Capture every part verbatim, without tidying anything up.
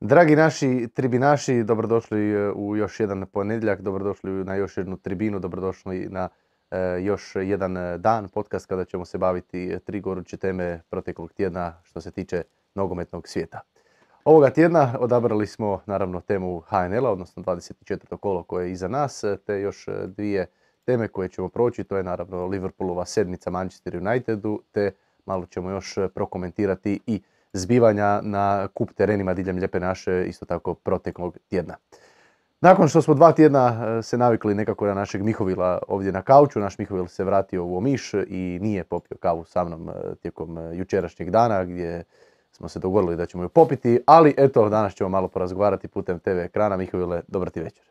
Dragi naši tribinaši, dobrodošli u još jedan ponedjeljak, dobrodošli na još jednu tribinu, dobrodošli na e, još jedan dan podcast kada ćemo se baviti tri goruće teme proteklog tjedna što se tiče nogometnog svijeta. Ovoga tjedna odabrali smo naravno temu H N L-a, odnosno dvadeset četvrto kolo koje je iza nas, te još dvije teme koje ćemo proći, to je naravno Liverpoolova sedmica Manchester Unitedu, te malo ćemo još prokomentirati i zbivanja na kup terenima diljem Lijepe naše, isto tako proteklog tjedna. Nakon što smo dva tjedna se navikli nekako na našeg Mihovila ovdje na kauču, naš Mihovil se vratio u Omiš i nije popio kavu sa mnom tijekom jučerašnjeg dana gdje smo se dogovorili da ćemo ju popiti, ali eto, danas ćemo malo porazgovarati putem te ve ekrana. Mihovile, dobar ti večer.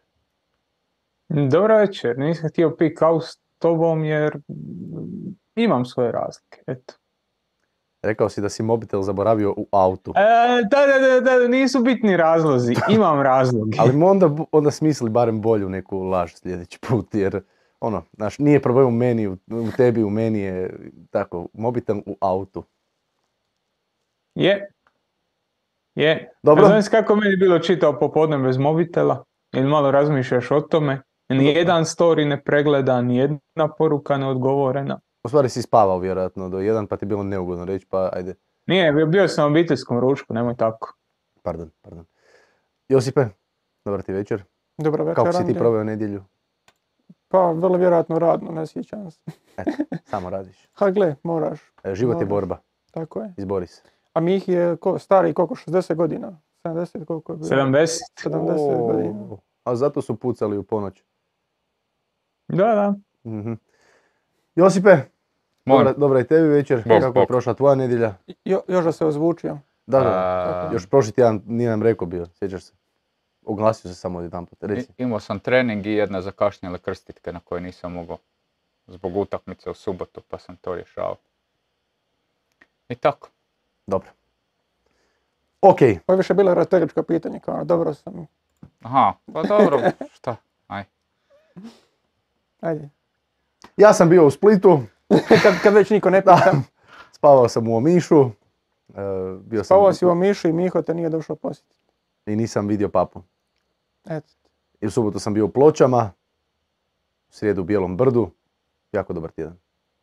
Dobar večer, nisam htio piti kavu s tobom jer imam svoje razlike, eto. Rekao si da si mobitel zaboravio u autu. E, da, da, da, da, nisu bitni razlozi, imam razloge. Ali onda, onda smisli barem bolju neku laž sljedeći put, jer ono, znaš, nije problem u meni, u, u tebi, u meni je tako, mobitel u autu. Je, je. Dobro. Znaš kako meni bilo čitao popodne bez mobitela? Ili malo razmišljaš o tome? Nijedan story ne pregleda, nijedna poruka ne odgovorena. U stvari si spavao vjerojatno do jedan, pa ti je bilo neugodno reći, pa ajde. Nije, bio sam u obiteljskom ručku, nemoj tako. Pardon, pardon. Josipe, dobar ti večer. Dobro večer. Kako si ti proveo nedjelju? Pa, vrlo vjerojatno radno, ne sjećam se. Eto, samo radiš. Ha, gle, moraš. E, život moraš. je borba. Tako je. Izbori se. A Mih je ko, stari koliko, šezdeset godina? sedamdeset koliko je bilo? sedamdeset. sedamdeset O, godina. a zato su pucali u ponoć. Da, da. Mm-hmm. Josipe, dobra, dobra i tebi večer. Bok, Kako je bok. prošla tvoja nedjelja? Jo, još da se ozvučio. Da, da. A, Još prošli tjedan nije nam rekao bio, sjećaš se. Oglasio se samo jedan put, reci. I- Imao sam trening i jedne zakašnjele krstitke na koje nisam mogao zbog utakmice u subotu, pa sam to rješavao. I tako. Dobro. Ok, Ovo je više bilo retoričko pitanje, kao dobro sam. Aha, pa dobro, šta? Aj. Ajde. ja sam bio u Splitu, kad, kad već niko ne pita. spavao sam u Omišu, e, bio sam Spavao si u Omišu i Miho te nije došao posjetiti. i nisam vidio papu. Eto. I u subotu sam bio u Pločama, u srijedu u Bijelom brdu, jako dobar tjedan.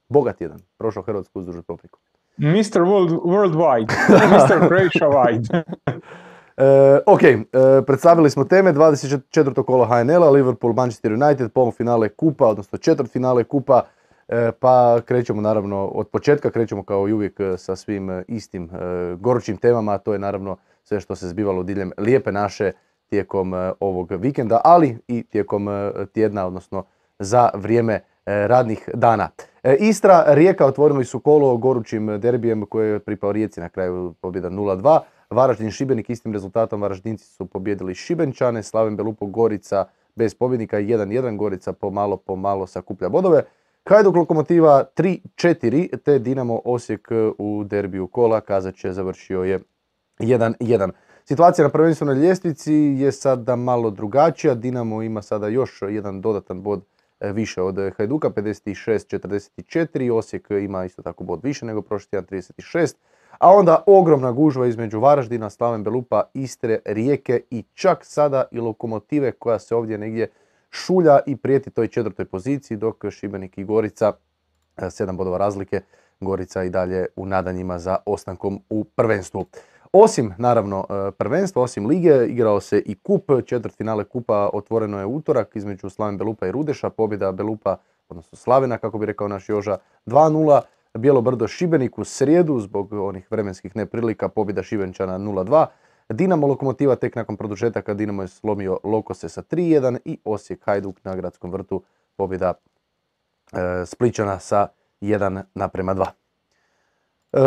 Bogat tjedan, prošao Hrvatsku uzduž Popriku. mister World, Worldwide, mister Croatia Wide. E, ok, e, predstavili smo teme, dvadeset četvrto kolo H N L-a, Liverpool, Manchester United, polufinale kupa, odnosno četvrtfinale kupa, e, pa krećemo naravno od početka, krećemo kao i uvijek sa svim e, istim e, gorućim temama, a to je naravno sve što se zbivalo diljem Lijepe naše tijekom e, ovog vikenda, ali i tijekom e, tjedna, odnosno za vrijeme e, radnih dana. E, Istra, Rijeka otvorili su kolo gorućim derbijem koje je pripao Rijeci na kraju pobjeda nula dva. Varaždin, Šibenik istim rezultatom, Varaždinci su pobjedili Šibenčane, Slaven Belupo, Gorica bez pobjednika, jedan jedan, Gorica pomalo pomalo sakuplja bodove. Hajduk Lokomotiva tri četiri, te Dinamo Osijek u derbiju kola, Kazače završio je jedan jedan. Situacija na prvenstvenoj ljestvici je sada malo drugačija, Dinamo ima sada još jedan dodatan bod više od Hajduka, pedeset šest četrdeset četiri, Osijek ima isto tako bod više nego prošli tjedan, trideset šest. A onda ogromna gužva između Varaždina, Slaven Belupa, Istre, Rijeke i čak sada i Lokomotive koja se ovdje negdje šulja i prijeti toj četvrtoj poziciji, dok Šibenik i Gorica, sedam bodova razlike, Gorica i dalje u nadanjima za ostankom u prvenstvu. Osim, naravno, prvenstva, osim lige, igrao se i kup, četvrtfinale kupa otvoreno je utorak između Slaven Belupa i Rudeša, pobjeda Belupa, odnosno Slavena, kako bi rekao naš Joža, dva nula. Bijelo brdo Šibenik u srijedu zbog onih vremenskih neprilika, pobjeda Šibenčana nula dva. Dinamo Lokomotiva tek nakon produžetaka, Dinamo je slomio Lokose sa tri jedan i Osijek Hajduk na Gradskom vrtu, pobjeda e, Splićana sa jedan naprema dva. E,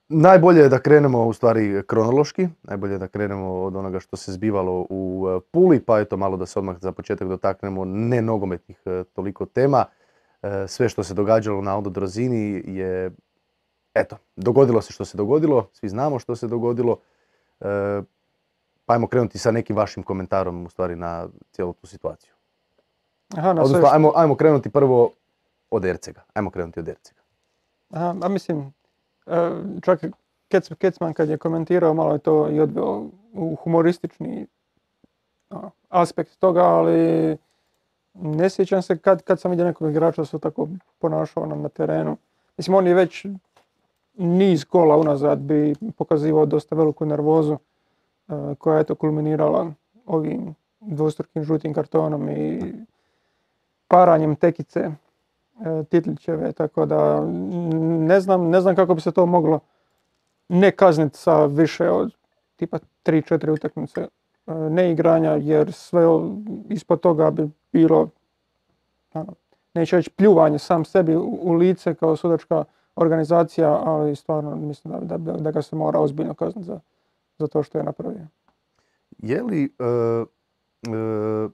najbolje je da krenemo u stvari kronološki, najbolje je da krenemo od onoga što se zbivalo u Puli, pa eto malo da se odmah za početak dotaknemo ne nogometnih e, toliko tema. Sve što se događalo na Aldo Drozini je, eto, dogodilo se što se dogodilo, svi znamo što se dogodilo, e, pa ajmo krenuti sa nekim vašim komentarom u stvari na cijelu tu situaciju. Aha, na Odnosno, sve što... ajmo, ajmo krenuti prvo od Ercega, ajmo krenuti od Ercega. Aha, a mislim, čak Kecman kad je komentirao, malo je to i odveo u humoristični ono, aspekt toga, ali ne sjećam se kad, kad sam vidio nekog igrača da se tako ponašao nam na terenu. Mislim, on je već niz kola unazad bi pokazivao dosta veliku nervozu uh, koja je to kulminirala ovim dvostrukim žutim kartonom i paranjem tekice uh, Titlićeve, tako da ne znam, ne znam kako bi se to moglo ne kazniti sa više od tipa tri četiri utakmice uh, neigranja, jer sve ispod toga bi bilo, ano, neću reći pljuvanje sam sebi u, u lice kao sudačka organizacija, ali stvarno mislim da, da, da ga se mora ozbiljno kazniti za, za to što je napravio. Je li, uh, uh,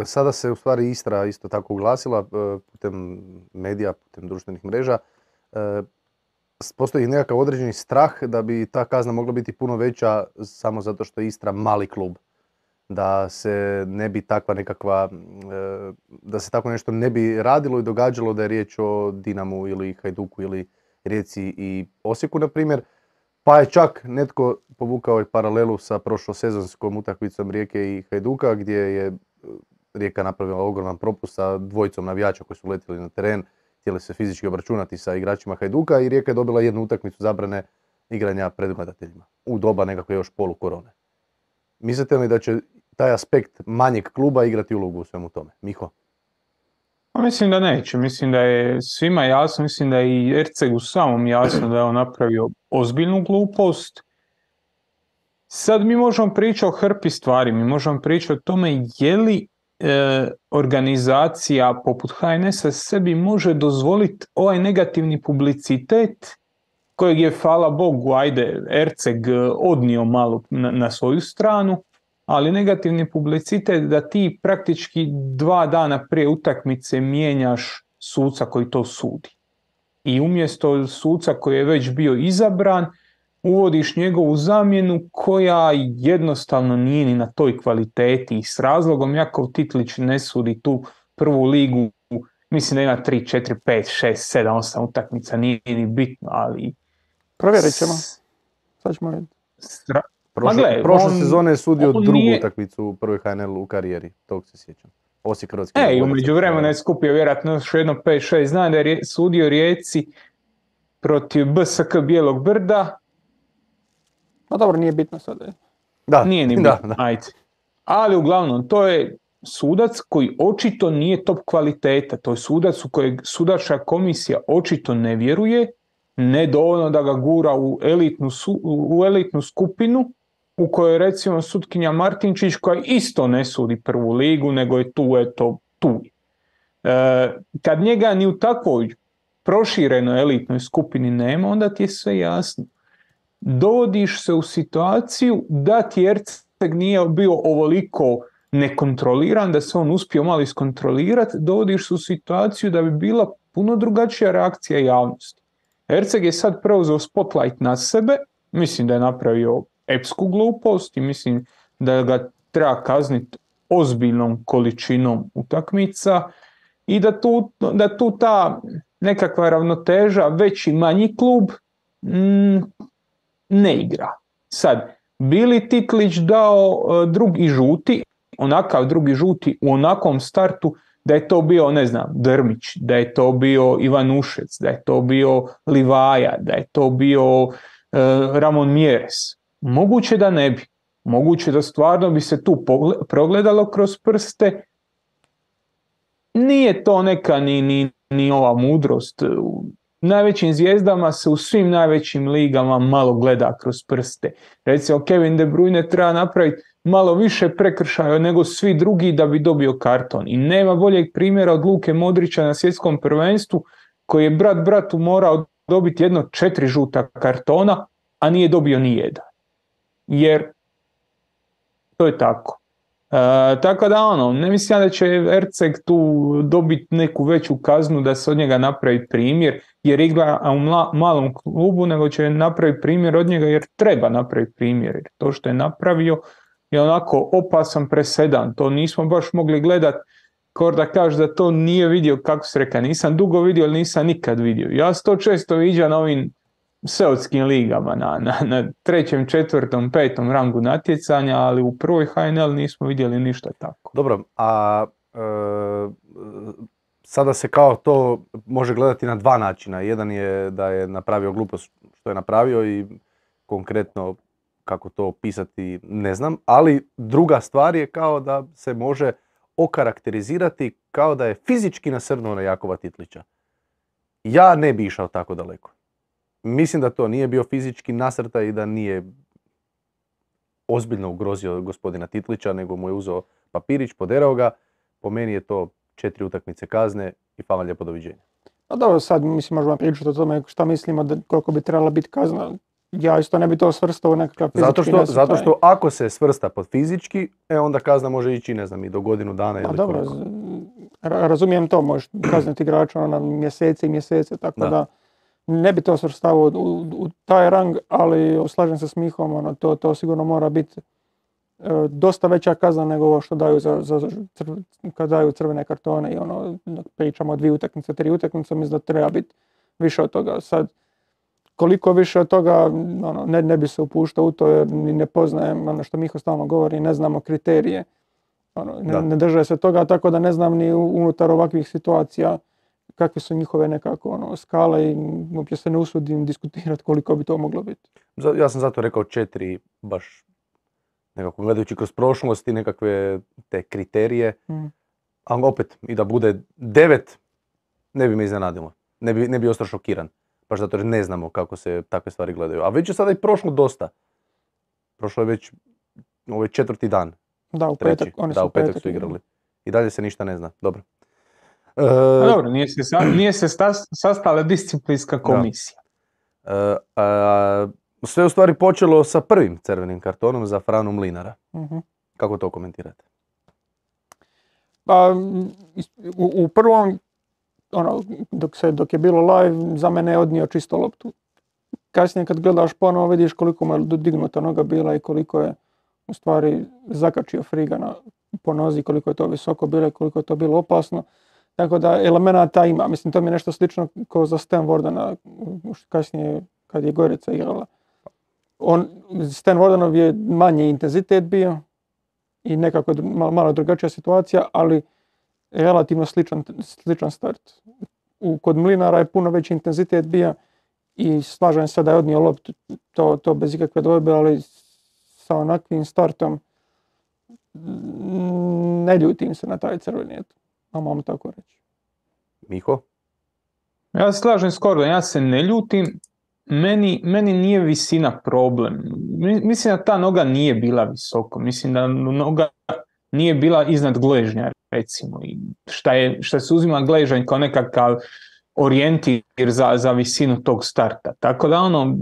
sada se u stvari Istra isto tako uglasila uh, putem medija, putem društvenih mreža, uh, postoji nekakav određeni strah da bi ta kazna mogla biti puno veća samo zato što je Istra mali klub. Da se ne bi takva nekakva, da se tako nešto ne bi radilo i događalo da je riječ o Dinamu ili Hajduku ili Rijeci i Osijeku, na primjer. Pa je čak netko povukao i paralelu sa prošlosezonskom utakmicom Rijeke i Hajduka, gdje je Rijeka napravila ogroman propust sa dvojicom navijača koji su letjeli na teren, htjeli se fizički obračunati sa igračima Hajduka i Rijeka je dobila jednu utakmicu zabrane igranja pred gledateljima u doba nekakve još polu korone. Mislite li da će taj aspekt manjeg kluba igrati ulogu u svemu tome? Miho? Pa mislim da neće. Mislim da je svima jasno, mislim da je i Ercegu samom jasno da je on napravio ozbiljnu glupost. Sad mi možemo pričati o hrpi stvari, mi možemo pričati o tome je li e, organizacija poput H N S-a sebi može dozvoliti ovaj negativni publicitet kojeg je, hvala Bogu, ajde, Erceg odnio malo na, na svoju stranu, ali negativni publicitet da ti praktički dva dana prije utakmice mijenjaš suca koji to sudi. I umjesto suca koji je već bio izabran, uvodiš njegovu zamjenu koja jednostavno nije ni na toj kvaliteti. I s razlogom Jakov Titlić ne sudi tu prvu ligu, mislim da ima tri, četiri, pet, šest, sedam, osam utakmica, nije ni bitno, ali... Provjerit ćemo. Sad ćemo reći. Stra... Prošle, gle, prošle on, sezone je sudio drugu nije... utakmicu u prvoj H N L u karijeri, tog se sjećam. Osijek Hrvatski. E, i umeđu vremena je skupio vjerojatno još jedno pet šest. Znam da je sudio Rijeci protiv B S K Bijelog Brda. No dobro, nije bitno sada. Da, nije ni bitno, da, da. Ajde. Ali uglavnom, to je sudac koji očito nije top kvaliteta. To je sudac u kojeg sudačka komisija očito ne vjeruje, ne dovoljno da ga gura u elitnu, su, u elitnu skupinu, u kojoj recimo sutkinja Martinčić koja isto ne sudi prvu ligu, nego je tu, eto, tu. E, kad njega ni u takvoj proširenoj elitnoj skupini nema, onda ti je sve jasno. Dovodiš se u situaciju da ti Erceg nije bio ovoliko nekontroliran, da se on uspio malo iskontrolirati, dovodiš se u situaciju da bi bila puno drugačija reakcija javnosti. Erceg je sad preuzeo spotlight na sebe, mislim da je napravio epsku glupost i mislim da ga treba kazniti ozbiljnom količinom utakmica i da tu, da tu ta nekakva ravnoteža veći manji klub mm, ne igra. Sad, bi li Titlić dao uh, drugi žuti, onakav drugi žuti u onakvom startu, da je to bio, ne znam, Drmić, da je to bio Ivanušec, da je to bio Livaja, da je to bio uh, Ramon Mieres. Moguće da ne bi. Moguće da stvarno bi se tu progledalo kroz prste. Nije to neka ni, ni, ni ova mudrost. U najvećim zvijezdama se u svim najvećim ligama malo gleda kroz prste. Recimo Kevin De Bruyne treba napraviti malo više prekršaja nego svi drugi da bi dobio karton. I nema boljeg primjera od Luke Modrića na svjetskom prvenstvu koji je brat bratu morao dobiti jedno četiri žuta kartona, a nije dobio ni jedan. Jer to je tako. E, tako da ono, ne mislim da će Erceg tu dobiti neku veću kaznu da se od njega napravi primjer jer igra u mla, malom klubu, nego će napraviti primjer od njega jer treba napraviti primjer. Jer to što je napravio je onako opasan presedan. To nismo baš mogli gledati kao da kaže da to nije vidio, kako se reka, nisam dugo vidio, ali nisam nikad vidio. Ja se to često viđam na ovim seotskim ligama na, na, na trećem, četvrtom, petom rangu natjecanja, ali u prvoj H N L nismo vidjeli ništa tako. Dobro, a e, sada se kao to može gledati na dva načina. Jedan je da je napravio glupost što je napravio i konkretno kako to opisati ne znam, ali druga stvar je kao da se može okarakterizirati kao da je fizički nasrnuo na Jakova Titlića. Ja ne bi išao tako daleko. Mislim da to nije bio fizički nasrtaj i da nije ozbiljno ugrozio gospodina Titlića, nego mu je uzeo papirić, poderao ga. Po meni je to četiri utakmice kazne i hvala lijepo, doviđenja. A dobro, sad mislim možemo pričati o tome šta mislimo da koliko bi trebala biti kazna. Ja isto ne bi to svrstao u nekakav fizički zato što, nasrtaj. zato što ako se svrsta pod fizički, e onda kazna može ići, ne znam, i do godinu dana ili A dobro, koliko. ra- razumijem to, možeš kazniti igrača na mjesece i mjesece, tako Da. da, ne bi to svrstavao u, u taj rang, ali slažem se s Mihom, ono, to, to sigurno mora biti e, dosta veća kazna nego ovo što daju za, za crv, kad daju crvene kartone i ono, pričamo o dvije utakmice, tri utakmice, mislim da treba biti više od toga. Sad, koliko više od toga, ono, ne, ne bi se upuštao u to jer ni ne poznajem, ono što Miho stalno govori, ne znamo kriterije. Ono, ne, ne drže se toga, tako da ne znam ni unutar ovakvih situacija kakve su njihove nekako ono, skale i uopće se ne usudim diskutirati koliko bi to moglo biti. Ja sam zato rekao četiri, baš nekako gledajući kroz prošlost i nekakve te kriterije, Mm. ali opet i da bude devet, ne bi me iznenadilo. Ne bi, ne bi ostao šokiran. Baš zato jer ne znamo kako se takve stvari gledaju. A već je sada i prošlo dosta. Prošlo je već ovaj četvrti dan. Da, u Treći. petak, oni da, su u petak, petak su igrali. I dalje se ništa ne zna. Dobro. E, A dobro, nije se, sa, nije se stas- sastala disciplinska komisija. e, a, sve u stvari počelo sa prvim crvenim kartonom za Franu Mlinara. Mhm. Kako to komentirate? Pa, u, u prvom, ono, dok, se, dok je bilo live, za mene je odnio čisto loptu. Kasnije kad gledaš ponovo vidiš koliko mu je dignuta noga bila i koliko je u stvari zakačio Friga na, po nozi, koliko je to visoko bilo i koliko je to bilo opasno. Tako da elemenata ima. Mislim, to mi je nešto slično kao za Stan Wardena kasnije kad je Gorica igrala. On, Stan Wardenov je manji intenzitet bio i nekako malo, malo drugačija situacija, ali relativno sličan, sličan start. U, kod Mlinara je puno veći intenzitet bio i slažem se da je odnio loptu, to, to bez ikakve dvojbe, ali sa onakvim startom ne ljutim se na taj crveni, eto, a mam tako reći. Miho? Ja se slažem s Kordom, ja se ne ljutim, meni, meni nije visina problem. Mislim da ta noga nije bila visoko, mislim da noga nije bila iznad gležnja, recimo. I šta, je, šta se uzima gležanj kao nekakav orijentir za, za visinu tog starta. Tako da ono,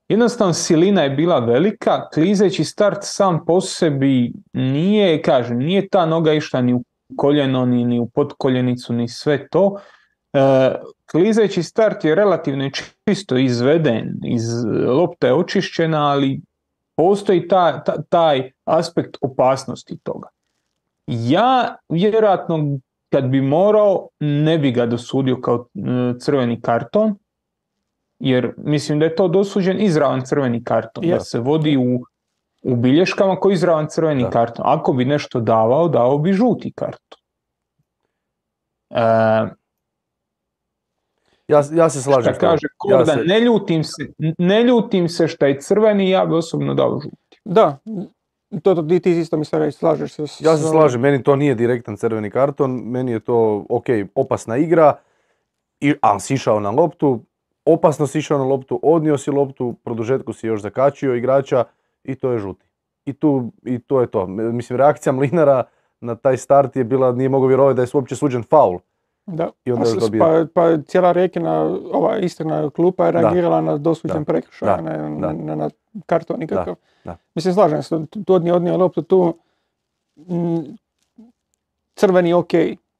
jednostavno silina je bila velika, klizeći start sam po sebi nije, kažem, nije ta noga išla ni u koljeno, ni, ni u potkoljenicu, ni sve to. E, klizeći start je relativno čisto izveden, iz lopta je očišćena, ali postoji ta, ta, taj aspekt opasnosti toga. Ja vjerojatno kad bi morao ne bi ga dosudio kao crveni karton, jer mislim da je to dosuđen izravan crveni karton, Ja. da se vodi u, u bilješkama kao izravan crveni Da. karton. Ako bi nešto davao, dao bi žuti karton. E, Ja, ja se slažem Šta s tobom. kaže Korda, Ja se- ne ljutim se, ne ljutim se šta je crveni, ja bi osobno dao žuti. Da, to, to ti ti isto mi se reći, slažeš se. s- Ja se s- slažem, meni to nije direktan crveni karton, meni je to, ok, opasna igra, i, a si išao na loptu, opasno si išao na loptu, odnio si loptu, produžetku si još zakačio igrača i to je žuti. I, tu, i to je to. Mislim, reakcija Mlinara na taj start je bila, nije mogao vjerovati da je uopće suđen faul. Da. I onda A još s- dobije. Pa, pa cijela Rekina, ova istrana klupa je Da. reagirala na dosuđen Da. prekršaj, Da. ne Da. na, na, na karton nikakav. Da. Mislim, slažem se, tu odnio, odnio loptu tu, m, crveni je ok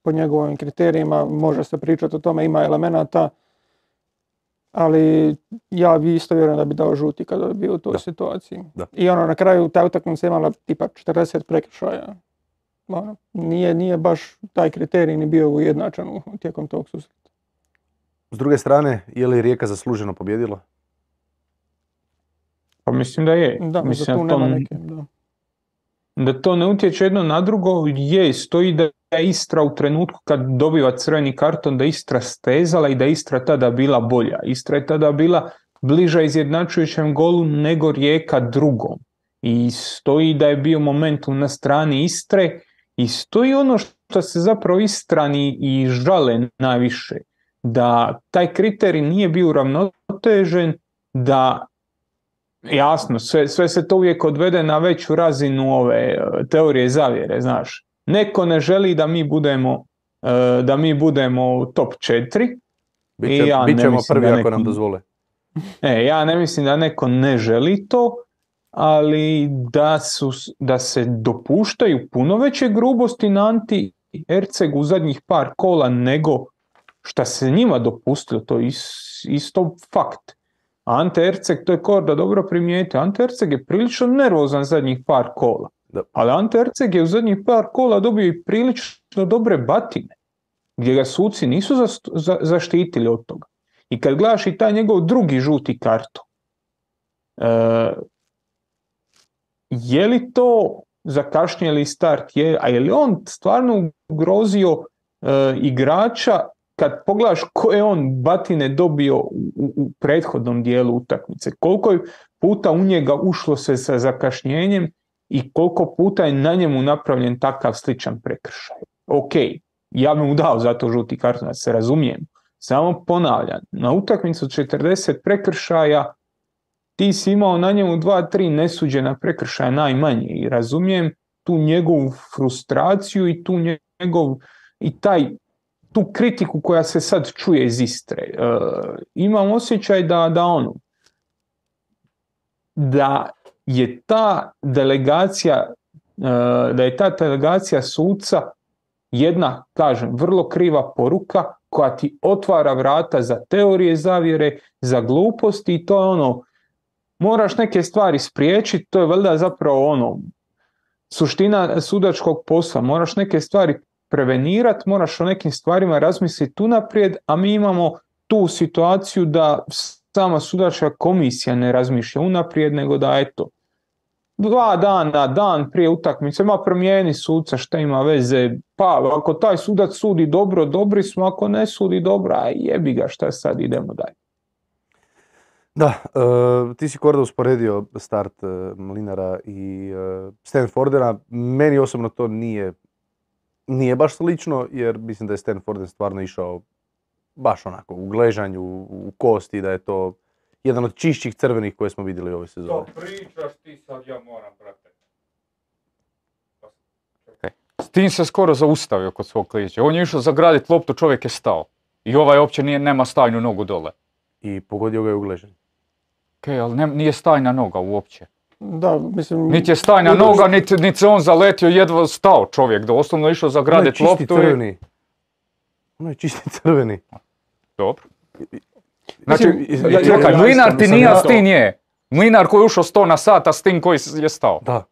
po njegovim kriterijima, može se pričati o tome, ima elemenata, ali ja bi isto vjerujem da bi dao žuti kada bi bio u toj Da. situaciji. Da. I ono, na kraju ta utakmica imala tipa četrdeset prekršaja. Ono, nije, nije baš taj kriterij ni bio ujednačen u- tijekom tog susreta. S druge strane, je li Rijeka zasluženo pobjedila? Pa mislim da je. Da, mislim za tu da, to, nema neke, da. da to ne utječe jedno na drugo, je, stoji da je Istra u trenutku kad dobiva crveni karton, da je Istra stezala i da je Istra tada bila bolja. Istra je tada bila bliža izjednačujućem golu nego Rijeka drugom. I stoji da je bio momentum na strani Istre i stoji ono što se zapravo Istrani i žale najviše, da taj kriterij nije bio uravnotežen, da jasno, sve, sve se to uvijek odvede na veću razinu ove teorije zavjere, znaš. Neko ne želi da mi budemo da mi budemo top četiri. Biće, ja bit ćemo prvi neko, ako nam dozvole. E, ja ne mislim da neko ne želi to, ali da, su, da se dopuštaju puno veće grubosti na Anti Ercegu u zadnjih par kola nego šta se njima dopustilo, to je isto fakt. Ante Erceg, to je Korda dobro primijetio, Ante Erceg je prilično nervozan zadnjih par kola. Da. Ali Ante Erceg je u zadnjih par kola dobio i prilično dobre batine, gdje ga suci nisu za, za, zaštitili od toga. I kad gledaš i taj njegov drugi žuti karton, e, je li to zakašnjeli start, je, a je li on stvarno ugrozio e, igrača kad pogledaš koje on batine dobio u, u prethodnom dijelu utakmice, koliko je puta u njega ušlo se sa zakašnjenjem i koliko puta je na njemu napravljen takav sličan prekršaj. Ok, ja bih mu dao za to žuti karton, da se razumijem. Samo ponavljam, na utakmicu četrdeset prekršaja ti si imao na njemu dva tri nesuđena prekršaja najmanje i razumijem tu njegovu frustraciju i tu njegov i taj tu kritiku koja se sad čuje iz Istre. E, imam osjećaj da, da ono, da je ta delegacija, e, da je ta delegacija suca jedna, kažem, vrlo kriva poruka koja ti otvara vrata za teorije zavjere, za gluposti i to je ono, moraš neke stvari spriječiti, to je valjda zapravo ono, suština sudačkog posla, moraš neke stvari prevenirati, moraš o nekim stvarima razmisliti unaprijed, a mi imamo tu situaciju da sama sudačka komisija ne razmišlja unaprijed, nego da eto, dva dana, dan prije utakmice, ma promijeni suca, šta ima veze, pa ako taj sudac sudi dobro, dobri smo, ako ne sudi dobro, aj jebi ga, šta sad, idemo dalje. Da, uh, ti si Korda usporedio start uh, Mlinara i uh, Stanfordena, meni osobno to nije Nije baš slično, jer mislim da je Stanforden stvarno išao baš onako u gležanju, u kosti, da je to jedan od čišćih crvenih koje smo vidjeli ove sezone. To pričaš ti sad, ja moram pratiti. Okay. S tim se skoro zaustavio kod svog kliča. On je išao zagraditi loptu, čovjek je stao. I ovaj uopće nije, nema stajnu nogu dole. I pogodio ga je u gležanju. Ok, ali ne, nije stajna noga uopće. Da, mislim... Niti je stajna noga, niti, niti se on zaletio, jedva stao čovjek, da osnovno išao zagraditi loptu. Ono je čisti crveni. Ono je čisti crveni. Dobro. Znači, Mislim, ja, čekaj, ja, Mlinar ti ja, nije, ja, a Stin je. Mlinar koji je ušao sto na sat, a Stin koji je stao. Da.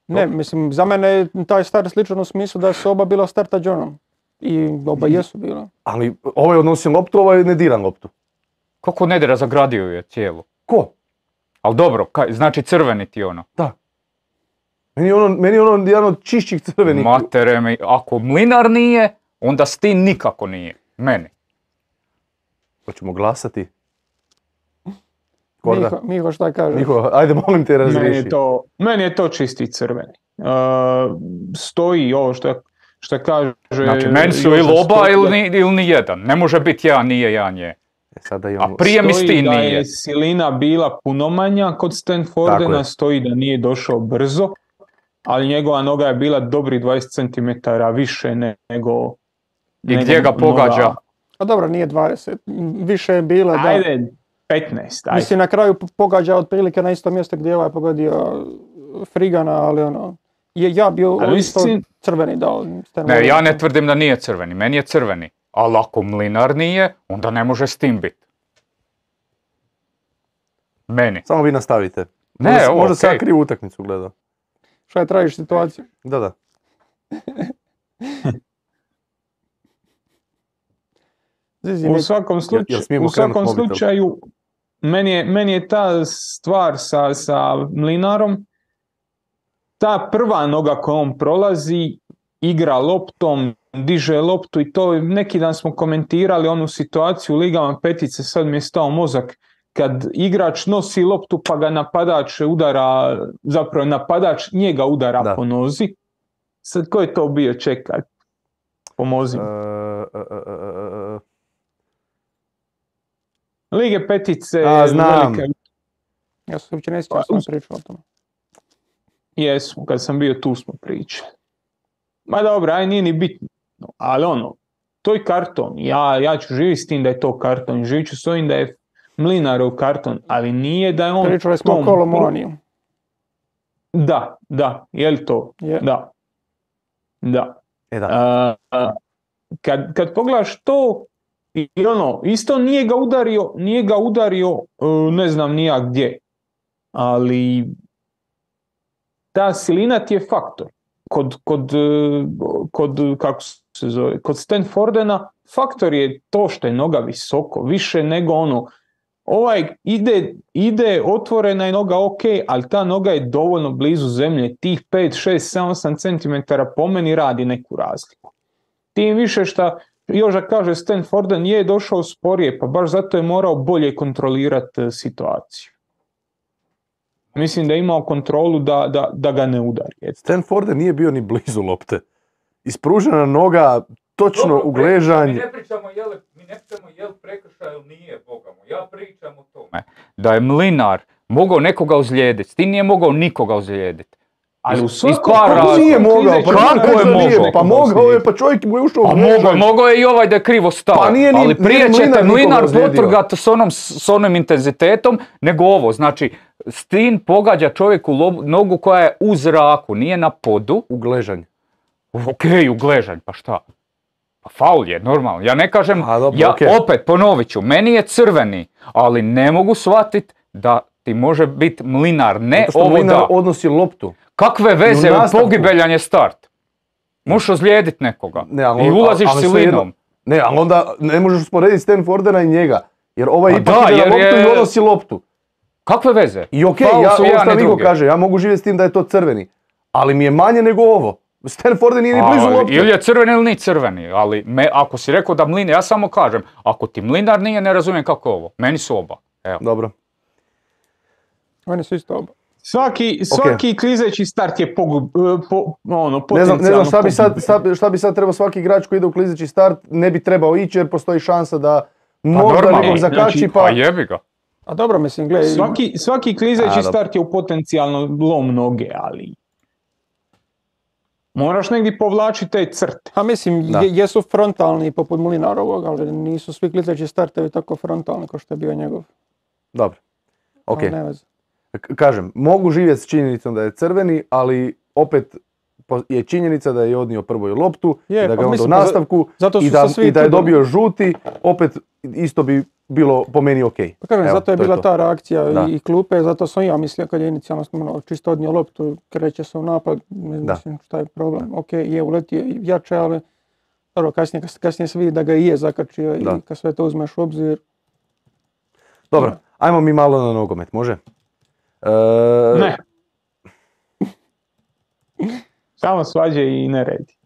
Ne, mislim, za mene je taj start sličan u smislu da su oba bila starta Johnom. I oba jesu bila. Ali ovaj odnosi loptu, ovaj ne dira loptu. Kako ne dira, zagradio je cijelu. Ko? Ali dobro, kaj, znači crveni ti ono. Da. Meni je ono, meni je ono jedan od čišćih crvenih. Matere mi, ako Mlinar nije, onda Stin nikako nije. Meni. Hoćemo glasati? Korda. Miho, Miho šta kažeš? Miho, ajde molim te razriješi. Meni je to, meni je to čisti crveni. Uh, stoji ovo što, što kaže... Znači, meni su ili oba ili ni, ili ni jedan. Ne može biti jedan nije, jedan je. Sada imamo... A prije mi Stin da nije. je silina bila puno manja kod Stanfordena, stoji da nije došao brzo, ali njegova noga je bila dobri dvadeset centimetara više nego... I gdje ga pogađa? Noga... A dobro, nije dvadeset, više je bila, da. Ajde, petnaest, ajde. Mislim, na kraju pogađa otprilike na isto mjesto gdje je ovaj pogodio Frigana, ali ono... Je, ja bio ali isto mislim... crveni dao. Ne, ja ne tvrdim da nije crveni, meni je crveni. Ali ako Mlinar nije, onda ne može s tim biti. Meni. Samo vi nastavite. Ne, možda, ovo, možda okay. se ja krivu utakmicu gledao. Šta je tražiš situaciju? Da, da. U svakom, slučaju, u svakom slučaju, meni je, meni je ta stvar sa, sa Mlinarom, ta prva noga koju on prolazi, igra loptom, diže loptu i to neki dan smo komentirali onu situaciju u ligama petice, sad mi je stao mozak, kad igrač nosi loptu pa ga napadač udara, zapravo napadač njega udara da. po nozi. Sad ko je to bio, čekaj, pomozi. Uh, uh, uh, uh. Lige petice, A, znam. velika... Ja sam uopće ne sjećam, sam pričao o tome. Jesmo, kad sam bio tu smo pričali. Ma dobro, aj nije ni bitno, ali ono, to je karton, ja, ja ću živjeti s tim da je to karton, živit ću s ovim da je Mlinarov karton, ali nije da je on... Pričali smo o Kolomoniju. Da, da, je li to? Je. Da. Da. E da. A, a, kad, kad pogledaš to, i ono, isto nije ga udario, nije ga udario, ne znam nija gdje, ali ta silina ti je faktor. Kod, kod, kod, kako se zove, kod Stanfordena faktor je to što je noga visoko, više nego ono, ovaj ide, ide otvorena je noga ok, ali ta noga je dovoljno blizu zemlje, tih pet, šest, sedam, osam centimetara po meni radi neku razliku. Tim više što još da kaže Stanforden je došao sporije, pa baš zato je morao bolje kontrolirati situaciju. Mislim da je imao kontrolu da, da, da ga ne udari. Stanforden nije bio ni blizu lopte. Ispružena noga, točno Dobro, u gležanj. Mi ne pričamo je li, mi ne pričamo je li prekršaj ili nije, Boga mu. Ja pričam o tome da je Mlinar mogao nekoga ozlijediti. Ti nije mogao nikoga ozlijediti. Ali u svakom Kako nije mogao? Pa kako je mogao? Pa mogao je, pa čovjek mu je ušao u gležanj. Mogao je i ovaj da je krivo stao. Pa nije ni, ali prije nije ćete Mlinar potrgati s, onom, s onom intenzitetom nego ovo. Znači, Stin pogađa čovjeku lob, nogu koja je u zraku, nije na podu. U gležanj. Ok, u gležanj, pa šta? Pa faul je, normalno. Ja ne kažem, A, dobro, ja okay. opet ponovit ću, meni je crveni, ali ne mogu shvatiti da ti može biti Mlinar, ne Zato što ovo Mlinar da. odnosi loptu. Kakve veze, pogibeljan je start. Možeš ozlijediti nekoga ne, ali, i ulaziš ali, ali silinom. Ne, ali onda ne možeš usporediti Stanfordena i njega. Jer ovaj A ipak da, ide na jer loptu je... i odnosi loptu. Kakve veze? I okej, okay, ja, ovo što Vigo kaže, ja mogu živjeti s tim da je to crveni. Ali mi je manje nego ovo. Stanforden nije ni blizu loptu. Ili je crveni ili nije crveni, ali me, ako si rekao da Mlinar, ja samo kažem, ako ti Mlinar nije, ne razumijem kako je ovo. Meni su oba. Evo. Dobro. Meni su isto oba. Svaki, svaki okay. klizeći start je pogub, po, ono, ne znam, ne znam šta, bi sad, šta bi sad trebao svaki igrač koji ide u klizeći start, ne bi trebao ići jer postoji šansa da možda pa nekog zakači znači, pa... Pa jebi ga. A dobro, mislim, gledaj... Svaki, svaki klizeći A, start je u potencijalno lom noge, ali... Moraš negdje povlačiti te crte. A mislim, je, jesu frontalni poput Mlinarovog, ali nisu svi klizeći startevi tako frontalni kao što je bio njegov. Dobro, ok. Kažem, mogu živjeti s činjenicom da je crveni, ali opet je činjenica da je odnio prvu loptu, je, da ga pa onda u nastavku i da, i da je dobio žuti, opet isto bi bilo po meni ok. Pa kažem, Evo, zato je bila je ta reakcija da. i klupe, zato sam ja mislio kad je inicijalno no, čisto odnio loptu, kreće se u napad, mislim šta je problem. Ok, je uletio jače, ali dobro, kasnije, kasnije se vidi da ga i je zakačio da. i kad sve to uzmeš u obzir. Dobro, da. Ajmo mi malo na nogomet, može? E... Ne. Samo svađe i neredi.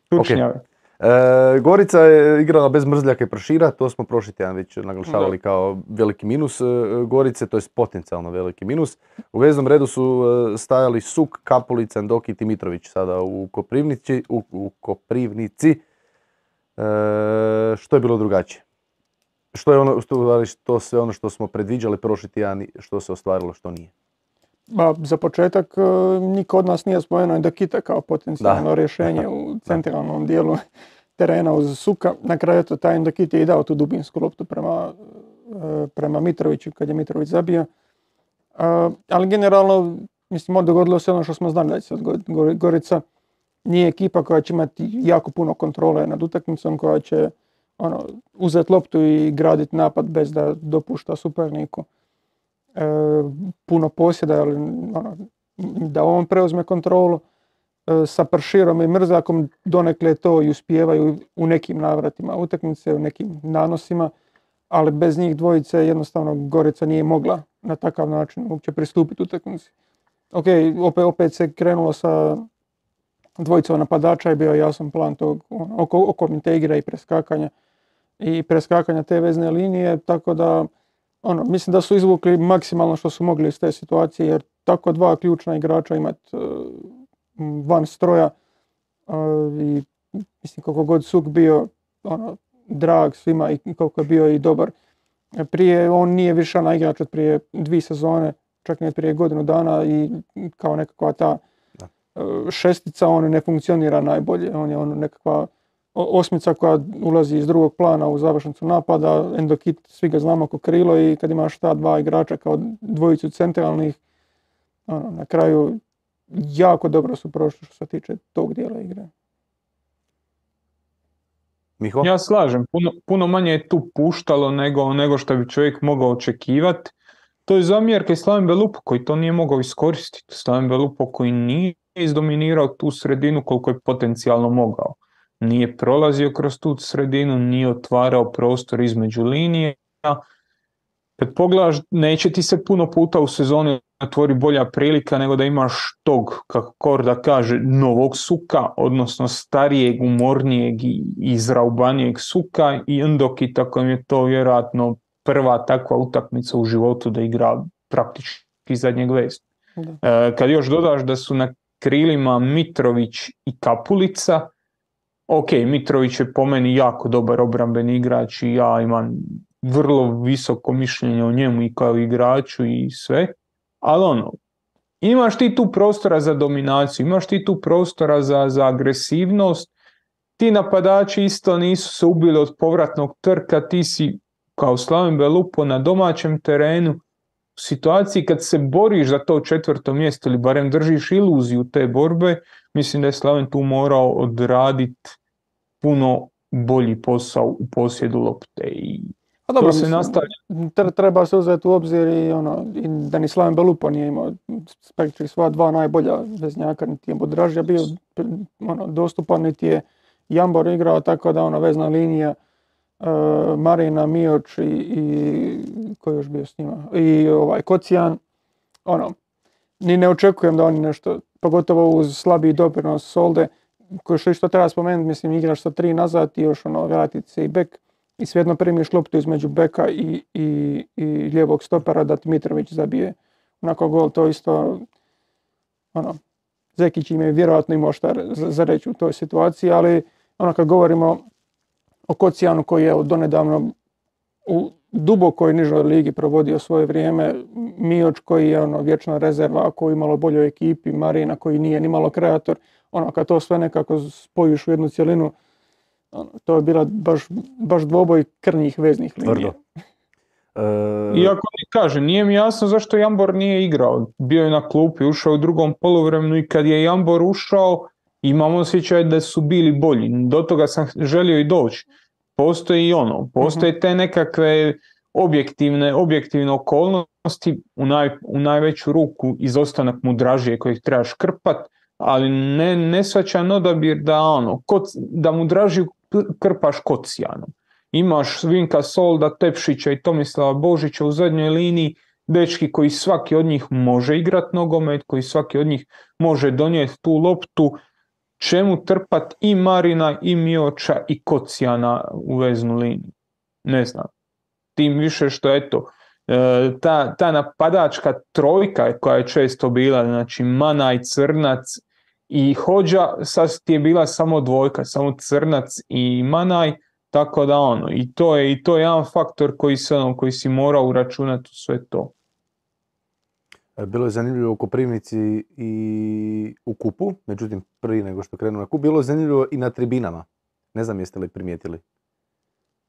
Tučnjave. Okay. E, Gorica je igrala bez Mrzljaka i Pršira, to smo prošli tjedan već naglašavali kao veliki minus e, Gorice, to je potencijalno veliki minus. U veznom redu su e, stajali Suk, Kapulica, Ndoki i Dimitrović sada u Koprivnici. U, u Koprivnici. E, što je bilo drugačije? Što je ono, što, što sve ono što smo predviđali prošli tjedan, što se ostvarilo, što nije? Ba, za početak niko od nas nije spomenuo Ndokite kao potencijalno da. rješenje u centralnom dijelu terena uz Suka. Na kraju to taj Ndokite je i dao tu dubinsku loptu prema, prema Mitroviću kad je Mitrović zabio. Ali generalno, mislim, dogodilo se ono što smo znali da će se Gorica nije ekipa koja će imati jako puno kontrole nad utakmicom, koja će ono, uzeti loptu i graditi napad bez da dopušta suparniku e, puno posjeda, ali, ono, da on preuzme kontrolu. E, sa Prširom i Mrzakom donekle to i uspijevaju u nekim navratima utakmice, u nekim nanosima, ali bez njih dvojice jednostavno Gorica nije mogla na takav način uopće pristupiti utakmici. Ok, opet, opet se krenulo sa dvojicom napadača i bio je jasan plan tog ono, oko, okomite igre i preskakanja i preskakanja te vezne linije, tako da ono, mislim da su izvukli maksimalno što su mogli iz te situacije, jer tako dva ključna igrača imati uh, van stroja uh, i mislim koliko god Suk bio ono, drag svima i koliko je bio i dobar. Prije on nije više na igrač od prije dvije sezone, čak ne prije godinu dana i kao nekakva ta uh, šestica on ne funkcionira najbolje. On je ono nekakva osmica koja ulazi iz drugog plana u završnicu napada, Endokit, svi ga znamo ko krilo i kad imaš ta dva igrača kao dvojicu centralnih, ono, na kraju jako dobro su prošli što se tiče tog dijela igre. Miho? Ja slažem, puno, puno manje je tu puštalo nego, nego što bi čovjek mogao očekivati. To je zamjerka i Slaven Belupo koji to nije mogao iskoristiti. Slaven Belupo koji nije izdominirao tu sredinu koliko je potencijalno mogao. Nije prolazio kroz tu sredinu, nije otvarao prostor između linije. Kad pogledaš, neće ti se puno puta u sezoni otvori bolja prilika nego da imaš tog, kako Korda kaže, novog Suka, odnosno starijeg, umornijeg i izraubanijeg Suka i Ndokita kojem je to vjerojatno prva takva utakmica u životu da igra praktički zadnjeg vesta. E, kad još dodaš da su na krilima Mitrović i Kapulica, ok, Mitrović je po meni jako dobar obrambeni igrač i ja imam vrlo visoko mišljenje o njemu i kao igraču i sve, ali ono, imaš ti tu prostora za dominaciju, imaš ti tu prostora za, za agresivnost, ti napadači isto nisu se ubili od povratnog trka, ti si kao Slaven Belupo na domaćem terenu u situaciji kad se boriš za to četvrto mjesto ili barem držiš iluziju te borbe, mislim da je Slaven tu morao odraditi puno bolji posao u posjedu lopte i a dobro, to se mislim, nastavlja. Treba se uzeti u obzir i, ono, i da ni Slaven Belupo nije imao spektri sva dva najbolja veznjaka, niti je Budražija bio ono, dostupan, niti je Jambor igrao, tako da ona vezna linija uh, Marina, Mioč i, i ko je još bio s njima, i ovaj Kocijan, ono, ni ne očekujem da oni nešto, pogotovo uz slabiji doprinos Solde, koji što isto treba spomenuti, mislim, igraš sa tri nazad i još ono, vratiti se i bek i svejedno primiš loptu između beka i, i, i lijevog stopera da Mitrović zabije onako gol, to isto ono, Zekić im je vjerojatno imao šta za, za reći u toj situaciji, ali ono kad govorimo o Kocijanu koji je donedavno u dubokoj nižoj ligi provodio svoje vrijeme, Mioč koji je ono vječna rezerva, koji je malo boljoj ekipi, Marina koji nije ni malo kreator, ono kad to sve nekako spojiš u jednu cjelinu, ono, to je bila baš, baš dvoboj krnjih veznih linija. E... Iako ti kaže, nije mi jasno zašto Jambor nije igrao. Bio je na klupi, ušao u drugom poluvremenu i kad je Jambor ušao, imam osjećaj da su bili bolji. Do toga sam želio i doći. Postoji i ono, postoje te nekakve objektivne, objektivne okolnosti, u, naj, u najveću ruku izostanak Mudražije kojeg trebaš krpat, ali ne, ne svačan odabir da, ono, koc, da Mudražiju krpaš Kocijanom. Imaš Vinka Solda, Tepšića i Tomislava Božića u zadnjoj liniji, dečki koji svaki od njih može igrat nogomet, koji svaki od njih može donijeti tu loptu, čemu trpat i Marina, i Mioča, i Kocijana u veznu liniju. Ne znam. Tim više što, eto, ta, ta napadačka trojka koja je često bila, znači Manaj, Crnac i Hođa, sad ti je bila samo dvojka, samo Crnac i Manaj, tako da ono, i to je, i to je jedan faktor koji, se, ono, koji si morao uračunati u sve to. Bilo je zanimljivo u Koprivnici i u kupu, međutim prije nego što krenu na kup, bilo je zanimljivo i na tribinama. Ne znam jeste li primijetili?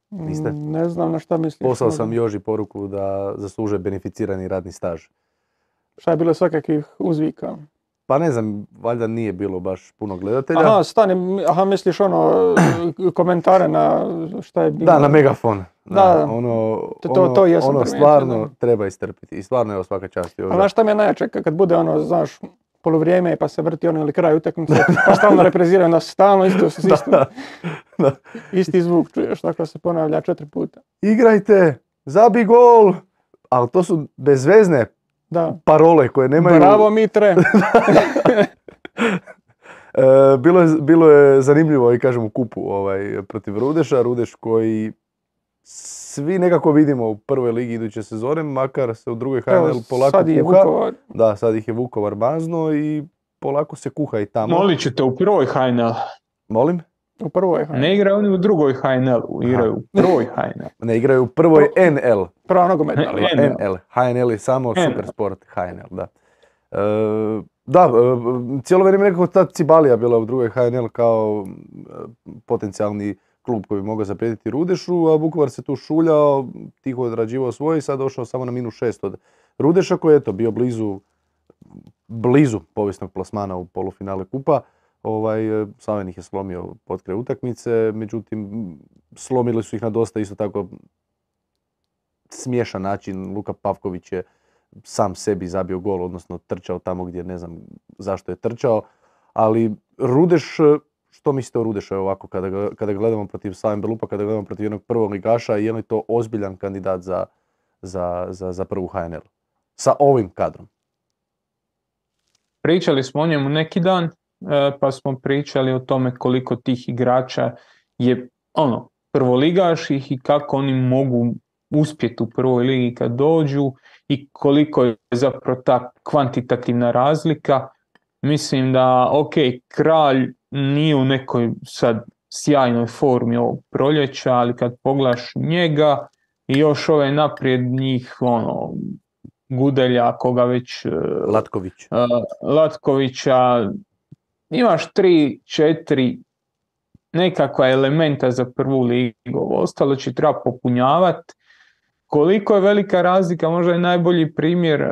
Niste? Ne znam na šta misliš. Poslao sam Joži poruku da zaslužuje beneficirani radni staž. Šta je bilo svakakvih uzvika? Pa ne znam, valjda nije bilo baš puno gledatelja. Aha, stani, aha, misliš ono, komentare na šta je bilo? Da, na megafon. Da, da, ono, to, to, to ono, ono stvarno da. Treba istrpiti. I stvarno je svaka čast. A znaš šta mi je najjače, kad bude ono, znaš, poluvrijeme pa se vrti ono ili kraj utakmice, pa stalno repriziraju nas, stalno isto, isto, da, da. isti zvuk čuješ, tako se ponavlja četiri puta. igrajte, zabi gol, ali to su bezvezne Da. parole koje nemaju... Bravo Mitre! E, bilo, je, bilo je zanimljivo i kažem u kupu ovaj, protiv Rudeša, Rudeš koji svi nekako vidimo u prvoj ligi iduće sezone, makar se u drugoj H N L polako sad je kuha. Vukovar. Da, sad ih je Vukovar mazno i polako se kuha i tamo. Molit ćete u prvoj H N L. Molim? U prvoj H N L. Ne igraju oni u drugoj H N L, igraju u prvoj H N L. Ne igraju u prvoj N L. Prva nogometna. Ne, liga. N L. N L. H N L je samo N L. Supersport H N L, da. E, da, e, cijelo vrijeme nekako ta Cibalija bila u drugoj H N L kao e, potencijalni klub koji bi mogao zaprijetiti Rudešu, a Vukovar se tu šuljao, tiho odrađivao svoje i sad došao samo na minus šest od Rudeša koji je eto bio blizu, blizu povijesnog plasmana u polufinale kupa. Ovaj, Slaven ih je slomio pod kraj utakmice, međutim slomili su ih na dosta isto tako smiješan način. Luka Pavković je sam sebi zabio gol, odnosno trčao tamo gdje ne znam zašto je trčao, ali Rudeš, što mislite o Rudešu ovako kada, ga, kada gledamo protiv Slaven Belupa, kada gledamo protiv jednog prvog ligaša, je li to ozbiljan kandidat za, za, za, za prvu H N L sa ovim kadrom? Pričali smo o njemu neki dan, pa smo pričali o tome koliko tih igrača je ono, prvoligaš ih i kako oni mogu uspjeti u prvoj ligi kad dođu i koliko je zapravo ta kvantitativna razlika. Mislim da, ok, Kralj nije u nekoj sad sjajnoj formi ovog proljeća, ali kad pogledaš njega i još ove naprijed njih, ono, Gudelja, koga već... Latković. Uh, Latkovića, imaš tri, četiri nekakva elementa za prvu ligu, ostalo će treba popunjavati. Koliko je velika razlika, možda je najbolji primjer uh,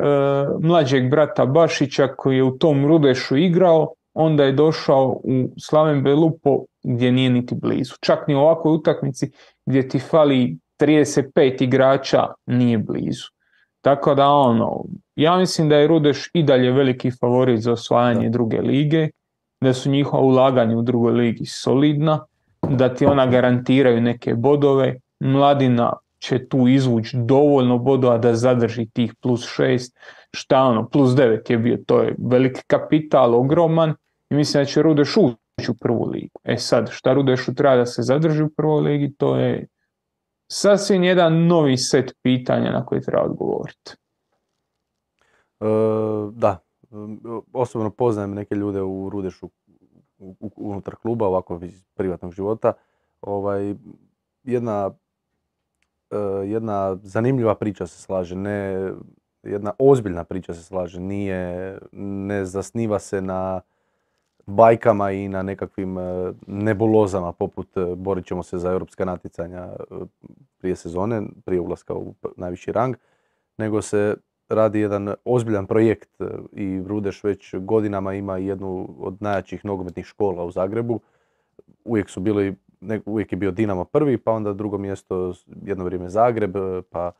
mlađeg brata Bašića koji je u tom Rudešu igrao, onda je došao u Slaven Belupo gdje nije niti blizu. Čak ni u ovakvoj utakmici gdje ti fali trideset pet igrača nije blizu. Tako da ono, ja mislim da je Rudeš i dalje veliki favorit za osvajanje da. druge lige, da su njihova ulaganja u drugoj ligi solidna, da ti ona garantiraju neke bodove, Mladina će tu izvući dovoljno bodova da zadrži tih plus šest, šta ono, plus devet je bio, to je veliki kapital, ogroman, i mislim da će Rudeš ući u prvu ligu. E sad, šta Rudešu treba da se zadrži u prvoj ligi, to je sasvim jedan novi set pitanja na koje treba odgovoriti. E, da, osobno poznajem neke ljude u Rudešu unutar kluba, ovako iz privatnog života. Ovaj, jedna, jedna zanimljiva priča se slaže, ne, jedna ozbiljna priča se slaže, nije, ne zasniva se na bajkama i na nekakvim nebulozama poput borit ćemo se za europska natjecanja prije sezone, prije ulaska u najviši rang, nego se radi jedan ozbiljan projekt i Rudeš već godinama ima jednu od najjačih nogometnih škola u Zagrebu. Uvijek su bili, uvijek je bio Dinamo prvi, pa onda drugo mjesto jedno vrijeme Zagreb, pa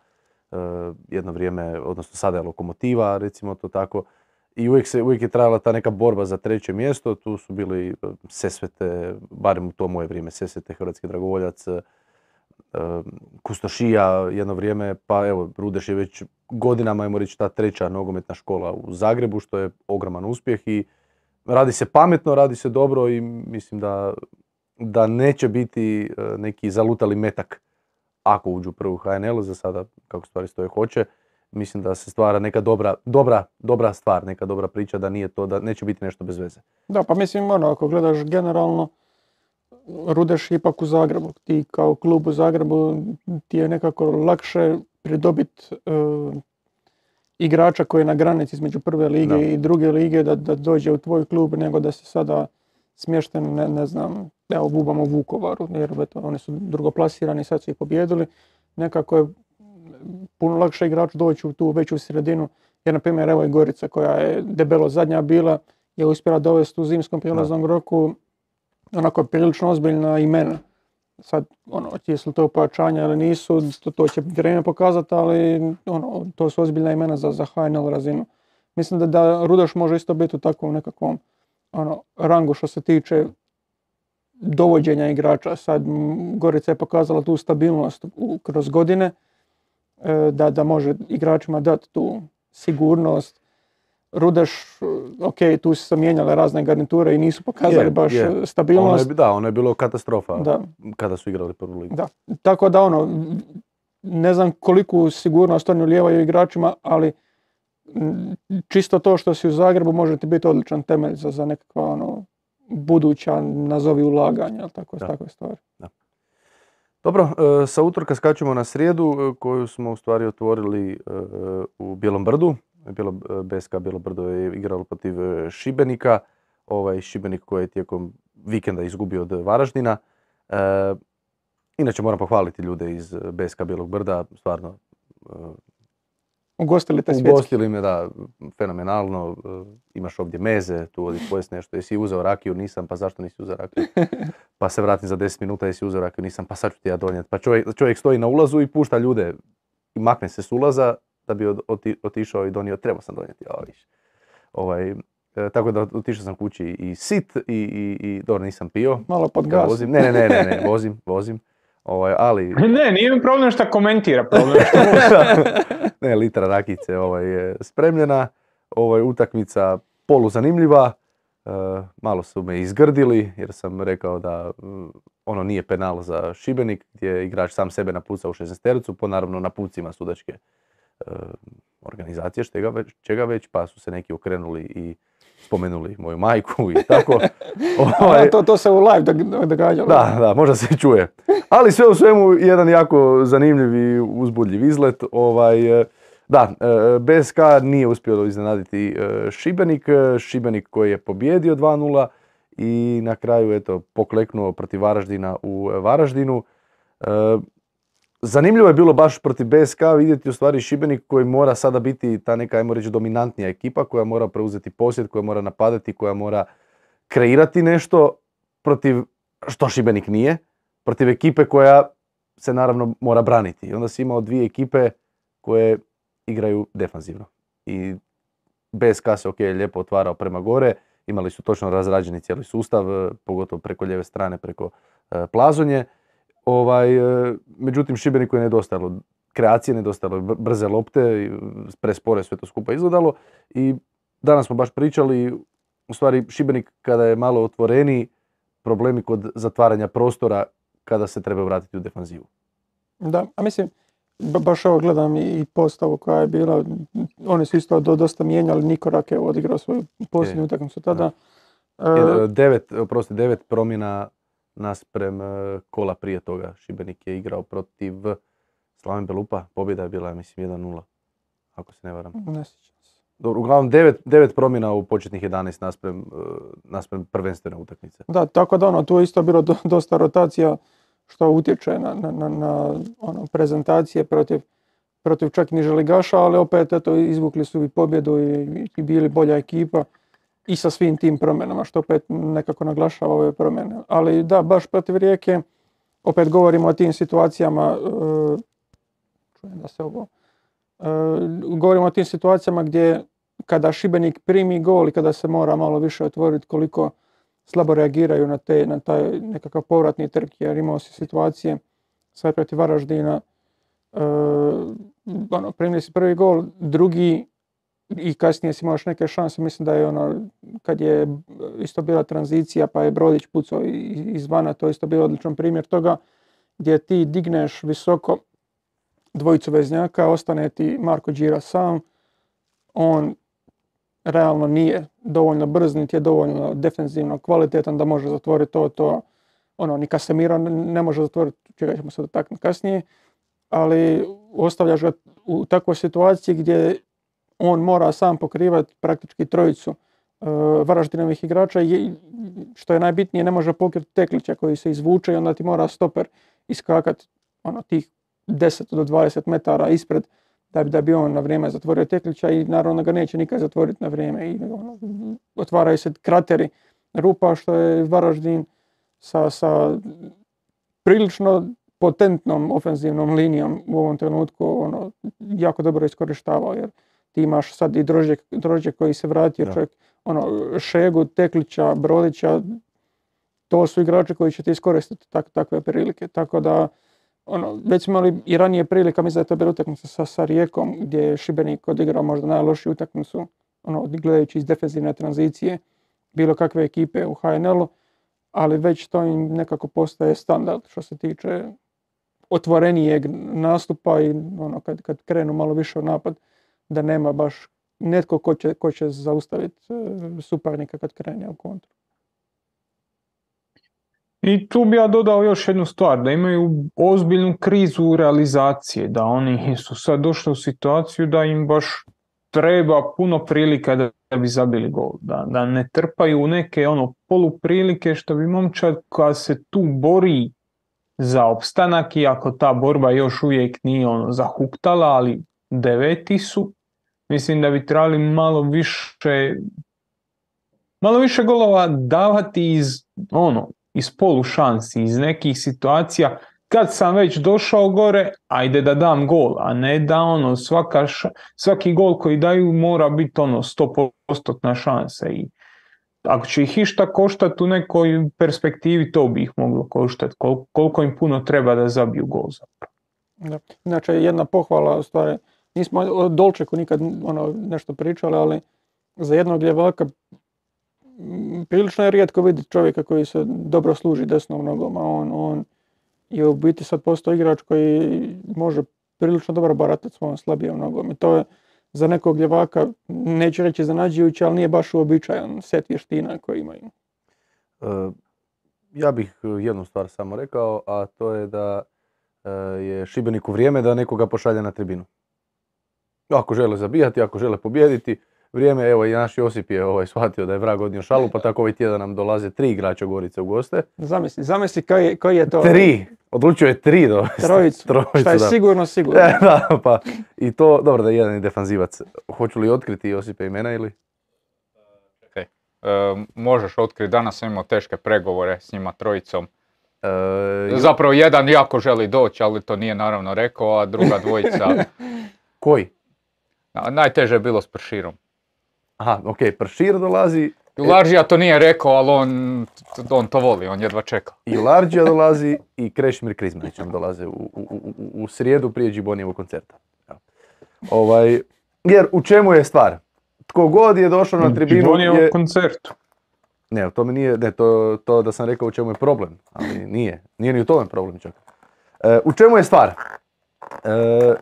jedno vrijeme, odnosno sada je Lokomotiva, recimo to tako. I uvijek, se, uvijek je trajala ta neka borba za treće mjesto, tu su bili Sesvete, barem u to moje vrijeme, Sesvete, Hrvatski Dragovoljac, Kustošija jedno vrijeme, pa evo, Rudeš je već godinama, ajmo reći, ta treća nogometna škola u Zagrebu, što je ogroman uspjeh i radi se pametno, radi se dobro i mislim da, da neće biti neki zalutali metak ako uđu u prvu H N L, za sada kako stvari stoje hoće. Mislim da se stvara neka dobra, dobra, dobra stvar, neka dobra priča, da nije to, da neće biti nešto bez veze. Da, pa mislim, ono, ako gledaš generalno, Rudeš ipak u Zagrebu. Ti kao klub u Zagrebu ti je nekako lakše pridobiti uh, igrača koji je na granici između prve lige da. i druge lige da, da dođe u tvoj klub, nego da se sada smješten, ne, ne znam, evo bubamo u Vukovaru, jer eto, oni su drugoplasirani, sad su ih pobjedili. Nekako je puno lakše igrač doći u tu veću sredinu, jer na primjer evo je Gorica koja je debelo zadnja bila, je uspjela dovesti u zimskom prijelaznom roku onako prilično ozbiljna imena. Sad, ono, jesu li to pojačanja ili nisu, to, to će vrijeme pokazati, ali ono, to su ozbiljna imena za, za H N L razinu. Mislim da, da Rudeš može isto biti u takvom nekakvom ono, rangu što se tiče dovođenja igrača. Sad Gorica je pokazala tu stabilnost u, kroz godine, e, da, da može igračima dati tu sigurnost. Rudeš, ok, tu su se mijenjale razne garniture i nisu pokazali je, baš je. stabilnost. Ono je, da, ono je bilo katastrofa da. kada su igrali prvu ligu. Da. Tako da ono, ne znam koliku sigurnost oni ulijevaju igračima, ali čisto to što si u Zagrebu može ti biti odličan temelj za, za nekakva ono, buduća, nazovi ulaganja, tako, takve stvari. Da. Dobro, sa utorka skačemo na srijedu koju smo u stvari otvorili u Bijelom Brdu. B S K Bijelo Brdo je igralo protiv Šibenika, ovaj Šibenik koji je tijekom vikenda izgubio od Varaždina. E, inače moram pohvaliti ljude iz B S K Bijelog Brda, stvarno ugostili te svjetski. Ugostili me, da, fenomenalno. Imaš ovdje meze, tu odi pojest nešto. Jesi uzeo rakiju? Nisam, pa zašto nisi uzeo rakiju? Pa se vratim za deset minuta, jesi uzeo rakiju? Nisam, pa sad ću ti ja donijeti. Pa čovjek, čovjek stoji na ulazu i pušta ljude i makne se s ulaza da bi oti, otišao i donio, trebao sam donijeti. Ovaj, e, tako da otišao sam kući i sit i, i, i dobro, nisam pio. Malo pod gas. Vozim. Ne, ne, ne, ne, ne, vozim, vozim. Ovaj, ali... Ne, nije mi problem što komentira, problem što Ne, litra rakice ovaj, je spremljena, ovaj, utakmica poluzanimljiva, e, malo su me izgrdili jer sam rekao da m, ono nije penal za Šibenik gdje je igrač sam sebe napucao u šesnaestericu po naravno napucima sudačke e, organizacije, čega već, čega već, pa su se neki okrenuli i spomenuli moju majku i tako. Ovaj, to, to se u live događalo. Da, da, možda se čuje. Ali sve u svemu jedan jako zanimljiv i uzbudljiv izlet. Ovaj, da, B S K nije uspio iznenaditi Šibenik. Šibenik koji je pobijedio dva nula i na kraju eto, pokleknuo protiv Varaždina u Varaždinu. Zanimljivo je bilo baš protiv B S K vidjeti u stvari Šibenik koji mora sada biti ta neka, ajmo reći, dominantnija ekipa koja mora preuzeti posjed, koja mora napadati, koja mora kreirati nešto protiv, što Šibenik nije, protiv ekipe koja se naravno mora braniti. I onda si imao dvije ekipe koje igraju defanzivno. I B S K se ok, lijepo otvarao prema gore, imali su točno razrađeni cijeli sustav, pogotovo preko lijeve strane, preko uh, Plazonje. Ovaj, međutim, Šibeniku je nedostajalo kreacije, nedostajalo brze lopte, prespore sve to skupa izgledalo i danas smo baš pričali, u stvari Šibenik kada je malo otvoreniji, problemi kod zatvaranja prostora kada se treba vratiti u defanzivu. Da, a mislim, baš ovo gledam i postavu koja je bila, oni su isto dosta mijenjali, Nikorak je odigrao svoju posljednju utakmicu tada. E, devet, oprosti, devet promjena nasprem kola prije toga. Šibenik je igrao protiv Slaven Belupa, pobjeda je bila, mislim, jedan nula, ako se ne varam. Ne sjećam se. Dobro, uglavnom devet, devet promjena u početnih jedanaest nasprem, nasprem prvenstvene utakmice. Da, tako da ono, tu je isto bilo do, dosta rotacija što utječe na, na, na, na ono, prezentacije protiv, protiv čak i niže ligaša, ali opet eto, izvukli su i pobjedu i, i bili bolja ekipa. I sa svim tim promjenama, što opet nekako naglašava ove promjene. Ali da, baš protiv Rijeke, opet govorimo o tim situacijama, uh, čujem da se ovo, uh, govorimo o tim situacijama gdje kada Šibenik primi gol i kada se mora malo više otvoriti koliko slabo reagiraju na, te, na taj nekakav povratni trk, jer imao si situacije sad protiv Varaždina, uh, ono, primili si prvi gol, drugi i kasnije si imaš neke šanse, mislim da je ono, kad je isto bila tranzicija pa je Brodić pucao izvana, to je isto bio odličan primjer toga, gdje ti digneš visoko dvojicu veznjaka, ostane ti Marko Đira sam, on realno nije dovoljno brz, niti je dovoljno defensivno kvalitetan da može zatvoriti to, to, ono, ni Casemiro ne može zatvoriti, čega ćemo se dotaknuti kasnije, ali ostavljaš ga u takvoj situaciji gdje on mora sam pokrivati praktički trojicu uh, Varaždinovih igrača i što je najbitnije ne može pokriti Teklića koji se izvuče i onda ti mora stoper iskakati ono, tih deset do dvadeset metara ispred da bi, da bi on na vrijeme zatvorio Teklića i naravno ga neće nikad zatvoriti na vrijeme i ono, otvaraju se krateri rupa što je Varaždin sa, sa prilično potentnom ofenzivnom linijom u ovom trenutku ono, jako dobro iskorištavao jer ti imaš sad i Drožđe, Drožđe koji se vratio, čovjek, ono, Šegu, Teklića, Brodića, to su igrači koji će ti iskoristiti tak, takve prilike. Tako da, ono, već smo imali i ranije prilika, mislim da je to bila utakmica sa, sa Rijekom, gdje je Šibenik odigrao možda najlošiju utakmicu, ono, gledajući iz defenzivne tranzicije, bilo kakve ekipe u H N L-u, ali već to im nekako postaje standard što se tiče otvorenijeg nastupa i ono, kad, kad krenu malo više u napad, da nema baš netko ko će, ko će zaustaviti suparnika kad krene u kontru. I tu bi ja dodao još jednu stvar, da imaju ozbiljnu krizu realizacije, da oni su sad došli u situaciju da im baš treba puno prilika da, da bi zabili gol, da, da ne trpaju u neke ono poluprilike što bi momčad koja se tu bori za opstanak, iako ta borba još uvijek nije ono zahuktala, ali deveti su, mislim da bi trebali malo više malo više golova davati iz ono iz polu šansi, iz nekih situacija, kad sam već došao gore, ajde da dam gol, a ne da ono svaka ša, svaki gol koji daju mora biti ono sto posto šansa. I ako će ih išta koštati u nekoj perspektivi, to bi ih moglo koštati, Kol, koliko im puno treba da zabiju gol zapravo. Da. Inače, jedna pohvala, u stvari, nismo o Dolčeku nikad ono, nešto pričali, ali za jednog ljevaka prilično je rijetko vidjeti čovjeka koji se dobro služi desnom nogom, a on, on je u biti sad postao igrač koji može prilično dobro baratati svojom slabijom nogom. I to je za nekog ljevaka, neću reći iznenađujuće, ali nije baš uobičajan set vještina koji imaju. Uh, ja bih jednu stvar samo rekao, a to je da uh, je Šibeniku vrijeme da nekoga pošalje na tribinu. Ako žele zabijati, ako žele pobijediti, vrijeme, evo i naš Josip je ovaj, shvatio da je vrag odnio šalu, pa tako ovaj tjedan nam dolaze tri igrača Gorice u goste. Zamisli, zamisli koji je, koji je to... Tri! Odlučio je tri dovesti. Trojicu, Trojicu, šta je da. sigurno, sigurno. E, da, pa i to, dobro da je jedan i defanzivac. Hoću li otkriti Josipe imena ili? Okay. E, možeš otkriti, danas sam imao teške pregovore s njima trojicom. E, Zapravo jedan jako želi doći, ali to nije naravno rekao, a druga dvojica... Koji? Najteže je bilo s Prširom. Aha, ok, Pršir dolazi. I Laržija to nije rekao, ali on, on to voli, on jedva čeka. I Laržija dolazi i Krešimir Krizmanić nam dolaze u, u, u, u srijedu prije Džibonijevog koncerta. Ovaj, jer u čemu je stvar? Tko god je došao na tribinu Džibonijevog je... koncertu. Ne, to mi nije, ne, to, to da sam rekao u čemu je problem, ali nije, nije ni u tome problem čak. E, u čemu je stvar? E,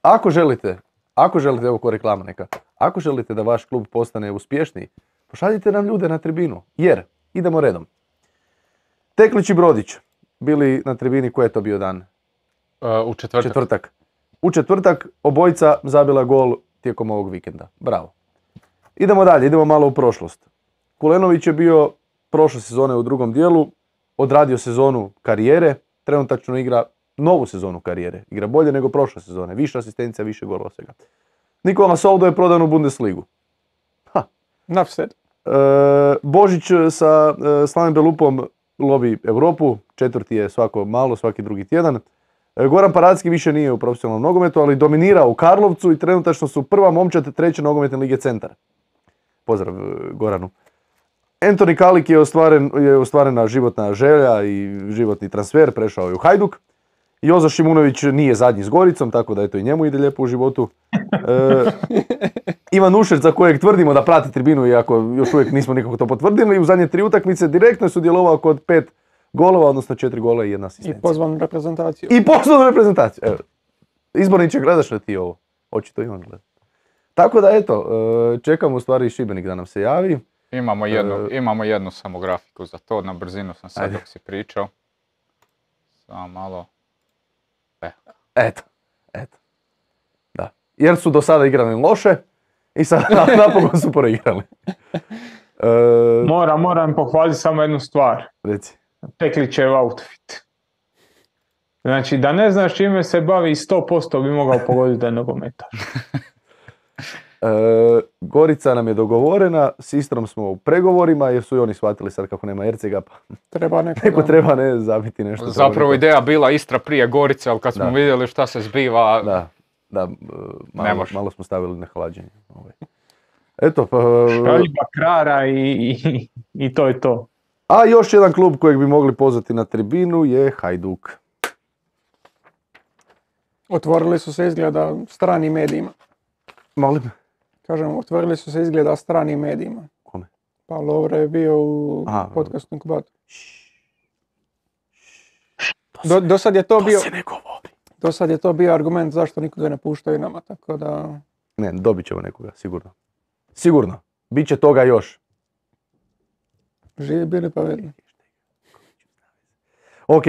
ako želite, ako želite, evo ko reklama neka, ako želite da vaš klub postane uspješniji, pošaljite nam ljude na tribinu, jer, idemo redom. Teklić i Brodić bili na tribini, koji je to bio dan? Uh, u četvrtak. Četvrtak. U četvrtak obojica zabila gol tijekom ovog vikenda. Bravo. Idemo dalje, idemo malo u prošlost. Kulenović je bio prošle sezone u drugom dijelu, odradio sezonu karijere, trenutačno igra novu sezonu karijere. Igra bolje nego prošle sezone, više asistencija, više golova svega. Nikola Soldo je prodan u Bundesligu. Ha. Nafsed. E, Božić sa e, Slaven Belupom lovi Europu, četvrti je svako malo, svaki drugi tjedan. E, Goran Paradski više nije u profesionalnom nogometu, ali dominira u Karlovcu i trenutačno su prva momčad treće nogometne lige Centar. Pozdrav Goranu. Anthony Kalik je, ostvaren, je ostvarena životna želja i životni transfer, prešao je u Hajduk. Jozo Šimunović nije zadnji s Goricom, tako da eto i njemu ide lijepo u životu. E, Ivan Ušec, za kojeg tvrdimo da prati tribinu, iako još uvijek nismo nikako to potvrdili, u zadnje tri utakmice direktno je sudjelovao kod pet golova, odnosno četiri gola i jedna asistencija. I pozvan u reprezentaciju. I pozvan u reprezentaciju. Evo. Izborniče, gledaš li ti ovo? Očito i on gleda. Tako da eto, čekamo u stvari Šibenik da nam se javi. Imamo jednu, uh, imamo jednu samo grafiku za to, na brzinu sam sad dok si pričao. Samo malo. E. Eto, eto. Da. Jer su do sada igrali loše i sad napokon su preigrali. Uh, Moram, moram pohvaliti samo jednu stvar. Reci. Teklićev outfit. Znači da ne znaš čime se bavi, sto posto bi mogao pogoditi da je nogometaš. E, Gorica nam je dogovorena, s Istrom smo u pregovorima jer su i oni shvatili sad kako nema Ercega, pa treba neko, neko treba ne zabiti nešto. Zapravo ideja bila Istra prije Gorice, ali kad smo da. vidjeli šta se zbiva, da, da, malo, malo smo stavili na hlađenje. Ovaj. Eto, pa... Šaljiba krara i, i, i to je to. A još jedan klub kojeg bi mogli pozvati na tribinu je Hajduk. Otvorili su se izgleda stranim medijima. Molim? Kažem, otvorili su se izgleda stranim medijima. Kome? Pa Lovre je bio u Aha, podcastu Inkubatu. Do, do sad je to, to bio... se ne govori. Do sad je to bio argument zašto nikoga ne puštaju nama, tako da... Ne, dobit ćemo nekoga, sigurno. Sigurno. Biće toga još. Živi bili pa vidimo. Ok,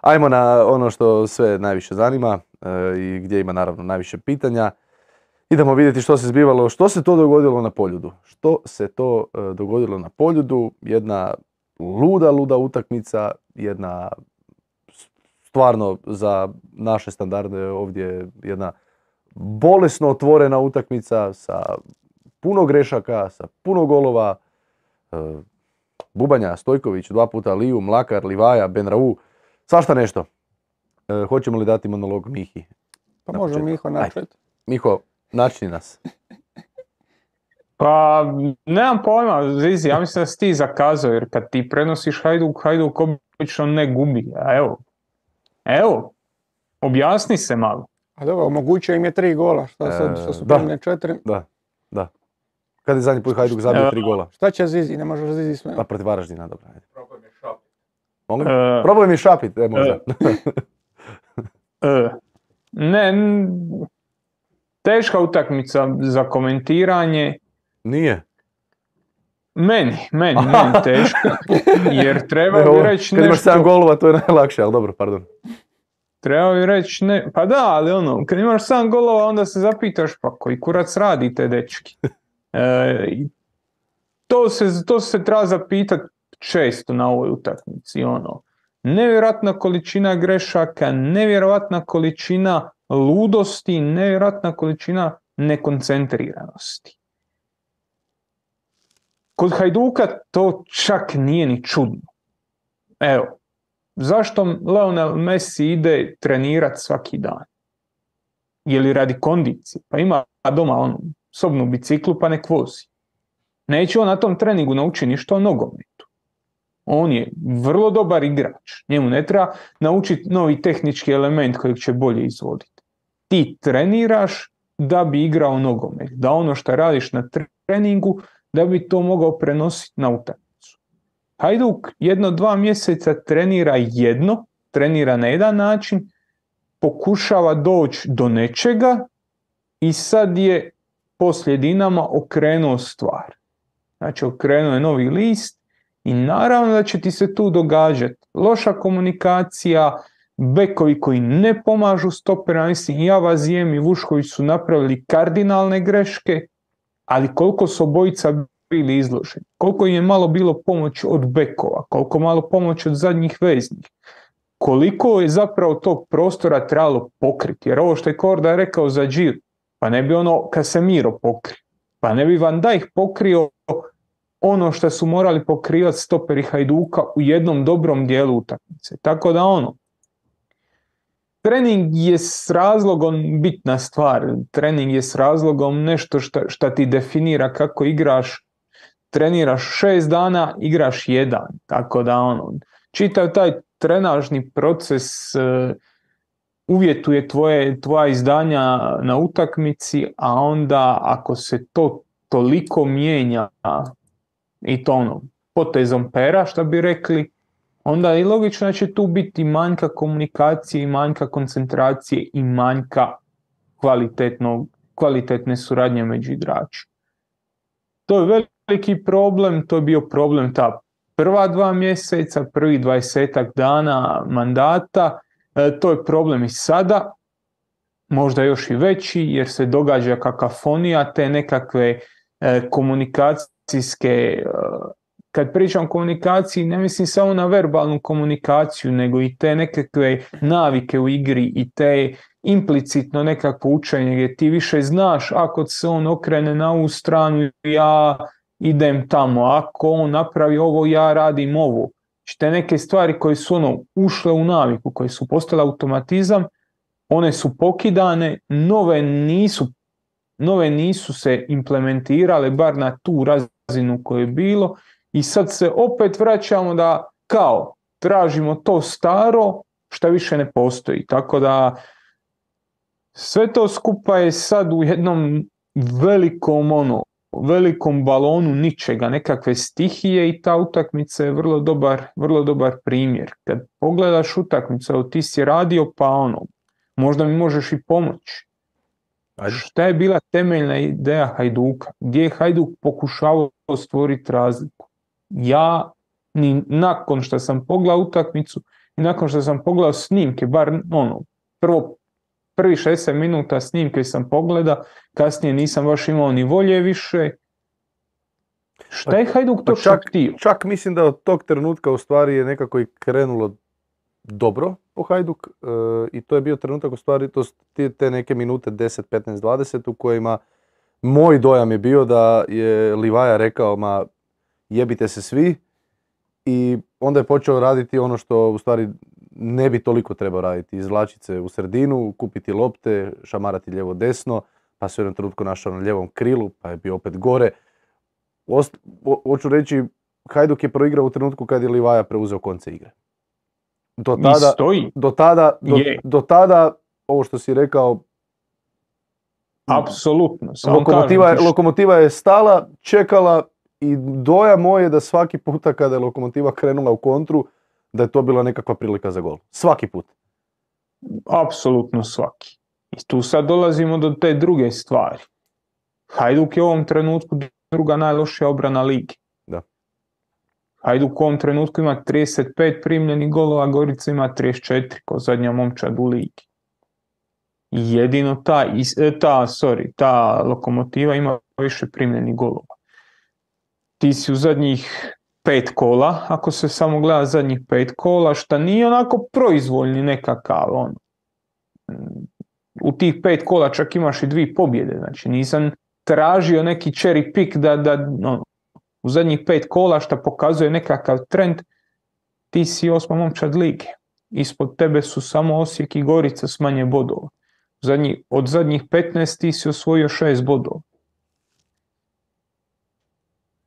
ajmo na ono što sve najviše zanima e, i gdje ima naravno najviše pitanja. Idemo vidjeti što se zbivalo, što se to dogodilo na Poljudu. Što se to e, dogodilo na Poljudu, jedna luda, luda utakmica, jedna stvarno za naše standarde ovdje jedna bolesno otvorena utakmica sa puno grešaka, sa puno golova. E, Bubanja, Stojković, dva puta Liju, Mlakar, Livaja, Benrau, svašta nešto. E, hoćemo li dati monolog Mihi? Pa može Miho načeti. Miho, načni nas. Pa, nemam pojma, Zizi, ja mislim da si ti zakazao, jer kad ti prenosiš Hajduk, Hajduk obično ne gubi. A evo, evo, objasni se malo. A dobro, omogućio im je tri gola, šta sad, što su da. primljene četiri. Da, da. Kad je zadnji put Hajduk zabio E, tri gola? Šta će Zizi, ne možeš Zizi sve. Pa protiv Varaždina, dobro. Ajde. Problem je šapit. Molim? E, Problem je šapit, e, možda. e, ne, n- teška utakmica za komentiranje. Nije. Meni, meni, meni teško, jer treba Ne, bi ovo, reći kad imaš sedam nešto, golova, to je najlakše, ali dobro, pardon. treba bi reći ne, pa da, ali ono, kad imaš sedam golova, onda se zapitaš, pa koji kurac radite, dečki? E, i to se, to se treba zapitati često na ovoj utakmici, ono, nevjerojatna količina grešaka, nevjerojatna količina ludosti, nevjerojatna količina nekoncentriranosti. Kod Hajduka to čak nije ni čudno. Evo, zašto Lionel Messi ide trenirati svaki dan? Je li radi kondicije? Pa ima doma onu sobnu biciklu pa nek vozi. Neće on na tom treningu naučiti ništa o nogometu. On je vrlo dobar igrač. Njemu ne treba naučiti novi tehnički element kojeg će bolje izvoditi. Ti treniraš da bi igrao nogomet. Da ono što radiš na treningu da bi to mogao prenositi na utakmicu. Hajduk jedno dva mjeseca trenira jedno, trenira na jedan način, pokušava doći do nečega i sad je poslije Dinama okrenuo stvar. Znači okrenuo je novi list i naravno da će ti se tu događati loša komunikacija, bekovi koji ne pomažu stoperima, mislim Javazijem i Vušković su napravili kardinalne greške, ali koliko su obojica bili izloženi, koliko im je malo bilo pomoć od bekova, koliko malo pomoć od zadnjih veznih, koliko je zapravo tog prostora trebalo pokriti, jer ovo što je Korda rekao za Džir, pa ne bi ono Casemiro pokrio, pa ne bi Van Dijk pokrio ono što su morali pokrivati stoperi Hajduka u jednom dobrom dijelu utakmice. Tako da ono, trening je s razlogom bitna stvar, trening je s razlogom nešto što ti definira kako igraš, treniraš šest dana, igraš jedan, tako da ono, čitav taj trenažni proces uh, uvjetuje tvoje, tvoja izdanja na utakmici, a onda ako se to toliko mijenja i to ono, potezom pera, što bi rekli, onda je logično da će tu biti manjka komunikacije i manjka koncentracije i manjka kvalitetne suradnje među igračima. To je veliki problem, to je bio problem ta prva dva mjeseca, prvi dvadesetak dana mandata, e, to je problem i sada, možda još i veći jer se događa kakafonija, te nekakve e, komunikacijske, e, kad pričam o komunikaciji ne mislim samo na verbalnu komunikaciju, nego i te nekakve navike u igri i te implicitno nekakvo učenje gdje ti više znaš ako se on okrene na ovu stranu ja idem tamo, ako on napravi ovo ja radim ovo. Te neke stvari koje su ono ušle u naviku, koje su postale automatizam, one su pokidane, nove nisu, nove nisu se implementirale bar na tu razinu koju je bilo I sad se opet vraćamo da kao tražimo to staro što više ne postoji. Tako da sve to skupa je sad u jednom velikom ono, velikom balonu ničega, nekakve stihije i ta utakmica je vrlo dobar, vrlo dobar primjer. Kad pogledaš utakmicu, evo ti si radio pa ono, možda mi možeš i pomoći. Šta je bila temeljna ideja Hajduka? Gdje je Hajduk pokušavao stvoriti razliku? Ja, ni nakon što sam pogledao utakmicu i nakon što sam pogledao snimke, bar ono, prvo prvi šezdeset minuta snimke sam pogledao, kasnije nisam baš imao ni volje više. Šta je Hajduk to čak, htio? čak mislim da od tog trenutka u stvari je nekako i krenulo dobro po Hajduk e, i to je bio trenutak u stvari, to te, te neke minute deset, petnaest, dvadeset u kojima moj dojam je bio da je Livaja rekao ma jebite se svi i onda je počeo raditi ono što u stvari ne bi toliko trebao raditi. Izvlačiti se u sredinu, kupiti lopte, šamarati lijevo desno, pa se u jednom trenutku našao na lijevom krilu, pa je bio opet gore. Ost, o, hoću reći, Hajduk je proigrao u trenutku kad je Livaja preuzeo konce igre. Do tada, do tada, do, do tada, ovo što si rekao, apsolutno. Lokomotiva, lokomotiva je stala, čekala i dojam moj je da svaki puta kada je Lokomotiva krenula u kontru, da je to bila nekakva prilika za gol. Svaki put. Apsolutno svaki. I tu sad dolazimo do te druge stvari. Hajduk je u ovom trenutku druga najlošija obrana ligi. Da. Hajduk u ovom trenutku ima trideset pet primljenih golova, Gorica ima trideset četiri kao zadnja momčad u ligi. Jedino ta, ta, sorry, ta Lokomotiva ima više primljenih golova. Ti si u zadnjih pet kola, ako se samo gleda zadnjih pet kola, šta nije onako proizvoljni nekakav, ono. U tih pet kola čak imaš i dvije pobjede, znači nisam tražio neki cherry pick da, da ono, u zadnjih pet kola šta pokazuje nekakav trend, ti si osma momčad lige. Ispod tebe su samo Osijek i Gorica s manje bodova. Zadnji, od zadnjih petnaest ti si osvojio šest bodova.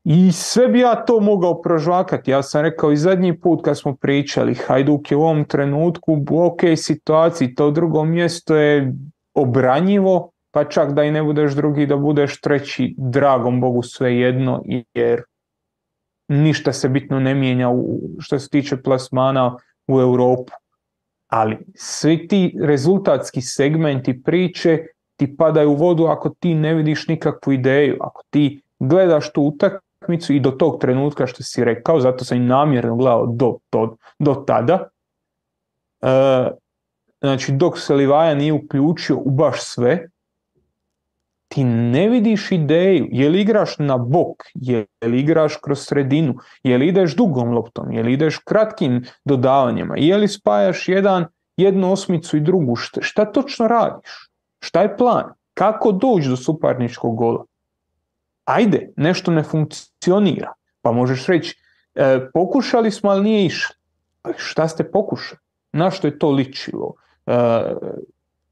I sve bi ja to mogao prožvakati. Ja sam rekao i zadnji put kad smo pričali, Hajduk je u ovom trenutku u ok situaciji, to drugo mjesto je obranjivo, pa čak da i ne budeš drugi, da budeš treći, dragom Bogu svejedno, jer ništa se bitno ne mijenja u, što se tiče plasmana u Europu. Ali svi ti rezultatski segmenti priče ti padaju u vodu ako ti ne vidiš nikakvu ideju, ako ti gledaš tu utakmicu i do tog trenutka što si rekao, zato sam i namjerno gledao do, do, do tada. E, znači dok se Livaja nije uključio u baš sve, ti ne vidiš ideju, je li igraš na bok, je li igraš kroz sredinu, je li ideš dugom loptom, je li ideš kratkim dodavanjima, je li spajaš jedan, jednu osmicu i drugu, šta, šta točno radiš, šta je plan, kako doći do suparničkog gola. Ajde, nešto ne funkcionira, pa možeš reći, e, pokušali smo, ali nije išlo. Šta ste pokušali? Na što je to ličilo? E,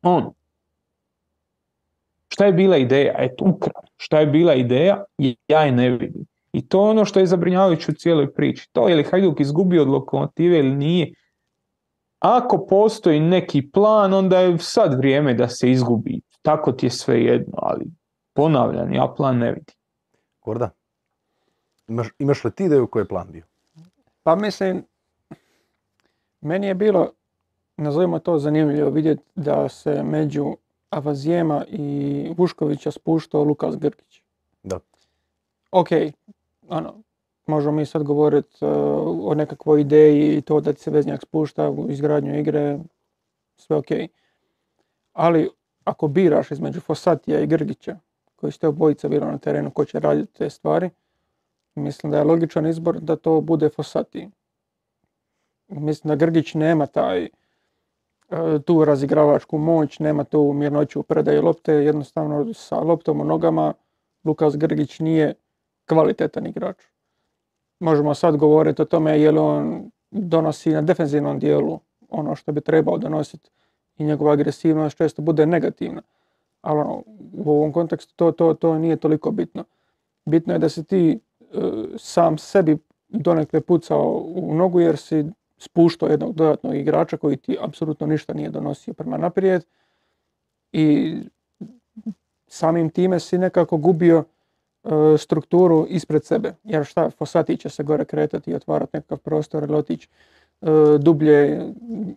on. Šta je bila ideja? Eto, ukratko. Šta je bila ideja? Ja je ne vidim. I to je ono što je zabrinjavajuće u cijeloj priči. To je li Hajduk izgubio od Lokomotive ili nije? Ako postoji neki plan, onda je sad vrijeme da se izgubi. Tako ti je sve jedno, ali ponavljam, ja plan ne vidim. Gorda, imaš, imaš li ti ideju koji je plan bio? Pa mislim, meni je bilo, nazovimo to zanimljivo, vidjeti da se među Avazijema i Vuškovića spuštao Lukas Grgić. Da. Ok, ono, možemo mi sad govoriti uh, o nekakvoj ideji i to da ti se veznjak spušta u izgradnju igre, sve ok. Ali ako biraš između Fossatija i Grgića, koji ste obojica bili na terenu, ko će raditi te stvari, mislim da je logičan izbor da to bude Fossati. Mislim da Grgić nema taj tu razigravačku moć, nema tu mirnoću u predaju lopte, jednostavno sa loptom u nogama Lukas Grgić nije kvalitetan igrač. Možemo sad govoriti o tome je li on donosi na defenzivnom dijelu ono što bi trebao donositi i njegova agresivnost često bude negativna. Ali ono, u ovom kontekstu to, to, to nije toliko bitno. Bitno je da si ti sam sebi donekle pucao u nogu jer si spuštao jednog dodatnog igrača koji ti apsolutno ništa nije donosio prema naprijed i samim time si nekako gubio uh, strukturu ispred sebe. Jer šta, Fossati će se gore kretati i otvarati nekakav prostor ili otići uh, dublje.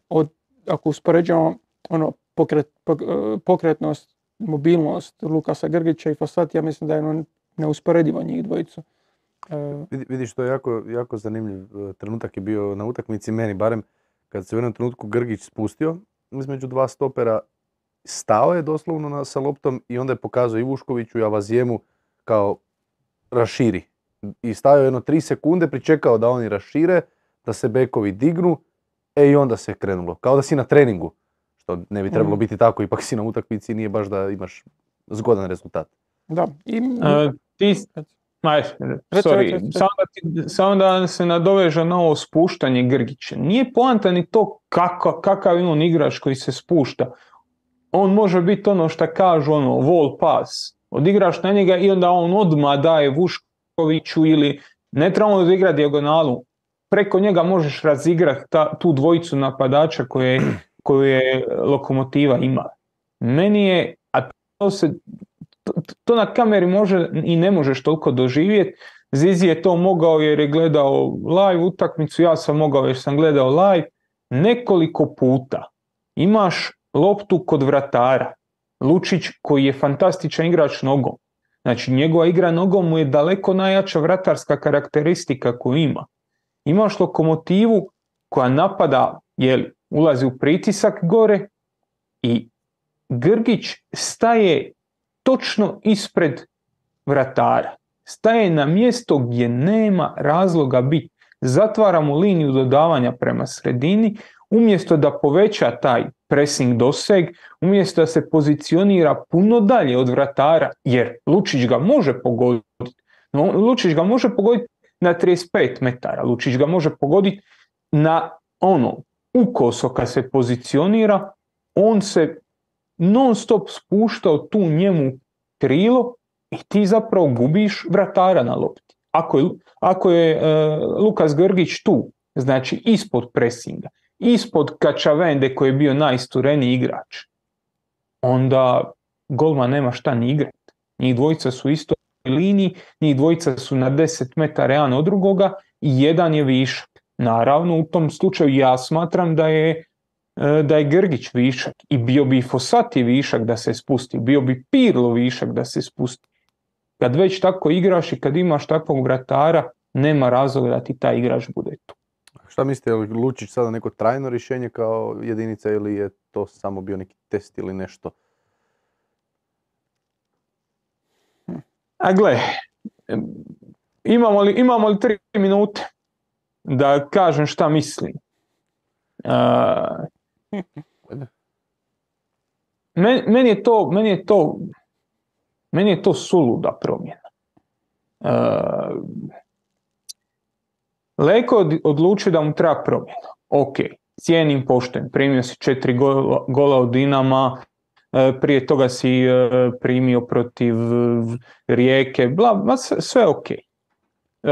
Od, ako uspoređujemo ono, pokret, pok, uh, pokretnost, mobilnost Lukasa Grgića i Fossati, ja mislim da je ono neusporedivo njih dvojicu. Uh, Vidiš, to je jako, jako zanimljiv trenutak je bio na utakmici, meni barem, kad se u jednom trenutku Grgić spustio između dva stopera, stao je doslovno na, sa loptom i onda je pokazao i Vuškoviću i Avazijemu kao raširi. I stavio jedno tri sekunde, pričekao da oni rašire, da se bekovi dignu, e i onda se krenulo. Kao da si na treningu, što ne bi trebalo mm. biti tako, ipak si na utakmici, nije baš da imaš zgodan rezultat. Da. I... Uh, ti... Aj, sorry, samo da, ti, samo da se nadoveže na ovo spuštanje Grgića. Nije poanta ni to kako, kakav je on igrač koji se spušta. On može biti ono što kažu, ono, wall pass. Odigraš na njega i onda on odmah daje Vuškoviću ili ne trebamo da igra dijagonalu. Preko njega možeš razigrati ta, tu dvojicu napadača koje, koje Lokomotiva ima. Meni je, a to se... To, to na kameri može i ne možeš toliko doživjeti. Zizi je to mogao jer je gledao live utakmicu, ja sam mogao jer sam gledao live. Nekoliko puta imaš loptu kod vratara. Lučić koji je fantastičan igrač nogom. Znači njegova igra nogom mu je daleko najjača vratarska karakteristika koju ima. Imaš Lokomotivu koja napada, jel, ulazi u pritisak gore i Grgić staje točno ispred vratara. Staje na mjesto gdje nema razloga biti. Zatvara mu liniju dodavanja prema sredini, umjesto da poveća taj pressing doseg, umjesto da se pozicionira puno dalje od vratara, jer Lučić ga može pogoditi. No, Lučić ga može pogoditi na trideset pet metara. Lučić ga može pogoditi na ono, ukoso kad se pozicionira, on se non stop spuštao tu njemu krilo i ti zapravo gubiš vratara na lopti. Ako je, ako je uh, Lukas Grgić tu, znači ispod presinga, ispod Kačavende koji je bio najistureniji igrač, onda golman nema šta ni igrati. Njih dvojica su isto liniji, njih dvojica su na deset metara jedan od drugoga i jedan je višak. Naravno, u tom slučaju ja smatram da je da je Grgić višak i bio bi Fossati višak da se spusti, bio bi Pirlo višak da se spusti. Kad već tako igraš i kad imaš takvog vratara, nema razloga da ti taj igrač bude tu. Šta mislite, je li Lučić sada neko trajno rješenje kao jedinica ili je to samo bio neki test ili nešto? A gle, imamo li, imamo li tri minute da kažem šta mislim? Uh, meni, meni je to meni je to meni je to suluda promjena. Uh, Leko je odlučio da mu treba promjena. Ok, cijenim, poštujem, primio si četiri gola, gola od Dinama, uh, prije toga si uh, primio protiv Rijeke, bla, bla, sve ok. Uh,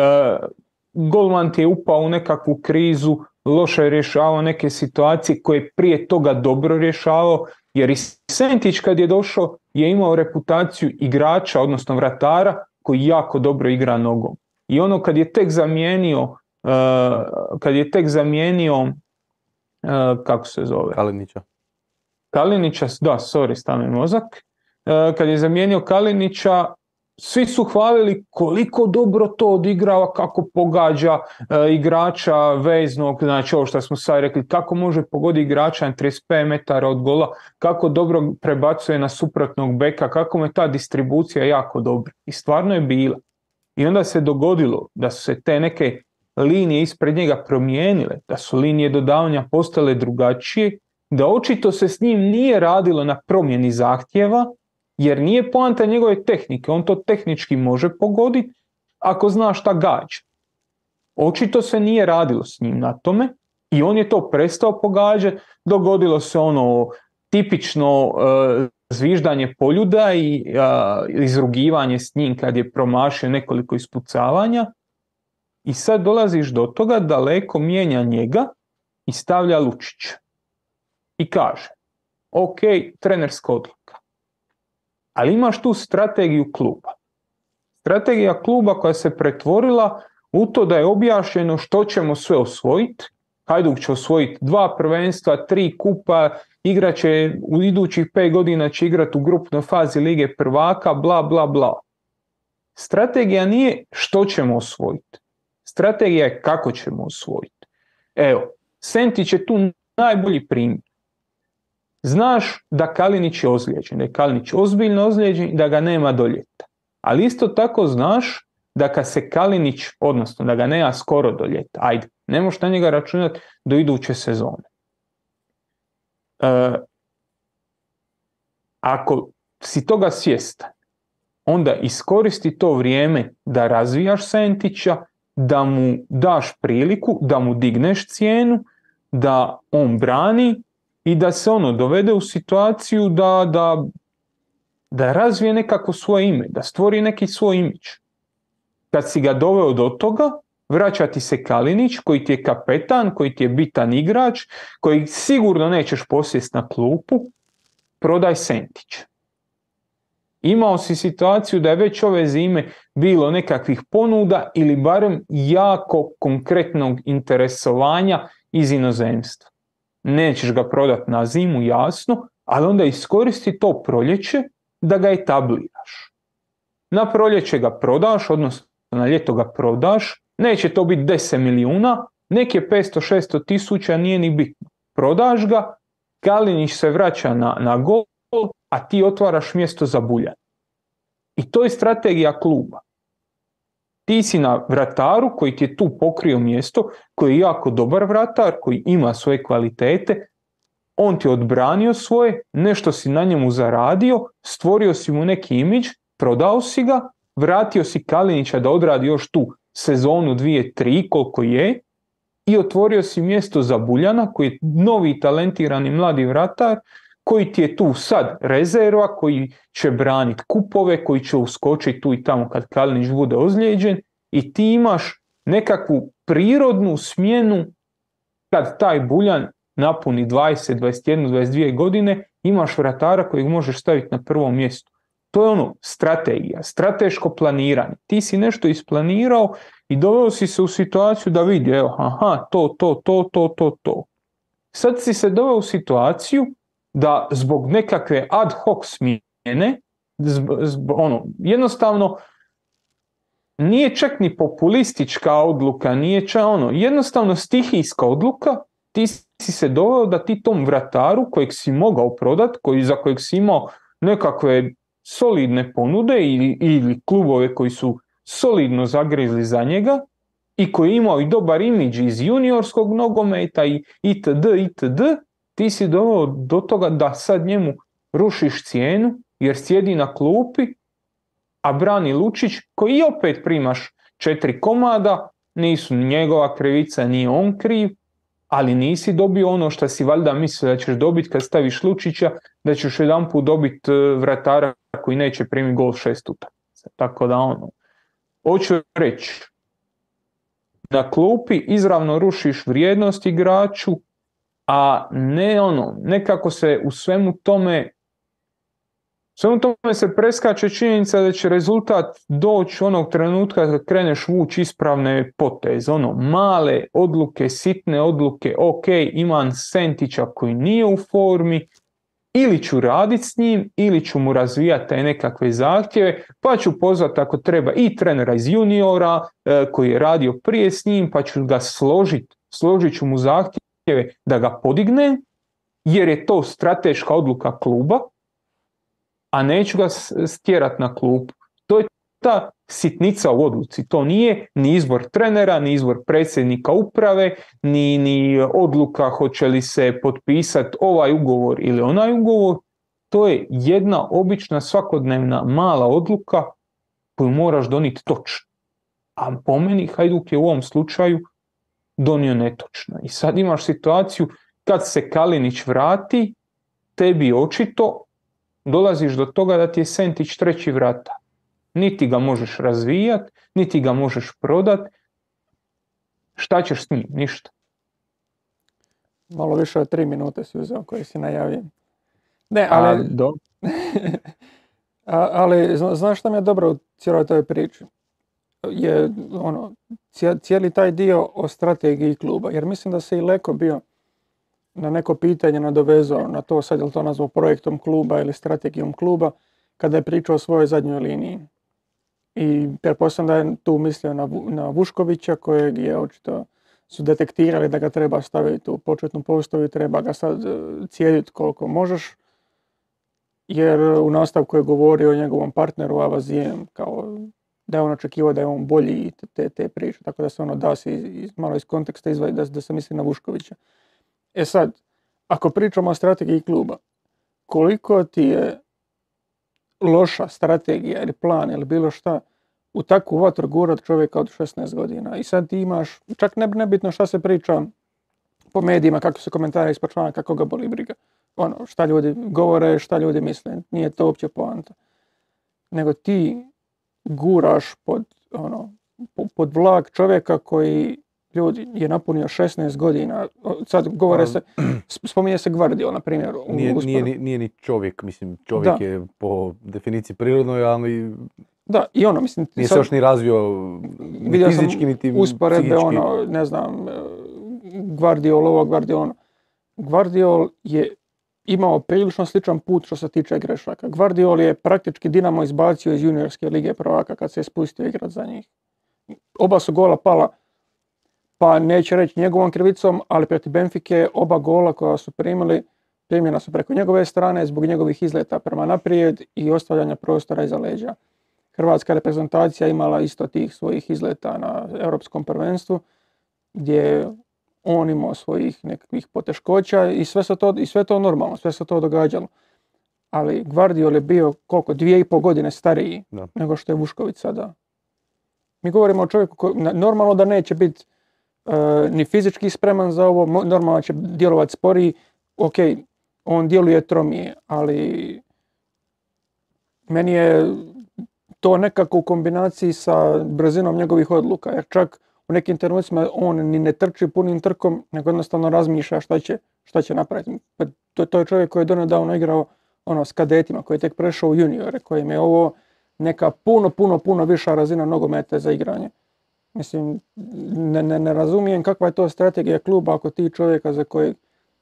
golman ti je upao u nekakvu krizu, loše je rješavao neke situacije koje je prije toga dobro rješavao, jer i Sentić kad je došao je imao reputaciju igrača, odnosno vratara, koji jako dobro igra nogom. I ono kad je tek zamijenio, uh, kad je tek zamijenio, uh, kako se zove? Kalinića. Kalinića, da, sorry, stane mozak. Uh, kad je zamijenio Kalinića, svi su hvalili koliko dobro to odigrava, kako pogađa e, igrača veznog, znači ovo što smo sad rekli, kako može pogoditi igrača na trideset pet metara od gola, kako dobro prebacuje na suprotnog beka, kako mu je ta distribucija jako dobra. I stvarno je bila. I onda se dogodilo da su se te neke linije ispred njega promijenile, da su linije dodavanja postale drugačije, da očito se s njim nije radilo na promjeni zahtjeva, jer nije poanta njegove tehnike, on to tehnički može pogoditi ako zna šta gađa. Očito se nije radilo s njim na tome i on je to prestao pogađati, dogodilo se ono tipično uh, zviždanje poljuda i uh, izrugivanje s njim kad je promašio nekoliko ispucavanja. I sad dolaziš do toga da Leko mijenja njega i stavlja Lučića. I kaže, ok, trenerska odluka. Ali imaš tu strategiju kluba. Strategija kluba koja se pretvorila u to da je objašnjeno što ćemo sve osvojiti. Hajduk će osvojiti dva prvenstva, tri kupa, igrat će u idućih pet godina će igrati u grupnoj fazi Lige prvaka, bla, bla, bla. Strategija nije što ćemo osvojiti. Strategija je kako ćemo osvojiti. Evo, Sentić je tu najbolji primjer. Znaš da Kalinić je ozlijeđen, da je Kalinić ozbiljno ozlijeđen i da ga nema do ljeta. Ali isto tako znaš da kad se Kalinić, odnosno da ga nema skoro do ljeta, ajde, ne možeš na njega računati do iduće sezone. E, ako si toga svjestan, onda iskoristi to vrijeme da razvijaš Sentića, da mu daš priliku, da mu digneš cijenu, da on brani i da se ono dovede u situaciju da, da, da razvije nekako svoje ime, da stvori neki svoj imidž. Kad si ga doveo do toga, vraća ti se Kalinić koji ti je kapetan, koji ti je bitan igrač, koji sigurno nećeš posjesti na klupu, prodaj Sentić. Imao si situaciju da je već ove zime bilo nekakvih ponuda ili barem jako konkretnog interesovanja iz inozemstva. Nećeš ga prodati na zimu, jasno, ali onda iskoristi to proljeće da ga etabliraš. Na proljeće ga prodaš, odnosno na ljeto ga prodaš, neće to biti deset milijuna, nek je petsto šesto tisuća, nije ni bitno. Prodaš ga, Kalinić se vraća na, na gol, a ti otvaraš mjesto za Buljana. I to je strategija kluba. Ti si na vrataru koji ti je tu pokrio mjesto, koji je jako dobar vratar, koji ima svoje kvalitete, on ti je odbranio svoje, nešto si na njemu zaradio, stvorio si mu neki imidž, prodao si ga, vratio si Kalinića da odradi još tu sezonu, dvije, tri, koliko je, i otvorio si mjesto za Buljana, koji je novi talentirani mladi vratar, koji ti je tu sad rezerva, koji će braniti kupove, koji će uskočiti tu i tamo kad Kalinić bude ozlijeđen, i ti imaš nekakvu prirodnu smjenu kad taj Buljan napuni dvadeset, dvadeset jedna, dvadeset dvije godine, imaš vratara kojeg možeš staviti na prvo mjesto. To je ono strategija, strateško planiranje. Ti si nešto isplanirao i doveo si se u situaciju da vidi, evo, aha, to, to, to, to, to, to. Sad si se doveo u situaciju da zbog nekakve ad hoc smjene, zb, zb, ono, jednostavno nije čak ni populistička odluka, nije čak ono, jednostavno stihijska odluka, ti si se doveo da ti tom vrataru kojeg si mogao prodati, koji, za kojeg si imao nekakve solidne ponude ili, ili klubove koji su solidno zagrizli za njega i koji je imao i dobar imidž iz juniorskog nogometa i itd. itd. Ti si doveo do toga da sad njemu rušiš cijenu jer sjedi na klupi, a brani Lučić koji opet primaš četiri komada, nisu njegova krivica, nije on kriv, ali nisi dobio ono što si valjda mislio da ćeš dobiti kad staviš Lučića, da ćeš jedanput dobiti vratara koji neće primiti gol šest utakmica. Tako da ono, hoću reći, na klupi izravno rušiš vrijednost igraču, a ne ono, nekako se u svemu tome svemu tome se preskače činjenica da će rezultat doći onog trenutka kad kreneš vući ispravne poteze, ono, male odluke, sitne odluke, ok, imam Sentića koji nije u formi, ili ću raditi s njim, ili ću mu razvijati te nekakve zahtjeve, pa ću pozvati ako treba i trenera iz juniora e, koji je radio prije s njim, pa ću ga složiti, složit ću mu zahtjeve da ga podigne, jer je to strateška odluka kluba, a neću ga stjerati na klupu. To je ta sitnica u odluci. To nije ni izbor trenera, ni izbor predsjednika uprave, ni, ni odluka hoće li se potpisati ovaj ugovor ili onaj ugovor. To je jedna obična svakodnevna mala odluka koju moraš donijeti točno. A po meni Hajduk je u ovom slučaju donio netočno. I sad imaš situaciju kad se Kalinić vrati, tebi očito dolaziš do toga da ti je sentić treći vrata. Niti ga možeš razvijat, niti ga možeš prodat. Šta ćeš s njim? Ništa. Malo više od tri minute si uzeo koje si najavio. Ne, ali... A, do... A, ali znaš šta mi je dobro u cijeloj toj priči? Je ono, cijeli taj dio o strategiji kluba. Jer mislim da se i Leko bio na neko pitanje nadovezao na to, sad je li to nazvao projektom kluba ili strategijom kluba, kada je pričao o svojoj zadnjoj liniji. I pretpostavljam da je tu mislio na, na Vuškovića, kojeg je očito su detektirali da ga treba staviti u početnu postavu i treba ga sad cijediti koliko možeš. Jer u nastavku je govorio o njegovom partneru Avazijem, kao da je on očekivao da je on bolji i te, te priče, tako da se ono da se iz, malo iz konteksta izvadi da, da se misli na Vuškovića. E sad, ako pričamo o strategiji kluba, koliko ti je loša strategija ili plan ili bilo šta u takvu vatru gurat čovjeka od šesnaest godina i sad ti imaš, čak ne, nebitno šta se priča po medijima, kako se komentari ispod člana, kako ga boli briga. Ono, šta ljudi govore, šta ljudi misle, nije to uopće poanta. Nego ti guraš pod, ono, pod vlak čovjeka koji ljudi je napunio šesnaest godina. Sad govore se, spominje se Gvardiol, na primjer. Nije, nije, nije ni čovjek, mislim, čovjek da. Je po definiciji prirodnoj, ali da, i ono, mislim, nije se još ni razvio ni fizički, niti usporedbe, ono, ne znam, Gvardiol ovo, Gvardiol ono. Gvardiol je imao prilično sličan put što se tiče grešaka. Gvardiol je praktički Dinamo izbacio iz juniorske lige prvaka kad se je spustio igrat za njih. Oba su gola pala, pa neće reći njegovom krivicom, ali protiv Benfike oba gola koja su primili, primljena su preko njegove strane zbog njegovih izleta prema naprijed i ostavljanja prostora iza leđa. Hrvatska reprezentacija imala isto tih svojih izleta na europskom prvenstvu, gdje on imao svojih nekakvih poteškoća i sve, to, i sve to normalno, sve se to događalo. Ali Gvardiol je bio koliko, dvije i pol godine stariji da. Nego što je Vušković sada. Mi govorimo o čovjeku koji normalno da neće biti uh, ni fizički spreman za ovo, normalno će djelovati sporiji. Ok, on djeluje tromije, ali meni je to nekako u kombinaciji sa brzinom njegovih odluka, jer čak u nekim trenucima on ni ne trči punim trkom, nego jednostavno razmišlja šta će, šta će napraviti. To, to je čovjek koji je donedavno igrao ono, s kadetima, koji je tek prešao u juniore, kojim je ovo neka puno, puno, puno viša razina nogometa za igranje. Mislim, ne, ne, ne razumijem kakva je to strategija kluba ako ti čovjeka za kojeg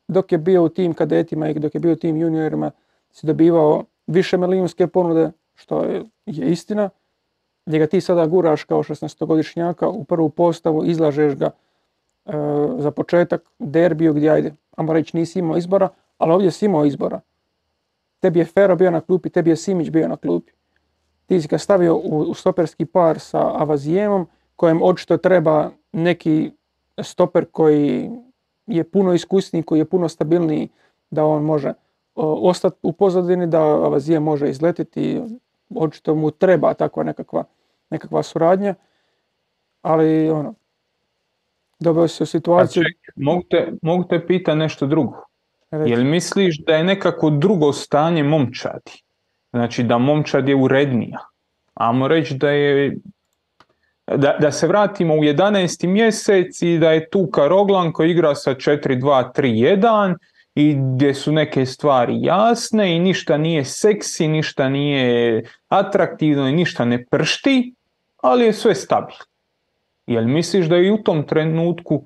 dok je bio u tim kadetima i dok je bio u tim juniorima si dobivao više milijunske ponude, što je, je istina, gdje ga ti sada guraš kao šesnaestogodišnjaka u prvu postavu, izlažeš ga e, za početak derbiju gdje, ajde, ajmo reći nisi imao izbora, ali ovdje si imao izbora. Tebi je Fero bio na klupi, tebi je Simić bio na klupi. Ti si ga stavio u, u stoperski par sa Avazijemom, kojem očito treba neki stoper koji je puno iskusniji, koji je puno stabilniji, da on može o, ostati u pozadini, da Avazijem može izletiti. Očito mu treba takva nekakva, nekakva suradnja, ali ono, dobio se u situaciju... Ček, mogu te, mogu te pitati nešto drugo. Jel misliš da je nekako drugo stanje momčadi? Znači da momčad je urednija? Ajmo reći da je... Da, da se vratimo u jedanaesti mjesec i da je tu Karoglan koji igra sa četiri dva tri jedan i gdje su neke stvari jasne i ništa nije seksi, ništa nije atraktivno i ništa ne pršti, ali je sve stabilno. Jel misliš da je u tom trenutku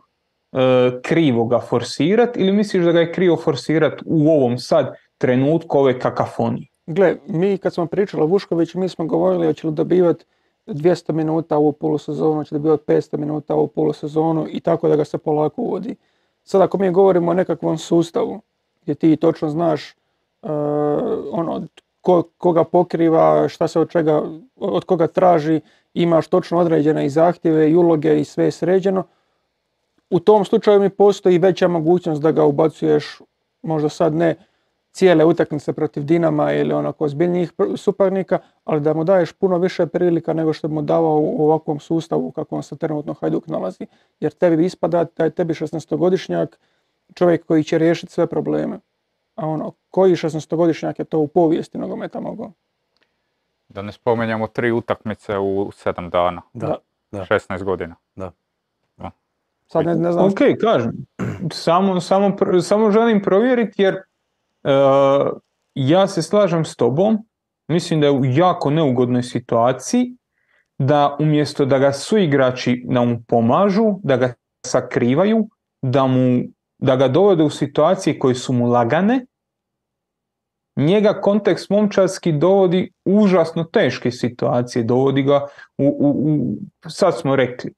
e, krivo ga forsirati ili misliš da ga je krivo forsirati u ovom sad trenutku ove kakafonije? Gle, mi kad smo pričali o Vuškoviću, mi smo govorili hoće li dobivati dvjesto minuta u polusezonu, hoće dobivati petsto minuta u polusezonu i tako da ga se polako uvodi. Sad ako mi govorimo o nekakvom sustavu gdje ti točno znaš uh, ono, ko, koga pokriva, šta se od, čega, od koga traži, imaš točno određene i zahtjeve i uloge i sve je sređeno, u tom slučaju mi postoji veća mogućnost da ga ubacuješ, možda sad ne cijele utakmice protiv Dinama ili onako ozbiljnijih suparnika, ali da mu daješ puno više prilika nego što bi mu davao u ovakvom sustavu u kakvom se trenutno Hajduk nalazi. Jer tebi ispada da je tebi šesnaestogodišnjak čovjek koji će riješiti sve probleme. a ono, koji šesnaestogodišnjak je to u povijesti nogometa mogao? Da ne spomenjamo tri utakmice u sedam dana. Da. Da. šesnaest godina. Da. Da. Sad ne, ne znam. Ok, kažem. Samo, samo, samo želim provjeriti jer uh, ja se slažem s tobom. Mislim da je u jako neugodnoj situaciji da umjesto da ga suigrači da mu pomažu, da ga sakrivaju, da, mu, da ga dovode u situacije koje su mu lagane, njega kontekst momčarski dovodi u užasno teške situacije, dovodi ga u, u, u, sad smo rekli,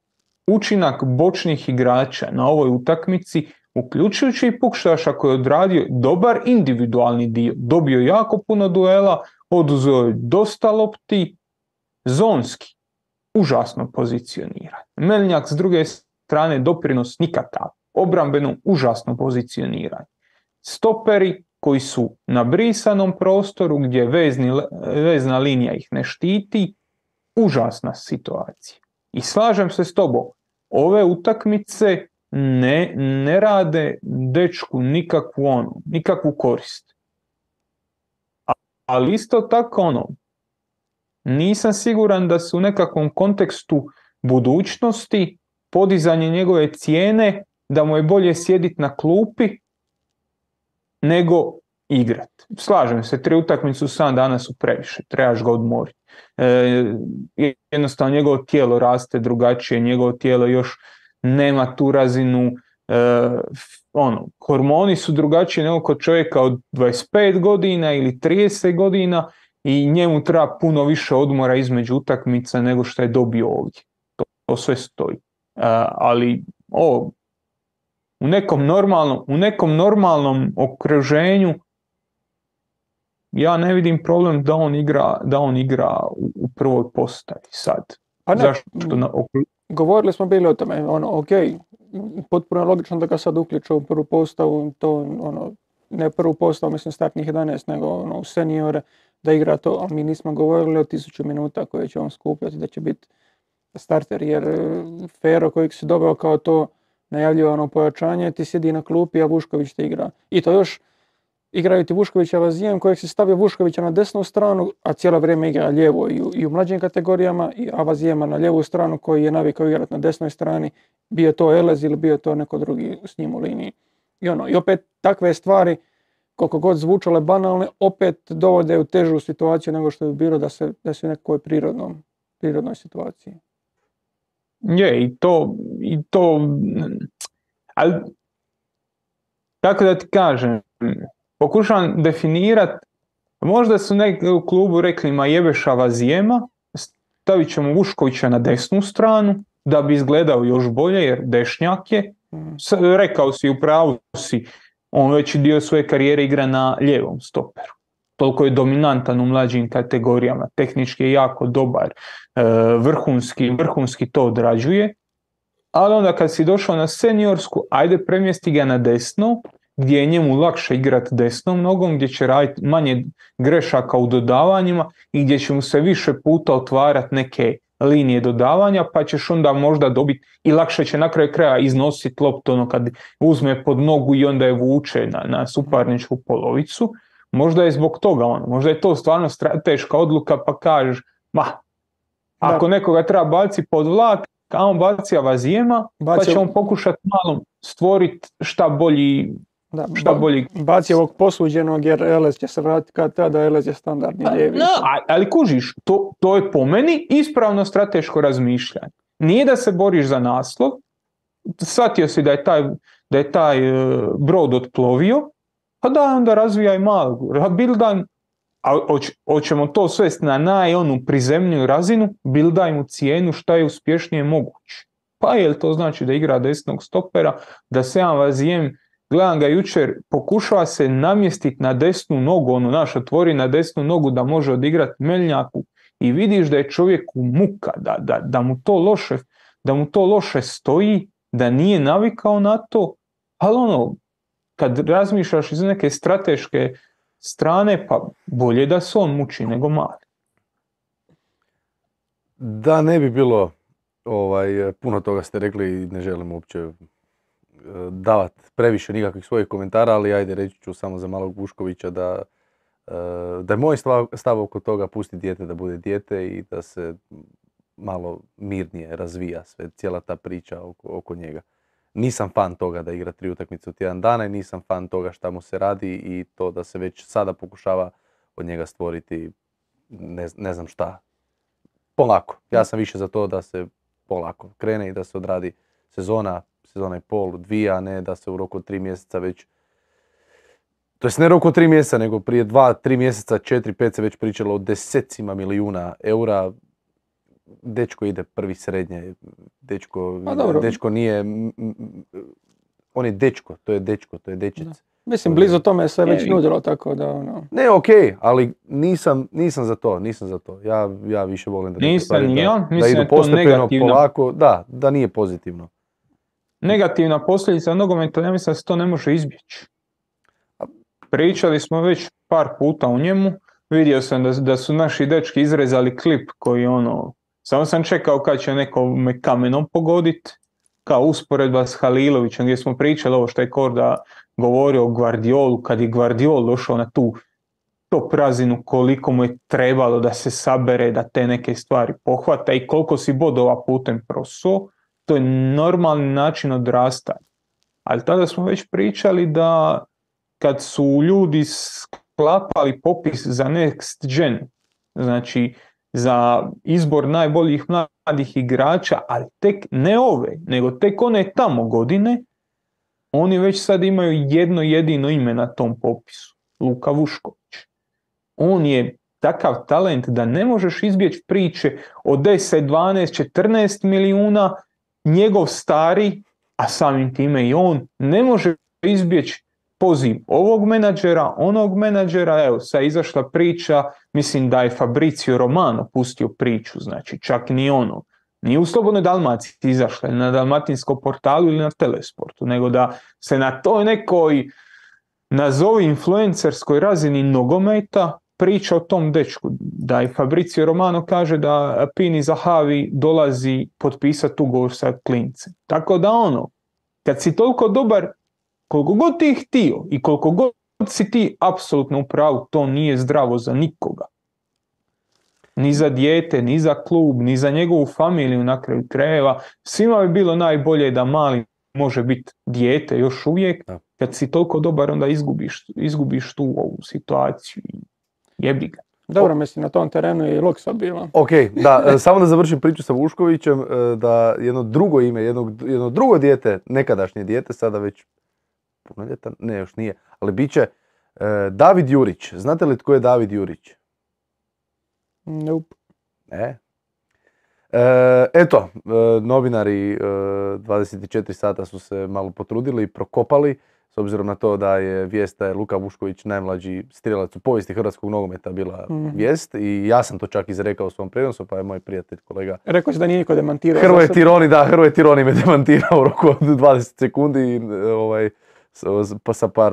učinak bočnih igrača na ovoj utakmici, uključujući i Pukštaša koji je odradio dobar individualni dio, dobio jako puno duela, oduzeo je dosta lopti, zonski, užasno pozicioniran. Meljnjak s druge strane doprinos nikakav, obrambeno užasno pozicioniran. Stoperi koji su na brisanom prostoru gdje vezni, vezna linija ih ne štiti, užasna situacija. I slažem se s tobom, ove utakmice ne, ne rade dečku nikakvu onu, nikakvu korist. Ali isto tako ono, nisam siguran da se u nekakvom kontekstu budućnosti, podizanje njegove cijene, da mu je bolje sjediti na klupi nego igrat. Slažem se, tri utakmice u sedam dana su previše, trebaš ga odmoriti. E, jednostavno njegovo tijelo raste drugačije, njegovo tijelo još nema tu razinu, e, ono, hormoni su drugačiji nego kod čovjeka od dvadeset pet godina ili trideset godina i njemu treba puno više odmora između utakmica nego što je dobio ovdje. To, to sve stoji. E, ali ovo, u nekom normalnom, u nekom normalnom okruženju ja ne vidim problem da on igra, da on igra u, u prvoj postavi sad. Pa ne, Zašto na, govorili smo bili o tome, ono, ok, potpuno je logično da ga sad uključu u prvu postavu, to ono, ne prvu postavu, mislim startnih jedanaest, nego ono, u seniore, da igra to, ali mi nismo govorili o tisuću minuta koje će on skupljati, da će biti starter, jer Fero kojeg si doveo kao to najavljivano pojačanje, ti sjedi na klupi, a Vušković ti igra. I to još igraju ti Vuškovića Vazijem kojeg si stavio Vuškovića na desnu stranu, a cijelo vrijeme igra lijevo i u, i u mlađim kategorijama, a Vazijema na lijevu stranu koji je navikao igrati na desnoj strani, bio to Elez ili bio to neko drugi s njim u liniji. I, ono, i opet takve stvari, koliko god zvučale banalne, opet dovode u težu situaciju nego što bi bilo da se da se u nekoj prirodnom, prirodnoj situaciji. Je, i to, i to, ali, tako da ti kažem, pokušavam definirati, možda su neki u klubu rekli ma jebeša Vazijema, stavit ćemo Vuškovića na desnu stranu, da bi izgledao još bolje, jer dešnjak je, rekao si, u pravu si, on veći dio svoje karijere igra na lijevom stoperu. Toliko je dominantan u mlađim kategorijama, tehnički je jako dobar, vrhunski, vrhunski to odrađuje, ali onda kad si došao na seniorsku, ajde premjesti ga na desno, gdje je njemu lakše igrati desnom nogom, gdje će raditi manje grešaka u dodavanjima i gdje će mu se više puta otvarati neke linije dodavanja, pa ćeš onda možda dobiti i lakše će na kraju kraja iznositi loptu ono kad uzme pod nogu i onda je vuče na, na suparničku polovicu. Možda je zbog toga ono, možda je to stvarno strateška odluka pa kažeš, ma, ako da. Nekoga treba baciti pod vlak, a on baci Vazijema, baci, pa će on pokušati malo stvoriti šta bolji, da, šta ba, bolji... Baci ovog posuđenog jer Elez će se vratiti kad tada Elez je standardni lijevi. No, ali kužiš, to, to je po meni ispravno strateško razmišljanje. Nije da se boriš za naslov, shvatio si da je taj, da je taj uh, brod otplovio, pa da onda razvijaj malo, bildan, a hoćemo to svesti na naj onu prizemniju razinu, bildaj mu cijenu šta je uspješnije moguće. Pa jel to znači da igra desnog stopera, da se ja Vazijem, gledam ga jučer, pokušava se namjestiti na desnu nogu, ono naš otvori na desnu nogu da može odigrati Meljnjaku i vidiš da je čovjeku muka, da, da, da, mu to loše, da mu to loše stoji, da nije navikao na to, ali ono, kad razmišljaš iz neke strateške strane, pa bolje da se on muči nego mali. Da ne bi bilo, ovaj, puno toga ste rekli i ne želim uopće davat previše nikakvih svojih komentara, ali ajde reći ću samo za malog Vuškovića da, da je moj stav oko toga pusti dijete da bude dijete i da se malo mirnije razvija sve, cijela ta priča oko, oko njega. Nisam fan toga da igra tri utakmice u tjedan dana i nisam fan toga šta mu se radi i to da se već sada pokušava od njega stvoriti ne, ne znam šta. Polako. Ja sam više za to da se polako krene i da se odradi sezona, sezona i pol, dvije, a ne da se u roku od tri mjeseca već... To jest ne roku od tri mjeseca, nego prije dva, tri mjeseca, četiri, pet se već pričalo o desecima milijuna eura. Dečko ide prvi srednje, dečko, dečko nije... On je dečko, to je dečko, to je dečic. Da. Mislim, blizu tome se već nudilo, tako da ono... Ne, okej, okay, ali nisam, nisam za to, nisam za to. Ja, ja više volim da, stvari, da, da idu postepeno, polako, da, da nije pozitivno. Negativna posljedica nogometa, ja mislim da se to ne može izbjeći. Pričali smo već par puta o njemu, vidio sam da, da su naši dečki izrezali klip koji ono... Samo sam čekao kad će neko me kamenom pogoditi, kao usporedba s Halilovićem gdje smo pričali ovo što je Korda govorio o Guardiolu, kad je Guardiol došao na tu top razinu koliko mu je trebalo da se sabere, da te neke stvari pohvata i koliko si bodova putem prosuo, to je normalni način odrastanja. Ali tada smo već pričali da kad su ljudi sklapali popis za Next Gen, znači za izbor najboljih mladih igrača, ali tek ne ove, nego tek one tamo godine, oni već sad imaju jedno jedino ime na tom popisu, Luka Vušković. On je takav talent da ne možeš izbjeći priče o deset, dvanaest, četrnaest milijuna, njegov stari, a samim time i on, ne može izbjeći poziv ovog menadžera, onog menadžera. Evo, sad izašla priča, mislim da je Fabrizio Romano pustio priču, znači čak ni ono, nije u Slobodnoj Dalmaciji izašla, na Dalmatinskom portalu ili na Telesportu, nego da se na toj nekoj, nazovi influencerskoj razini nogometa, priča o tom dečku, da je Fabrizio Romano kaže da Pini Zahavi dolazi potpisati ugovor sa klincem. Tako da ono, kad si toliko dobar, koliko god ti htio i koliko god si ti apsolutno u pravu, to nije zdravo za nikoga. Ni za dijete, ni za klub, ni za njegovu familiju na kraju krajeva. Svima bi bilo najbolje da mali može biti dijete još uvijek. Kad si toliko dobar, onda izgubiš, izgubiš tu ovu situaciju i jebi ga. Dobro, mislim, na tom terenu je i Loksa bila. Ok, da, samo da završim priču sa Vuškovićem, da jedno drugo ime, jedno, jedno drugo dijete, nekadašnje dijete, sada već punoljetan, ne još nije, ali bit će uh, David Jurić. Znate li tko je David Jurić? Nope. Ne. E, eto, e, novinari e, dvadeset četiri sata su se malo potrudili i prokopali, s obzirom na to da je vijest da je Luka Vušković najmlađi strijelac u povijesti hrvatskog nogometa bila mm. vijest i ja sam to čak izrekao u svom prenosu, pa je moj prijatelj, kolega rekao si da nije niko demantirao. Hrvoje Tironi, da, Hrvoje Tironi me demantirao u roku od dvadeset sekundi i ovaj, pa sa par,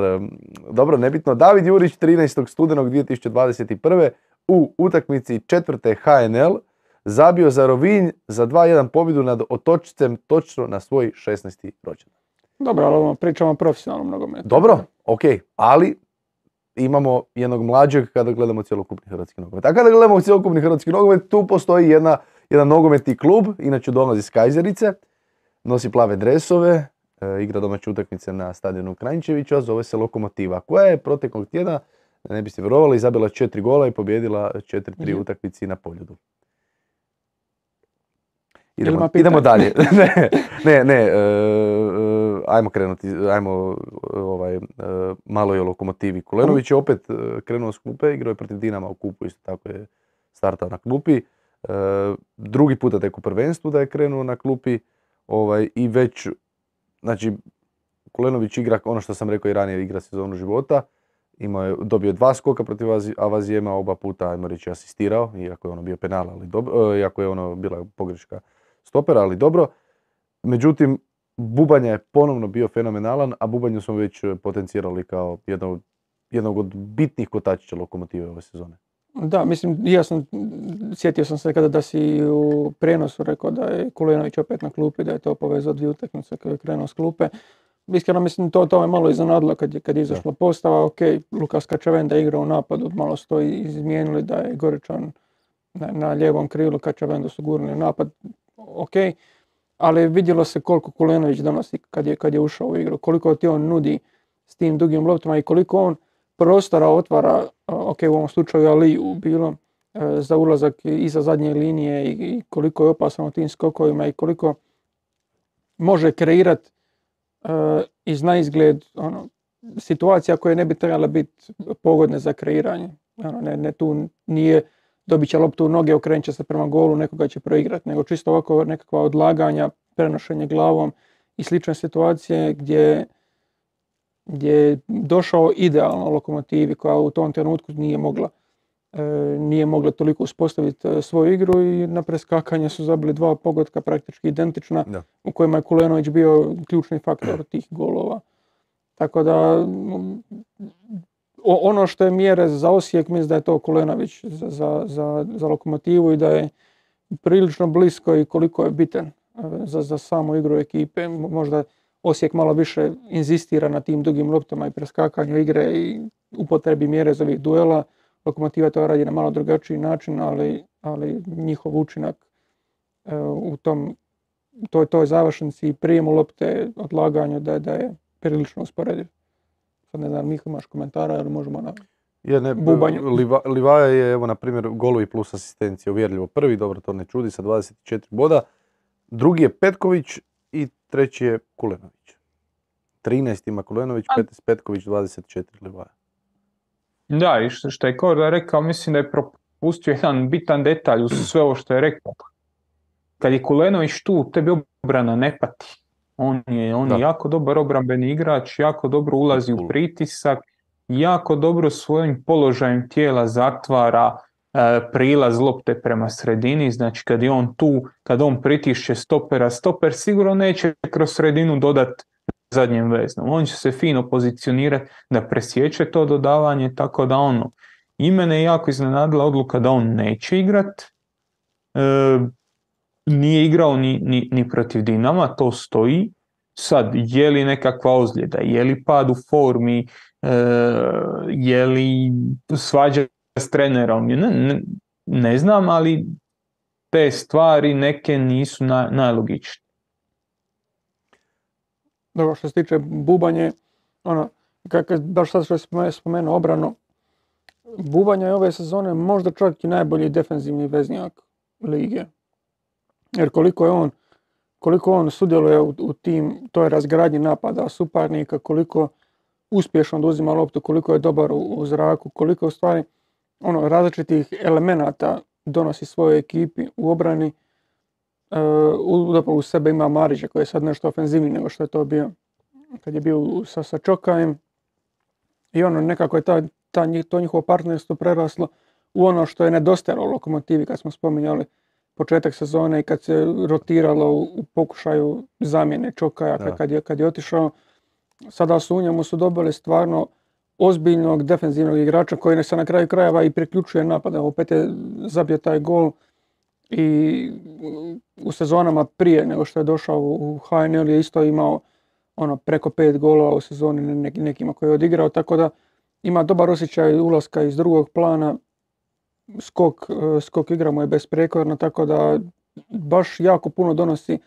dobro, nebitno. David Jurić trinaestog studenog dvije tisuće dvadeset prve u utakmici četvrte H N L zabio za Rovinj za dva jedan pobjedu nad Otočcem točno na svoj šesnaesti rođendan. Dobro, ali pričamo o profesionalnom nogometu. Dobro, ok, ali imamo jednog mlađeg kada gledamo cjelokupni hrvatski nogomet. A kada gledamo cjelokupni hrvatski nogomet, tu postoji jedna, jedan nogometni klub, inače dolazi iz Kajzerice, nosi plave dresove, e, igra domaće utakmice na stadionu Kranjčevića, zove se Lokomotiva, koja je proteklog tjedna, ne biste vjerovali, zabila četiri gola i pobjedila četiri tri mm-hmm. utakmici na Poljudu. Idemo, idemo dalje. ne, ne, ne e, e, ajmo krenuti, ajmo ovaj, e, malo je o Lokomotivi. Kulenović je opet e, krenuo s klupe, igrao je protiv Dinama u kupu, isto tako je startao na klupi. E, drugi puta tek u prvenstvu da je krenuo na klupi ovaj, i već, znači, Kulenović igra, ono što sam rekao i ranije, igra sezonu života. Imao je, dobio dva skoka protiv Avazijema, oba puta, ajmo reći, asistirao, iako je ono bio penal, ali dobro, iako je ono bila pogreška stopera, ali dobro. Međutim, Bubanja je ponovno bio fenomenalan, a Bubanju smo već potencirali kao jednog, jednog od bitnih kotačića Lokomotive ove sezone. Da, mislim, ja sam, sjetio sam se kada da si u prijenosu rekao da je Kulenović opet na klupi, da je to povezao dvije utakmice kada je krenuo s klupe. iskreno mislim to, to je malo iznenadilo kad je, kad je izašla postava, ok, Lukas Kačavenda igra u napadu, malo su to izmijenili da je Goričan na, na lijevom krilu, Kačavendu su gurnuli napad, ok, ali vidjelo se koliko Kulenović donosi kad je, kad je ušao u igru, koliko ti on nudi s tim dugim loptama i koliko on prostora otvara, ok, u ovom slučaju Aliju bilo, za ulazak iza zadnje linije i koliko je opasan u tim skokovima i koliko može kreirati uh, iz naizgled ono, situacija koje ne bi trebala biti pogodne za kreiranje. Ono, ne, ne tu nije dobit će loptu u noge, okrenut će se prema golu, nekoga će proigrati, nego čisto ovako nekakva odlaganja, prenošenje glavom i slične situacije gdje, gdje je došao idealno Lokomotivi koja u tom trenutku nije mogla nije mogla toliko uspostaviti svoju igru i na preskakanje su zabili dva pogotka praktički identična, da. U kojima je Kulenović bio ključni faktor tih golova. Tako da ono što je mjere za Osijek, mislim da je to Kulenović za, za, za, za Lokomotivu i da je prilično blisko i koliko je bitan za, za samu igru ekipe. Možda Osijek malo više inzistira na tim dugim loptama i preskakanju igre i upotrebi mjere za ovih duela. Lokomotiva to radi na malo drugačiji način, ali, ali njihov učinak e, u tom, toj, toj završnici i prijemu lopte, odlaganju, da, da je prilično usporediv. Sad ne znam, Miho, imaš komentara ili možemo na je, ne, bubanju? Liva, Livaja je, evo, na primjer, golovi plus asistencija, uvjerljivo prvi, dobro, to ne čudi, sa dvadeset četiri boda. Drugi je Petković i treći je Kulenović. trinaest ima Kulenović, petnaest Petković, dvadeset četiri Livaja. Da, i što, što je Korda rekao, mislim da je propustio jedan bitan detalj uz sve ovo što je rekao. Kad je Kulenović tu, tebi obrana ne pati. On je, on je jako dobar obrambeni igrač, jako dobro ulazi u pritisak, jako dobro svojim položajem tijela zatvara e, prilaz lopte prema sredini. Znači kad je on tu, kad on pritišće stopera, stoper sigurno neće kroz sredinu dodati zadnjem veznom. On će se fino pozicionirati da presjeće to dodavanje, tako da ono, i mene je jako iznenadila odluka da on neće igrat. E, nije igrao ni, ni, ni protiv Dinama, to stoji. Sad, je li nekakva ozljeda, je li pad u formi, e, je li svađa s trenerom, ne, ne, ne znam, ali te stvari neke nisu na, najlogičnije. Dobro, što se tiče Bubanje, ono, kako, baš sad što je spomenuo obranu, Bubanja je ove sezone možda čak i najbolji defenzivni veznjak lige. Jer koliko je on, koliko on sudjeluje u, u tim, toj razgradnji napada suparnika, koliko uspješno oduzima loptu, koliko je dobar u, u zraku, koliko u stvari ono, različitih elemenata donosi svojoj ekipi u obrani. Uh, u sebe ima Marića koji je sad nešto ofenzivniji nego što je to bio kad je bio sa, sa Čokajem i ono nekako je ta, ta, to njihovo partnerstvo preraslo u ono što je nedostajalo Lokomotivi kad smo spominjali početak sezone i kad se rotiralo u, u pokušaju zamjene Čokaja kad je, kad je otišao. Sada su u njemu su dobili stvarno ozbiljnog defenzivnog igrača koji se na kraju krajeva i priključuje napada. Opet je zabio taj gol i u sezonama prije nego što je došao u H N L je isto imao ono preko pet golova u sezoni nekima koji je odigrao, tako da ima dobar osjećaj ulaska iz drugog plana, skok, skok igra mu je besprekorno, tako da baš jako puno donosi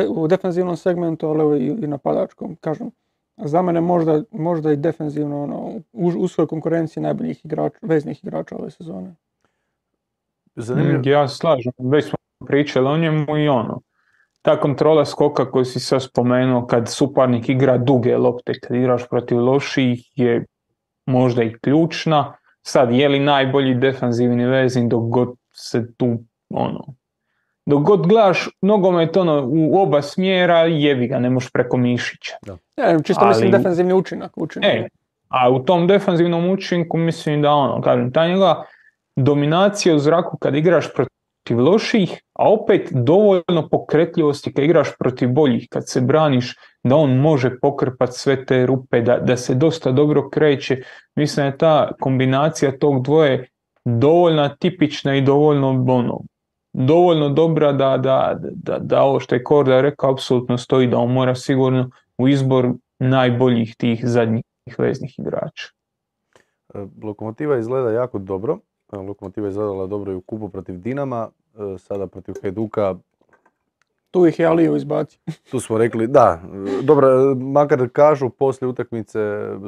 u defenzivnom segmentu, ali i napadačkom, kažem. Za mene možda, možda i defenzivno ono, u uskoj konkurenciji najboljih igrača, veznih igrača ove sezone. Zanimljivo. Ja slažem, već smo pričali o njemu i ono. Ta kontrola skoka koju si sad spomenuo kad suparnik igra duge lopte, kad igraš protiv loših je možda i ključna. Sad, je li najbolji defanzivni veznik dok god se tu, ono, dok god gledaš nogomet ono, u oba smjera, jebi ga, ne možeš preko mišića. Da. Ja, čisto ali, mislim defenzivni učinak. učinak. E, a u tom defenzivnom učinku mislim da ono, kažem, ta njega dominacija u zraku kad igraš protiv loših, a opet dovoljno pokretljivosti kad igraš protiv boljih, kad se braniš, da on može pokrpati sve te rupe, da, da se dosta dobro kreće. Mislim da je ta kombinacija tog dvoje dovoljno tipična i dovoljno, ono, dovoljno dobra da, da, da, da ovo što je Korda rekao apsolutno stoji, da on mora sigurno u izbor najboljih tih zadnjih veznih igrača. Lokomotiva izgleda jako dobro. Lokomotiva je izgledala dobro i u kupu protiv Dinama, sada protiv Hajduka. Tu ih je Aliju izbacio. Tu smo rekli, da, dobro, makar kažu poslije utakmice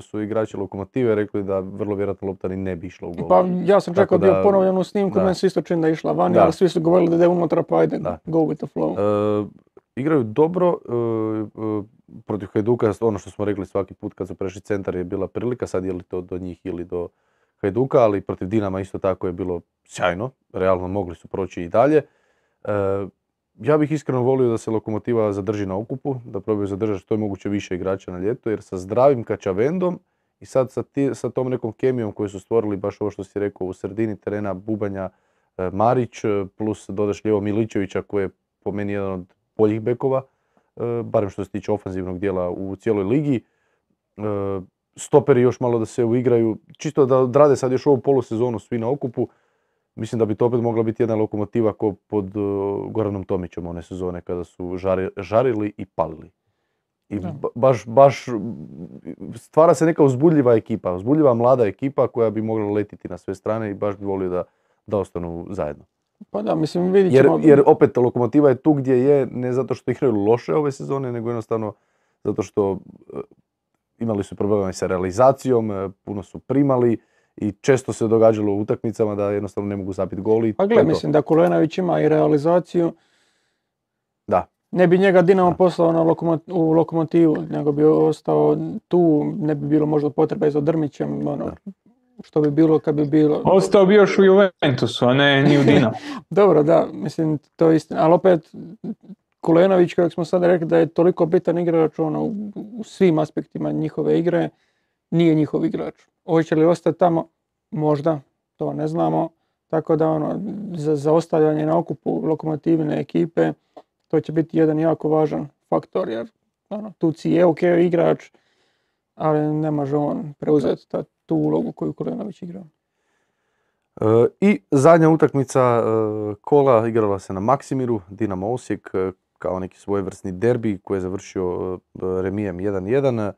su igrači Lokomotive rekli da vrlo vjerojatno lopta ni ne bi išla u gol. Pa ja sam čekao da je ponovljenu snimku, meni se isto čini da je išla vani, ali svi su govorili da je unutra, pa ajde, da. Go with the flow. Uh, igraju dobro, uh, uh, protiv Hajduka, ono što smo rekli svaki put kad su prešli centar je bila prilika, sad je li to do njih ili do Hajduka, ali protiv Dinama isto tako je bilo sjajno, realno mogli su proći i dalje. Uh, Ja bih iskreno volio da se Lokomotiva zadrži na okupu, da probaju zadržati što je moguće više igrača na ljeto, jer sa zdravim Kačavendom i sad sa, ti, sa tom nekom kemijom koju su stvorili, baš ovo što si rekao, u sredini terena Bubanja, e, Marić, plus dodaš lijevo Miličevića koji je po meni jedan od boljih bekova, e, barem što se tiče ofanzivnog dijela u cijeloj ligi. E, stoperi još malo da se uigraju, čisto da odrade sad još ovu polusezonu svi na okupu. Mislim da bi to opet mogla biti jedna Lokomotiva ko pod uh, Goranom Tomićem one sezone kada su žari, žarili i palili. I ba, baš, baš stvara se neka uzbudljiva ekipa, uzbudljiva mlada ekipa koja bi mogla letiti na sve strane i baš bi volio da, da ostanu zajedno. Pa da, mislim vidit ćemo... Jer, jer opet Lokomotiva je tu gdje je, ne zato što igraju loše ove sezone, nego jednostavno zato što uh, imali su problema sa realizacijom, uh, puno su primali. I često se događalo u utakmicama da jednostavno ne mogu zapiti gol i pa gle, mislim da Kulenović ima i realizaciju. Da. Ne bi njega Dinamo da. poslao na lokomot- u Lokomotivu, nego bi ostao tu, ne bi bilo možda potrebe za Drmićem, ono, što bi bilo kad bi bilo... Ostao bi još u Juventusu, a ne ni u Dinamo. Dobro, da, mislim, to je istina, ali opet Kulenović, kako smo sad rekli, da je toliko bitan igrač ono, u svim aspektima njihove igre, nije njihov igrač. Hoće li ostati tamo? Možda, to ne znamo. Tako da ono, za, za ostavljanje na okupu Lokomotivine ekipe, to će biti jedan jako važan faktor, jer ono, Tuci je ok igrač, ali ne može on preuzeti ta, tu ulogu koju Kulenović igra. E, I zadnja utakmica e, kola igrala se na Maksimiru, Dinamo Osijek, e, kao neki svojevrsni derbi koji je završio e, remijem jedan jedan. E,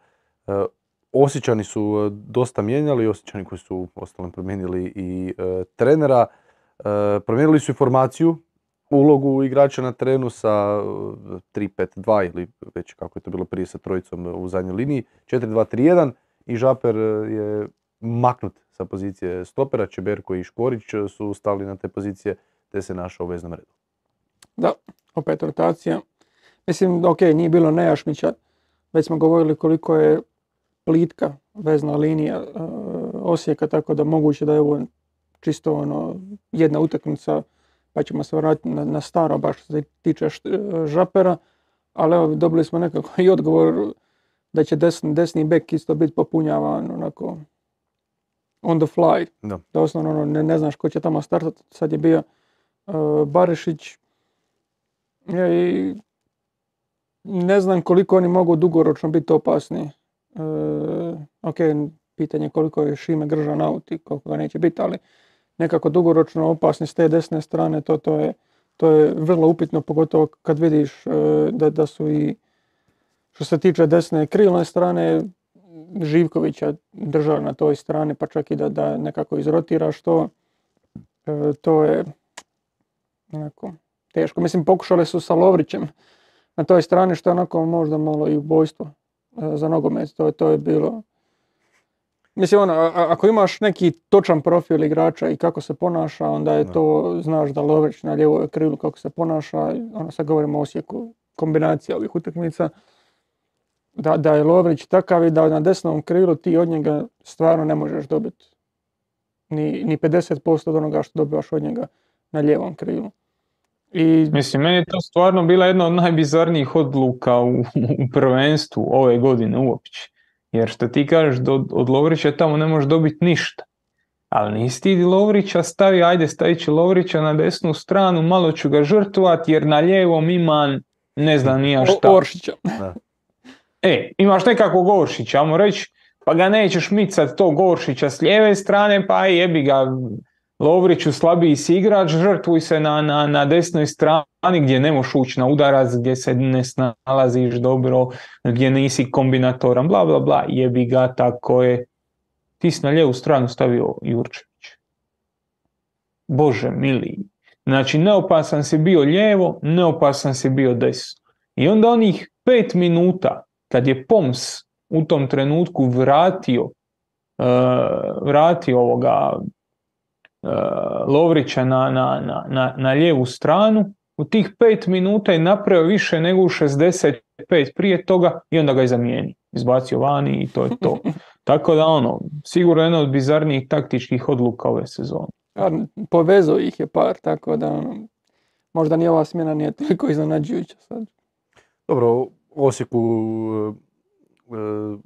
Osječani su dosta mijenjali, Osječani koji su ostalom promijenili i e, trenera. E, promijenili su i formaciju, ulogu igrača na terenu sa tri pet dva ili već kako je to bilo prije sa trojicom u zadnjoj liniji, četiri dva tri jedan i Žaper je maknut sa pozicije stopera, Čeberko i Škorić su stali na te pozicije te se našao u veznom redu. Da, opet rotacija. Mislim, ok, nije bilo Nejašmića, već smo govorili koliko je plitka vezna linija uh, Osijeka, tako da moguće da je ovo čisto ono, jedna utakmica, pa ćemo se vratiti na, na staro, baš što se tiče št- Žapera, ali evo dobili smo nekako i odgovor da će desni, desni bek isto biti popunjavan onako on the fly. Da. Doslovno ono, ne, ne znaš ko će tamo startati, sad je bio uh, Barišić ja, i ne znam koliko oni mogu dugoročno biti opasni. Uh, ok, pitanje koliko je Šime Gržan out i koliko ga neće biti, ali nekako dugoročno opasni s te desne strane, to, to, je, to je vrlo upitno, pogotovo kad vidiš uh, da, da su i što se tiče desne krilne strane Živkovića držali na toj strani, pa čak i da, da nekako izrotiraš to, uh, to je onako teško. Mislim, pokušali su sa Lovrićem na toj strani, što je onako možda malo i ubojstvo za nogomet, to, to je bilo... Mislim, ono, a, ako imaš neki točan profil igrača i kako se ponaša, onda je to, znaš da Lovrić na lijevoj krilu kako se ponaša, ono sad govorimo o Osijeku, kombinacija ovih utakmica, da, da je Lovrić takav i da na desnom krilu ti od njega stvarno ne možeš dobiti ni, ni pedeset posto od onoga što dobivaš od njega na lijevom krilu. I... Mislim, meni je to stvarno bila jedna od najbizarnijih odluka u, u prvenstvu ove godine uopće. Jer što ti kažeš, od, od Lovrića tamo ne možeš dobiti ništa. Ali nisi ti Lovrića stavi, ajde stavit ću Lovrića na desnu stranu, malo ću ga žrtvovati jer na lijevom imam ne znam nija šta. Oršića. E, imaš nekakvog Oršića, ajmo reći, pa ga nećeš micat tog Oršića s lijeve strane, pa jebi ga, Lovriću slabiji si igrač, žrtvuj se na, na, na desnoj strani gdje ne možeš ući na udarac, gdje se ne snalaziš dobro, gdje nisi kombinatoran, bla bla bla, jebi ga, tako je. Ti si na lijevu stranu stavio Jurčević. Bože mili. Znači, neopasan si bio lijevo, neopasan si bio desno. I onda onih pet minuta, kad je Poms u tom trenutku vratio, uh, vratio ovoga uh, Lovrića na, na, na, na, na lijevu stranu, u tih pet minuta je napravio više nego u šezdeset pet prije toga i onda ga je zamijenio. Izbacio vani i to je to. Tako da ono, sigurno jedna od bizarnijih taktičkih odluka ove sezone. Ja, povezao ih je par, tako da ono, možda ni ova smjena nije toliko iznenađujuća sad. Dobro, Osijeku,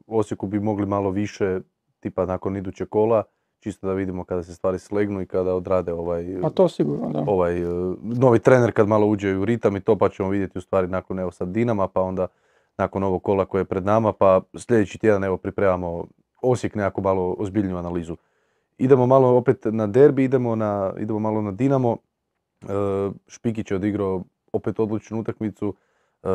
Osijeku bi mogli malo više, tipa nakon idućeg kola, čisto da vidimo kada se stvari slegnu i kada odrade ovaj, A to sigurno, da. ovaj novi trener kad malo uđe u ritam i to, pa ćemo vidjeti u stvari nakon evo sad Dinama, pa onda nakon ovog kola koje je pred nama, pa sljedeći tjedan evo pripremamo Osijek nekako malo ozbiljniju analizu. Idemo malo opet na derbi, idemo, na, idemo malo na Dinamo. E, Špikić je odigrao opet odlučnu utakmicu. E,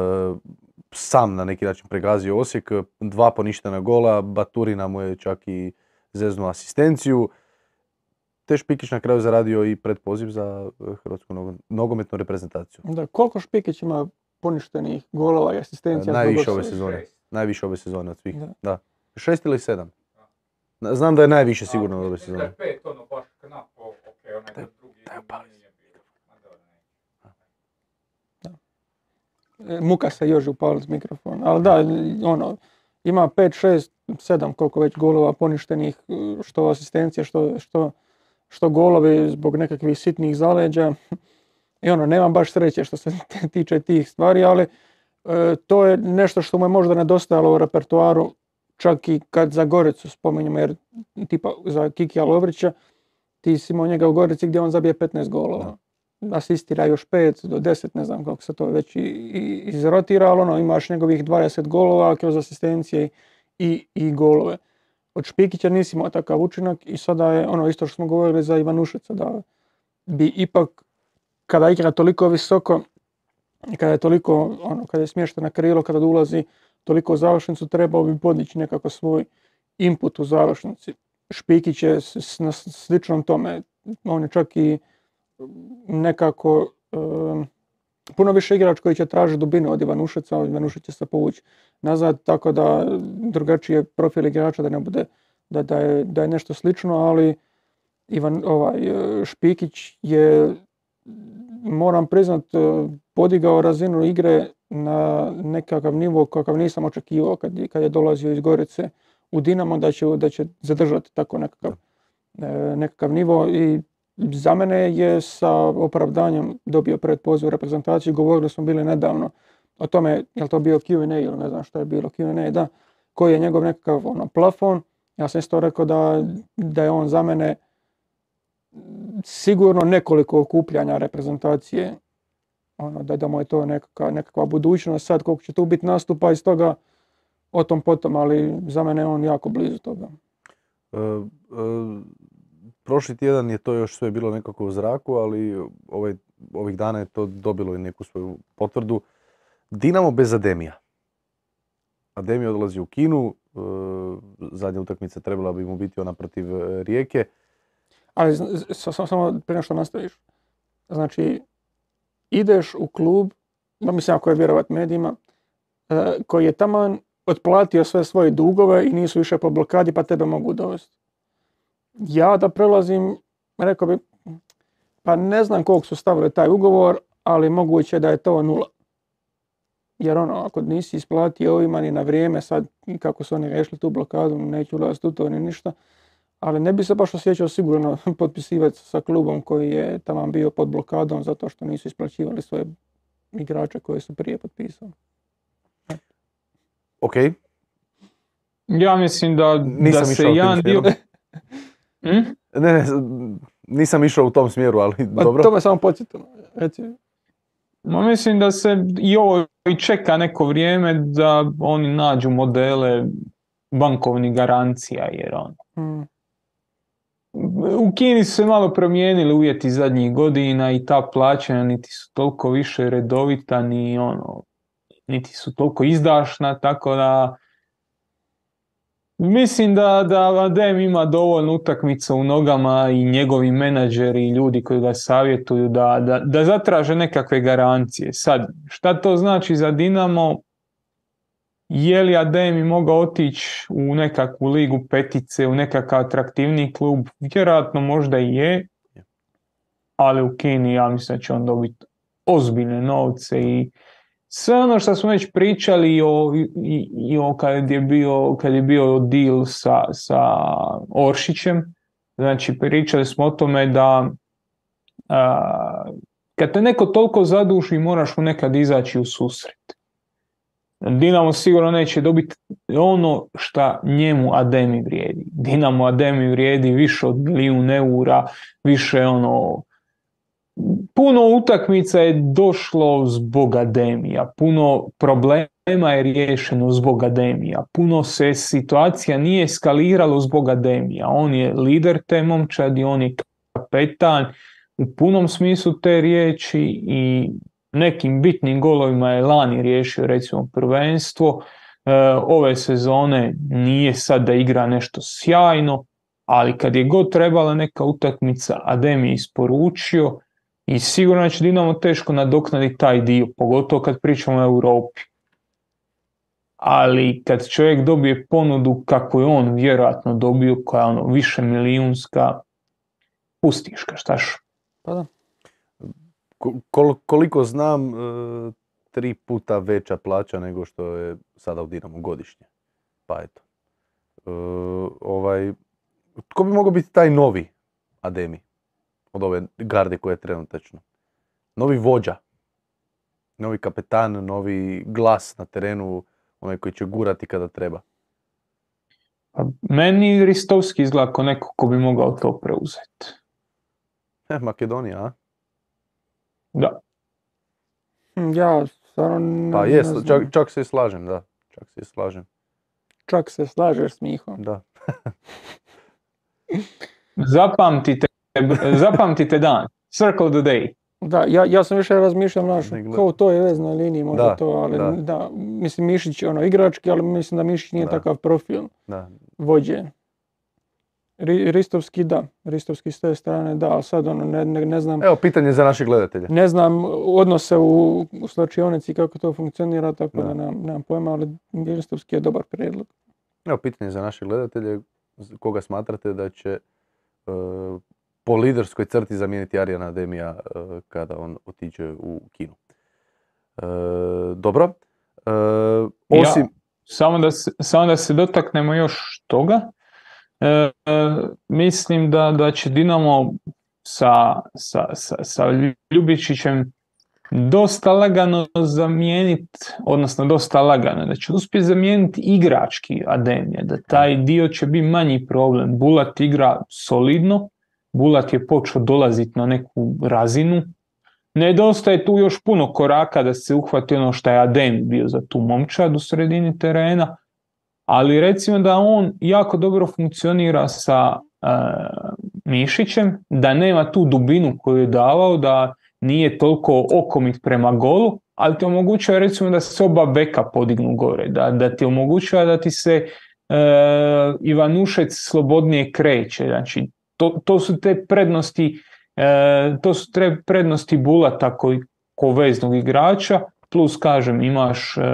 sam na neki način pregazio Osijek. Dva poništena gola, Baturina mu je čak i zeznuo asistenciju. Te Špikić na kraju zaradio i predpoziv za hrvatsku nogometnu reprezentaciju. Da, koliko Špikić ima poništenih golova i asistencija? Najviše ove sezone. Najviše ove sezone od svih. Da. Da. Šest ili sedam? Znam da je najviše sigurno od ove sezone. Da je pet, ono baš knap, okej, onaj drugi nije bio. Muka se još upaliti mikrofon, ali da, ono, ima pet, šest, sedam koliko već golova poništenih, što asistencije, što, što, što golovi zbog nekakvih sitnih zaleđa. I ono, nemam baš sreće što se tiče tih stvari, ali e, to je nešto što mu je možda nedostajalo u repertoaru, čak i kad za Goricu spominjemo, jer tipa za Kikija Lovrića, ti si imao njega u Gorici gdje on zabije petnaest golova. Da. Asistira još pet do deset, ne znam kako se to već i, i izrotira, ali ono, imaš njegovih dvadeset golova kroz asistencije i, i golove. Od Špikića nisi imao takav učinak i sada je ono isto što smo govorili za Ivanušeca, da bi ipak kada igra toliko visoko i kada je toliko, ono, kada je smješten na krilo, kada ulazi toliko u završnicu, trebao bi podići nekako svoj input u završnici. Špikić je na sličnom tome, on je čak i nekako um, puno više igrač koji će tražiti dubinu od Ivanušeca, od Ivanušec će se povući nazad, tako da drugačije profil igrača da ne bude, da, da, je, da je nešto slično, ali Ivan, ovaj, Špikić je, moram priznat, podigao razinu igre na nekakav nivo kakav nisam očekivao kad, kad je dolazio iz Gorice u Dinamo, da će, da će zadržati tako nekakav, nekakav nivo i za mene je sa opravdanjem dobio predpoziv u reprezentaciju. Govorili smo bili nedavno o tome, je li to bio Q and A ili ne znam što je bilo Q and A, da, koji je njegov nekakav ono, plafon. Ja sam isto rekao da, da je on za mene sigurno nekoliko okupljanja reprezentacije, ono, da, da mu je to nekakva, nekakva budućnost. Sad koliko će tu biti nastupa iz toga, o tom potom, ali za mene je on jako blizu toga. Uh, uh, prošli tjedan je to još sve bilo nekako u zraku, ali ovaj, ovih dana je to dobilo i neku svoju potvrdu. Dinamo bez Ademija. Ademija odlazi u Kinu, uh, zadnja utakmica trebala bi mu biti ona protiv Rijeke. Ali samo prije što nastaviš, znači ideš u klub, no mislim ako je vjerovat medijima, koji je taman otplatio sve svoje dugove i nisu više po blokadi pa tebe mogu dovesti. Ja da prelazim, rekao bi, pa ne znam koliko su stavili taj ugovor, ali moguće da je to nula. Jer ono, ako nisi isplatio ovima ni na vrijeme, sad kako su oni rešili tu blokadu, neću ulaziti u to ni ništa, ali ne bi se baš osjećao sigurno potpisivati sa klubom koji je tamo bio pod blokadom zato što nisu isplaćivali svoje igrače koje su prije potpisali. Ok. Ja mislim da, nisam da se jedan dio... hmm? Ne, ne, nisam išao u tom smjeru, ali pa, dobro. To me samo podsjetilo. Reci. Ma mislim da se i ovo i čeka neko vrijeme da oni nađu modele bankovnih garancija, jer on... Hmm. u Kini su se malo promijenili uvjeti zadnjih godina i ta plaćanja niti su toliko više redovita, ni ono, niti su toliko izdašna, tako da mislim da, da Adem ima dovoljno utakmica u nogama i njegovi menadžeri i ljudi koji ga savjetuju da, da, da zatraže nekakve garancije. Sad, šta to znači za Dinamo? Je li Ademi mogao otići u nekakvu ligu petice, u nekakav atraktivni klub? Vjerojatno možda i je, ali u Kini ja mislim da će on dobiti ozbiljne novce i sve ono što smo već pričali o, i, i o kad je bio, kad je bio deal sa, sa Oršićem, znači pričali smo o tome da a, kad te neko toliko zaduži moraš mu nekad izaći u susret. Dinamo sigurno neće dobiti ono što njemu Ademi vrijedi. Dinamo Ademi vrijedi više od milijun eura, više ono... Puno utakmica je došlo zbog Ademija, puno problema je riješeno zbog Ademija, puno se situacija nije eskaliralo zbog Ademija. On je lider te momčadi, on je kapetan u punom smislu te riječi i nekim bitnim golovima je lani riješio recimo prvenstvo. E, ove sezone nije sad da igra nešto sjajno, ali kad je god trebala neka utakmica, Adem je isporučio i sigurno će Dinamo teško nadoknaditi taj dio, pogotovo kad pričamo o Europi. Ali kad čovjek dobije ponudu kako je on vjerojatno dobio, koja je ono više milijunska, pustiš ga, štaš? Pa da. Kol, koliko znam, e, tri puta veća plaća nego što je sada u Dinamu godišnje. Pa eto. E, ovaj, tko bi mogao biti taj novi Ademi od ove garde koje je trenutačno? Novi vođa, novi kapetan, novi glas na terenu, onaj koji će gurati kada treba. Pa meni Ristovski izgleda kao neko ko bi mogao to preuzeti. E, Makedonija, a? Da. Ja stvarno ne, Pa ne jest, znam. čak, čak se i slažem, da. Čak se i slažem. Čak se slažeš s Mihom. Da. Zapamtite, zapamtite dan. Circle the day. Da, ja, ja sam više razmišljam, znaš, Nego- kao to je veznoj liniji, možda Da, to, ali da. da. mislim Mišić je ono igrački, ali mislim da Mišić nije Da. takav profil Da. vođe. Ri- Ristovski da, Ristovski s te strane da, ali sad ono ne, ne, ne znam, Evo, pitanje za naše gledatelje. ne znam odnose u, u slačionici kako to funkcionira, tako da, Da. nemam, nemam pojma, ali Ristovski je dobar prijedlog. Evo, pitanje za naše gledatelje. Koga smatrate da će e, po liderskoj crti zamijeniti Arijana Ademija e, kada on otiđe u Kinu? E, dobro. E, osim... Ja, samo, da se, samo da se dotaknemo još toga. E, e, mislim da, da će Dinamo sa, sa, sa, sa Ljubičićem dosta lagano zamijeniti, odnosno dosta lagano, da će uspjeti zamijeniti igrački Ademija, da taj dio će biti manji problem. Bulat igra solidno, Bulat je počeo dolaziti na neku razinu, nedostaje tu još puno koraka da se uhvati ono što je Adem bio za tu momčad u sredini terena, ali recimo da on jako dobro funkcionira sa uh, Mišićem, da nema tu dubinu koju je davao, da nije toliko okomit prema golu, ali ti omogućava recimo da se oba beka podignu gore, da, da ti omogućava da ti se uh, Ivanušec slobodnije kreće, znači to, to su te prednosti uh, to su te prednosti Bulata koji ko veznog igrača, plus kažem imaš uh,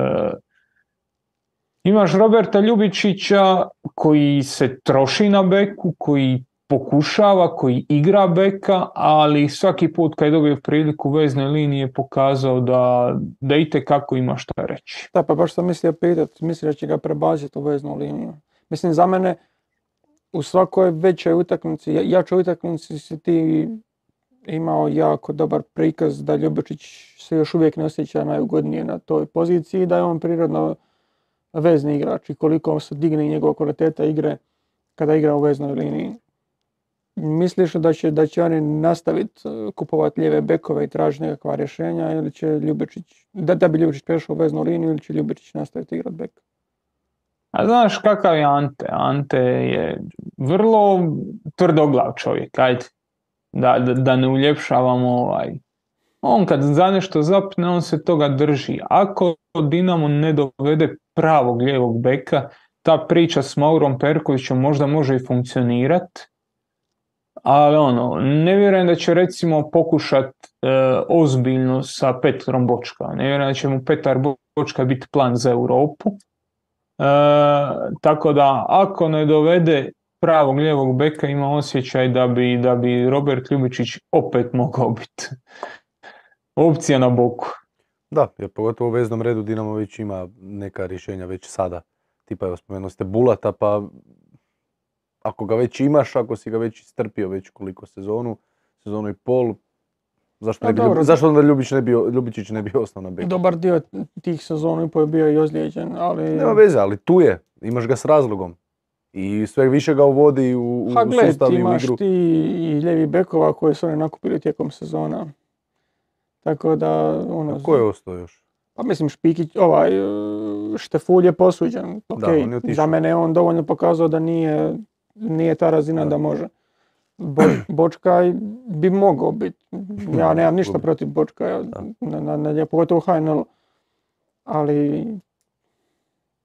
Imaš Roberta Ljubičića koji se troši na beku, koji pokušava, koji igra beka, ali svaki put kad je dobio priliku u veznoj liniji je pokazao da, da itekako ima šta reći. Da, pa baš sam mislio pitati, mislim da će ga prebaciti u veznu liniju. Mislim, za mene u svakoj većoj utakmici, ja- jačoj utakmici si ti imao jako dobar prikaz da Ljubičić se još uvijek ne osjeća najugodnije na toj poziciji, da je on prirodno vezni igrač i koliko se digne njegova kvaliteta igre kada igra u veznoj liniji. Misliš da će, da će oni nastaviti kupovati lijeve bekove i tražiti nekakva rješenja ili će Ljubičić, da, da bi Ljubičić prešao u veznu liniju ili će Ljubičić nastaviti igrati bek? A znaš kakav je Ante? Ante je vrlo tvrdoglav čovjek, ajde, da, da, da ne uljepšavamo ovaj. On kad za nešto zapne, on se toga drži. Ako Dinamo ne dovede pravog lijevog beka, ta priča s Maurom Perkovićem možda može i funkcionirati, ali ono, ne vjerujem da će recimo pokušat e, ozbiljno sa Petrom Bočka. Ne vjerujem da će mu Petar Bočka biti plan za Europu. E, tako da ako ne dovede pravog lijevog beka, ima osjećaj da bi, da bi Robert Ljubičić opet mogao biti opcija na boku. Da, jer pogotovo u veznom redu Dinamo već ima neka rješenja već sada. Tipa, evo spomenuo ste Bulata, pa ako ga već imaš, ako si ga već istrpio već koliko sezonu, sezonu i pol, zašto, ne bi, dobro. zašto onda Ljubić ne bi, Ljubičić ne bi ostao na beku? Dobar dio tih sezonu i pol je bio i ozlijeđen, ali... Nema veze, ali tu je, imaš ga s razlogom. I sve više ga uvodi u, u ha, gled, sustav i u igru. imaš ti i ljevi bekova koje su oni nakupili tijekom sezona. Tako da, ono... A ko je ostao još? Pa mislim Špikić, ovaj, Štefulj je posuđen. Ok, Da, on je za mene je on dovoljno pokazao da nije, nije ta razina da, da može. Bo, Bočka bi mogao biti. Ja nemam ništa protiv Bočka, na, na, na, pogotovo u H N L-u. Ali,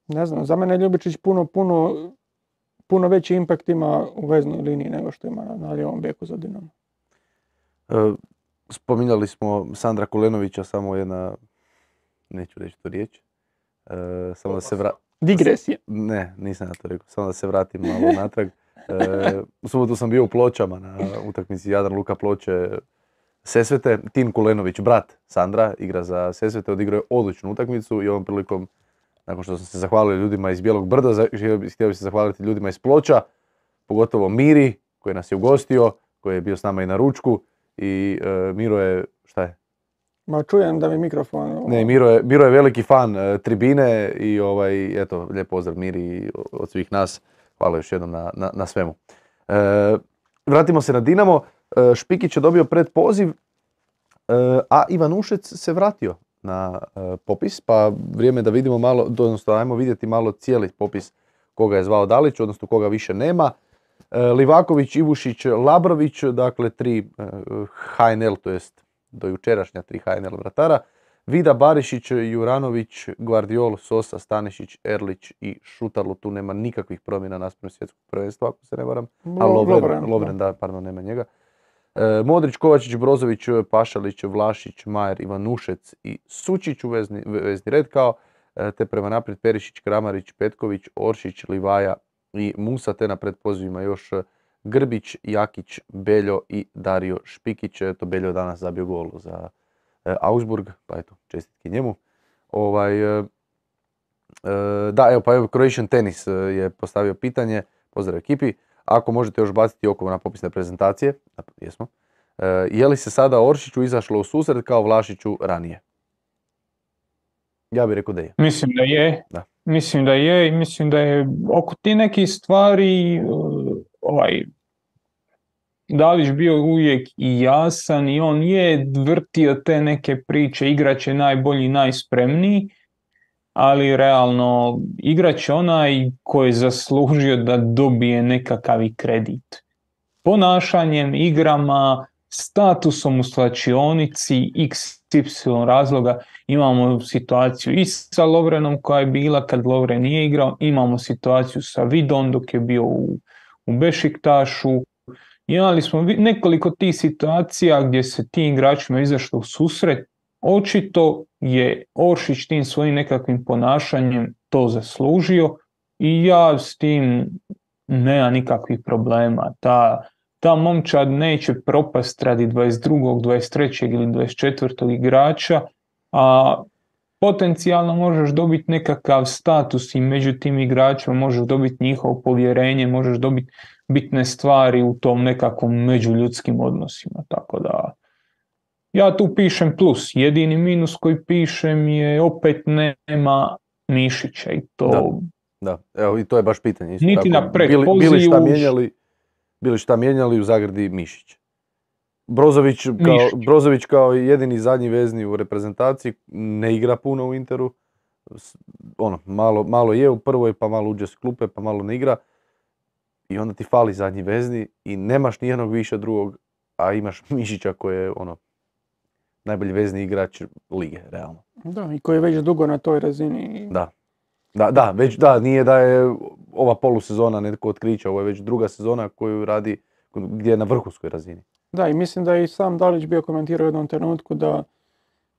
ne znam, za mene Ljubičić puno, puno, puno veći impact ima u veznoj liniji nego što ima na, na lijevom beku za Dinamo. E, spominjali smo Sandra Kulenovića, samo jedna, neću reći tu riječ. E, samo da se vra... Digresija. Ne, nisam na to rekao, samo da se vratim malo natrag. E, u subotu sam bio u Pločama na utakmici Jadran Luka Ploče Sesvete. Tin Kulenović, brat Sandra, igra za Sesvete, odigrao je odličnu utakmicu i ovom prilikom, nakon što sam se zahvalio ljudima iz Bijelog Brda, htio bih se zahvaliti ljudima iz Ploča, pogotovo Miri koji nas je ugostio, koji je bio s nama i na ručku i e, Miro je, šta je? Ma čujem da mi mikrofon... Ne, Miro je, Miro je veliki fan e, tribine i ovaj, eto, lijep pozdrav Miri od svih nas. Hvala još jednom na, na, na svemu. E, vratimo se na Dinamo. E, Špikić je dobio predpoziv, e, a Ivanušec se vratio na e, popis, pa vrijeme da vidimo malo, odnosno ajmo vidjeti malo cijeli popis koga je zvao Dalić, odnosno koga više nema. E, Livaković, Ivušić, Labrović, dakle tri e, H N L, to jest do jučerašnja tri H N L vratara. Vida, Barišić, Juranović, Gvardiol, Sosa, Stanišić, Erlić i Šutarlu. Tu nema nikakvih promjena naspram svjetskog prvenstva, ako se ne varam. A Lovren, Lovren, Lovren da, pardon, nema njega. E, Modrić, Kovačić, Brozović, Pašalić, Vlašić, Majer, Ivanušec i Sučić u vezni, vezni red kao, e, te prema naprijed Perišić, Kramarić, Petković, Oršić, Livaja i Musa, te na predpozivima još Grbić, Jakić, Beljo i Dario Špikić. Eto, Beljo danas zabio gol za Augsburg, pa eto, čestitke njemu. Ovaj, e, da, evo, pa evo, Croatian Tennis je postavio pitanje, pozdrav ekipi, ako možete još baciti oko na popisne prezentacije, jesmo, e, je li se sada Oršiću izašlo u susret kao Vlašiću ranije? Ja bih rekao da je. Mislim da je, da. mislim da je i mislim da je oko ti nekih stvari ovaj, Dalić bio uvijek i jasan i on je vrtio te neke priče, igrač je najbolji, najspremniji, ali realno igrač je onaj koji je zaslužio da dobije nekakav kredit. Ponašanjem, igrama, statusom u slačionici, iks ipsilon razloga, imamo situaciju i sa Lovrenom koja je bila kad Lovren nije igrao, imamo situaciju sa Vidom dok je bio u, u Bešiktašu. Imali smo nekoliko tih situacija gdje se tim igračima izašlo u susret. Očito je Oršić tim svojim nekakvim ponašanjem to zaslužio i ja s tim nema nikakvih problema. Ta, ta momčad neće propast radi dvadeset drugog, dvadeset trećeg ili dvadeset četvrtog igrača, a potencijalno možeš dobiti nekakav status i među tim igračima, možeš dobiti njihovo povjerenje, možeš dobiti bitne stvari u tom nekakvom međuljudskim odnosima. Tako da ja tu pišem plus. Jedini minus koji pišem je opet nema Mišića i to... Da, da. Evo i to je baš pitanje. Isto niti tako. Na predpozivu... Bili, bili, šta mijenjali, bili šta mijenjali u zagradi Mišić. Brozović kao, Brozović kao jedini zadnji vezni u reprezentaciji ne igra puno u Interu. ono, malo, malo je u prvoj, pa malo uđe s klupe, pa malo ne igra. I onda ti fali zadnji vezni i nemaš nijednog više drugog, a imaš Mišića koji je ono, najbolji vezni igrač lige, realno. Da, i koji je već dugo na toj razini. Da. Da, da, već da, nije da je ova polusezona netko otkrića, ovo je već druga sezona koju radi, gdje je na vrhunskoj razini. Da, i mislim da je i sam Dalić bio komentirao u jednom trenutku da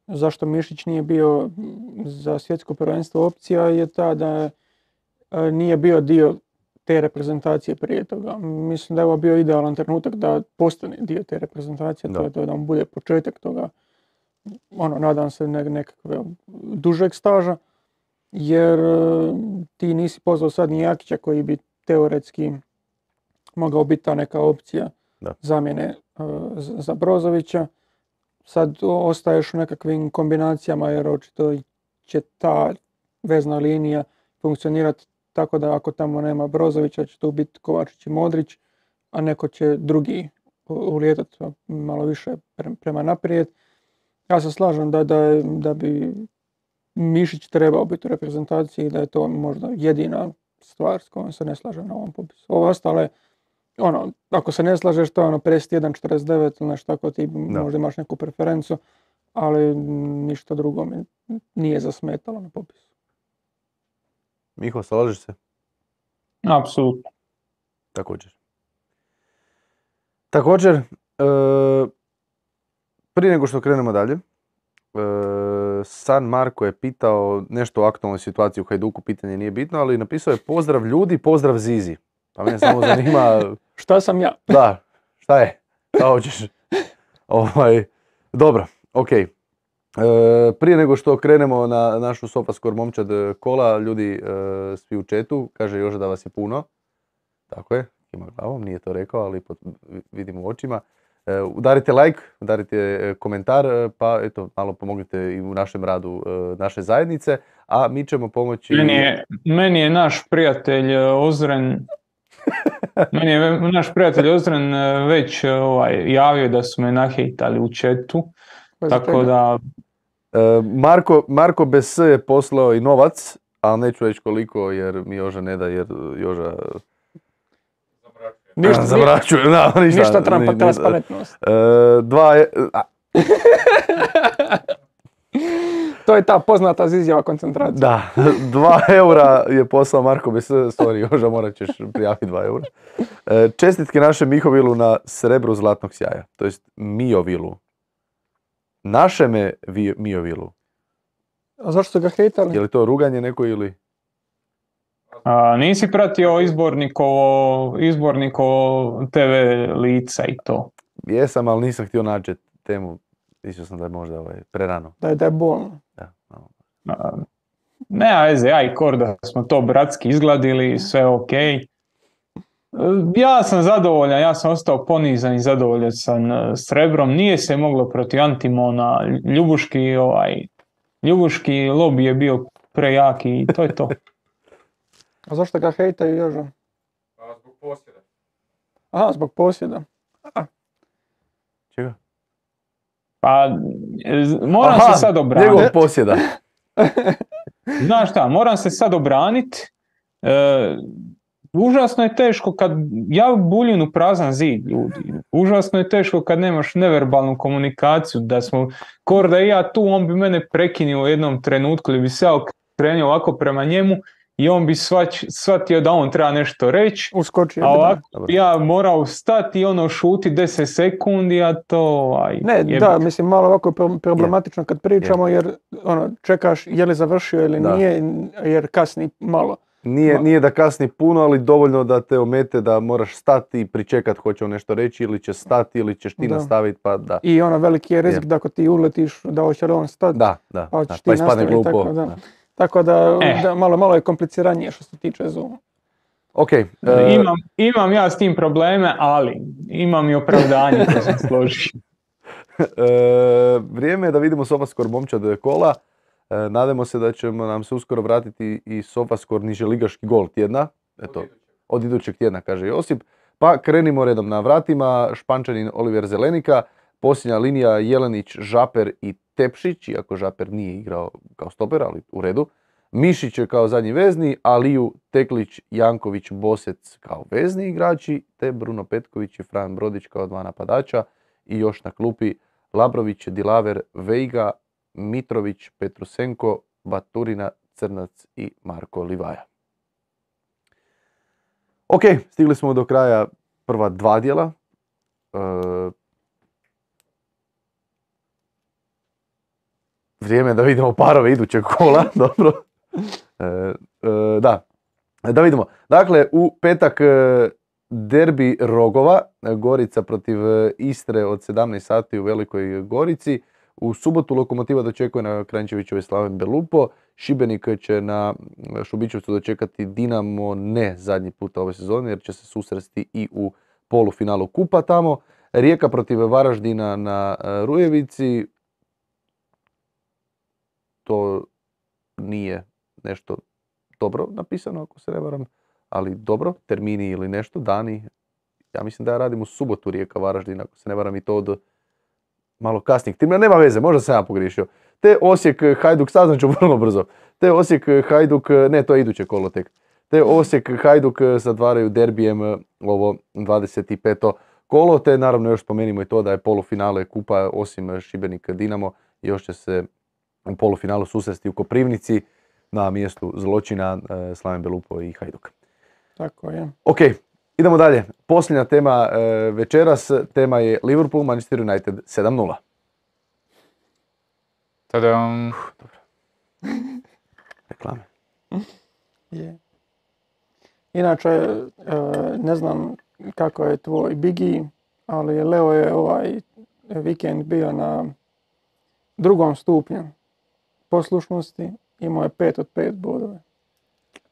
zašto Mišić nije bio za svjetsko prvenstvo opcija je ta da nije bio dio te reprezentacije prije toga. Mislim da je ovo bio idealan trenutak da postane dio te reprezentacije, da. to je da mu bude početak toga, ono, nadam se ne, nekakve dužeg staža, jer ti nisi pozvao sad ni Jakića koji bi teoretski mogao biti ta neka opcija da. zamjene uh, za Brozovića. Sad ostaješ u nekakvim kombinacijama jer očito će ta vezna linija funkcionirati tako da ako tamo nema Brozovića će tu biti Kovačić i Modrić, a neko će drugi ulijetati malo više prema naprijed. Ja se slažem da, da, da bi Mišić trebao biti u reprezentaciji, da je to možda jedina stvar s kojom se ne slažem na ovom popisu. Ovo ostale, ono, ako se ne slažeš, to je ono pedeset jedan četrdeset devet ili nešto tako, ti da. možda imaš neku preferencu, ali ništa drugo mi nije zasmetalo na popisu. Miho, slažeš se? Apsolutno. Također. Također, e, prije nego što krenemo dalje, e, San Marko je pitao nešto o aktualnoj situaciji u Hajduku, pitanje nije bitno, ali napisao je pozdrav ljudi, pozdrav Zizi. Pa mene samo zanima... Šta sam ja? Da, šta je? Šta hoćeš? ovaj, dobro, ok. E, prije nego što krenemo na našu SofaScore momčad kola, ljudi e, svi u chatu, kaže Joža da vas je puno. Tako je, ima glavom, nije to rekao, ali pot, vidim u očima. E, udarite like, udarite komentar, pa eto, malo pomognite i u našem radu e, naše zajednice, a mi ćemo pomoći... Meni je, meni je naš prijatelj Ozren... Meni je naš prijatelj Ozren već ovaj, javio da su me nahejtali u chatu, tako da... E, Marko, Marko bez S je poslao i novac, ali neću reći koliko jer mi Joža ne da, jer Joža... Ništa, Zamračuje, da, ništa. Ništa trampa, transparentnost. E, dva je... A. To je ta poznata izjava koncentracija. Da, dva eura je poslao Marko bez S, sorry Joža, morat ćeš prijaviti dva eura. E, čestitke našem Mihovilu na srebru zlatnog sjaja, to jest Miovilu. Našeme vi, Miovilu. A zašto su ga hejtali? Je li to ruganje neko ili... A, nisi pratio izbornikovo, izbornikovo te ve lica i to? Jesam, ali nisam htio naći temu. Mislio sam da je možda ovaj, prerano. Da je, da je bolno. Da, malo. A, nema veze, ja i Korda smo to bratski izgladili, sve ok. Ja sam zadovoljan, ja sam ostao ponizan i zadovoljan sam srebrom. Nije se moglo protiv Antimona, Ljubuški, ovaj, Ljubuški lobby je bio prejaki i to je to. A zašto ga hejtaju Joža? Pa zbog posjeda. Aha, zbog posjeda. Aha. Čega? Pa, moram Aha, se sad obraniti. Njegov posjeda. Znaš šta, moram se sad obraniti. E, užasno je teško kad, ja buljim u prazan zid, ljudi. Užasno je teško kad nemaš neverbalnu komunikaciju, da smo, Korda i ja tu, on bi mene prekinio u jednom trenutku ili bi se ja okrenio ovako prema njemu i on bi svać, shvatio da on treba nešto reći, Uskočio, a ovako ja morao stati i ono šuti deset sekundi, a to... Aj, ne, jebik. Da, mislim malo ovako problematično kad pričamo, jer ono, čekaš je li završio ili da. nije, jer kasni malo. Nije, nije da kasni puno, ali dovoljno da te omete da moraš stati i pričekat hoće on nešto reći, ili će stati, ili ćeš ti da. nastaviti, pa da. I ono veliki je rizik je. da ako ti uletiš, da hoće li on stati, da, da, pa ćeš ti pa nastaviti, tako da. da. Tako da, eh. da malo, malo je kompliciranije što se tiče Zooma. Okay, uh... imam, imam ja s tim probleme, ali imam i opravdanje koje sam složio. uh, vrijeme je da vidimo SofaScore momčad kola. Uh, nadamo se da ćemo nam se uskoro vratiti i SofaScore niželigaški gol tjedna. Eto, od idućeg tjedna, kaže Josip. Pa krenimo redom na vratima. Špančanin Oliver Zelenika. Posljednja linija Jelenić, Žaper i Tepšić, iako Žaper nije igrao kao stoper, ali u redu. Mišić kao zadnji vezni, Aliju, Teklić, Janković, Bosec kao vezni igrači, te Bruno Petković i Fran Brodić kao dva napadača i još na klupi Labrović, Dilaver, Veiga, Mitrović, Petrusenko, Baturina, Crnac i Marko Livaja. Ok, stigli smo do kraja prva dva dijela. E, vrijeme da vidimo parove idućeg kola, dobro. E, e, da. da vidimo. Dakle, u petak derbi Rogova, Gorica protiv Istre od sedamnaest sati u Velikoj Gorici. U subotu Lokomotiva dočekuje na Kranjčevićevoj Slaven Belupo. Šibenik će na Šubićevcu dočekati Dinamo ne zadnji puta ove sezone jer će se susresti i u polufinalu kupa tamo. Rijeka protiv Varaždina na Rujevici. To nije nešto dobro napisano ako se ne varam, ali dobro, termini ili nešto, dani. Ja mislim da ja radim u subotu Rijeka Varaždina, ako se ne varam i to od malo kasnijeg termina, nema veze, možda sam ja pogriješio. Te Osijek Hajduk, saznat ću vrlo brzo. Te Osijek Hajduk, ne, to je iduće kolo tek. Te Osijek Hajduk zatvaraju derbijem ovo dvadeset peto kolo, te naravno još spomenimo i to da je polufinale kupa osim Šibenik Dinamo, još će se u polufinalu susresti u Koprivnici na mjestu zločina Slaven Belupo i Hajduk. Tako je. Ok, idemo dalje. Posljednja tema e, večeras, tema je Liverpool, Manchester United sedam nula. Tadam. Uf, dobro. Reklame. Je. Inače, e, ne znam kako je tvoj Biggie, ali Leo je ovaj vikend bio na drugom stupnju poslušnosti. Imao je pet od pet bodove.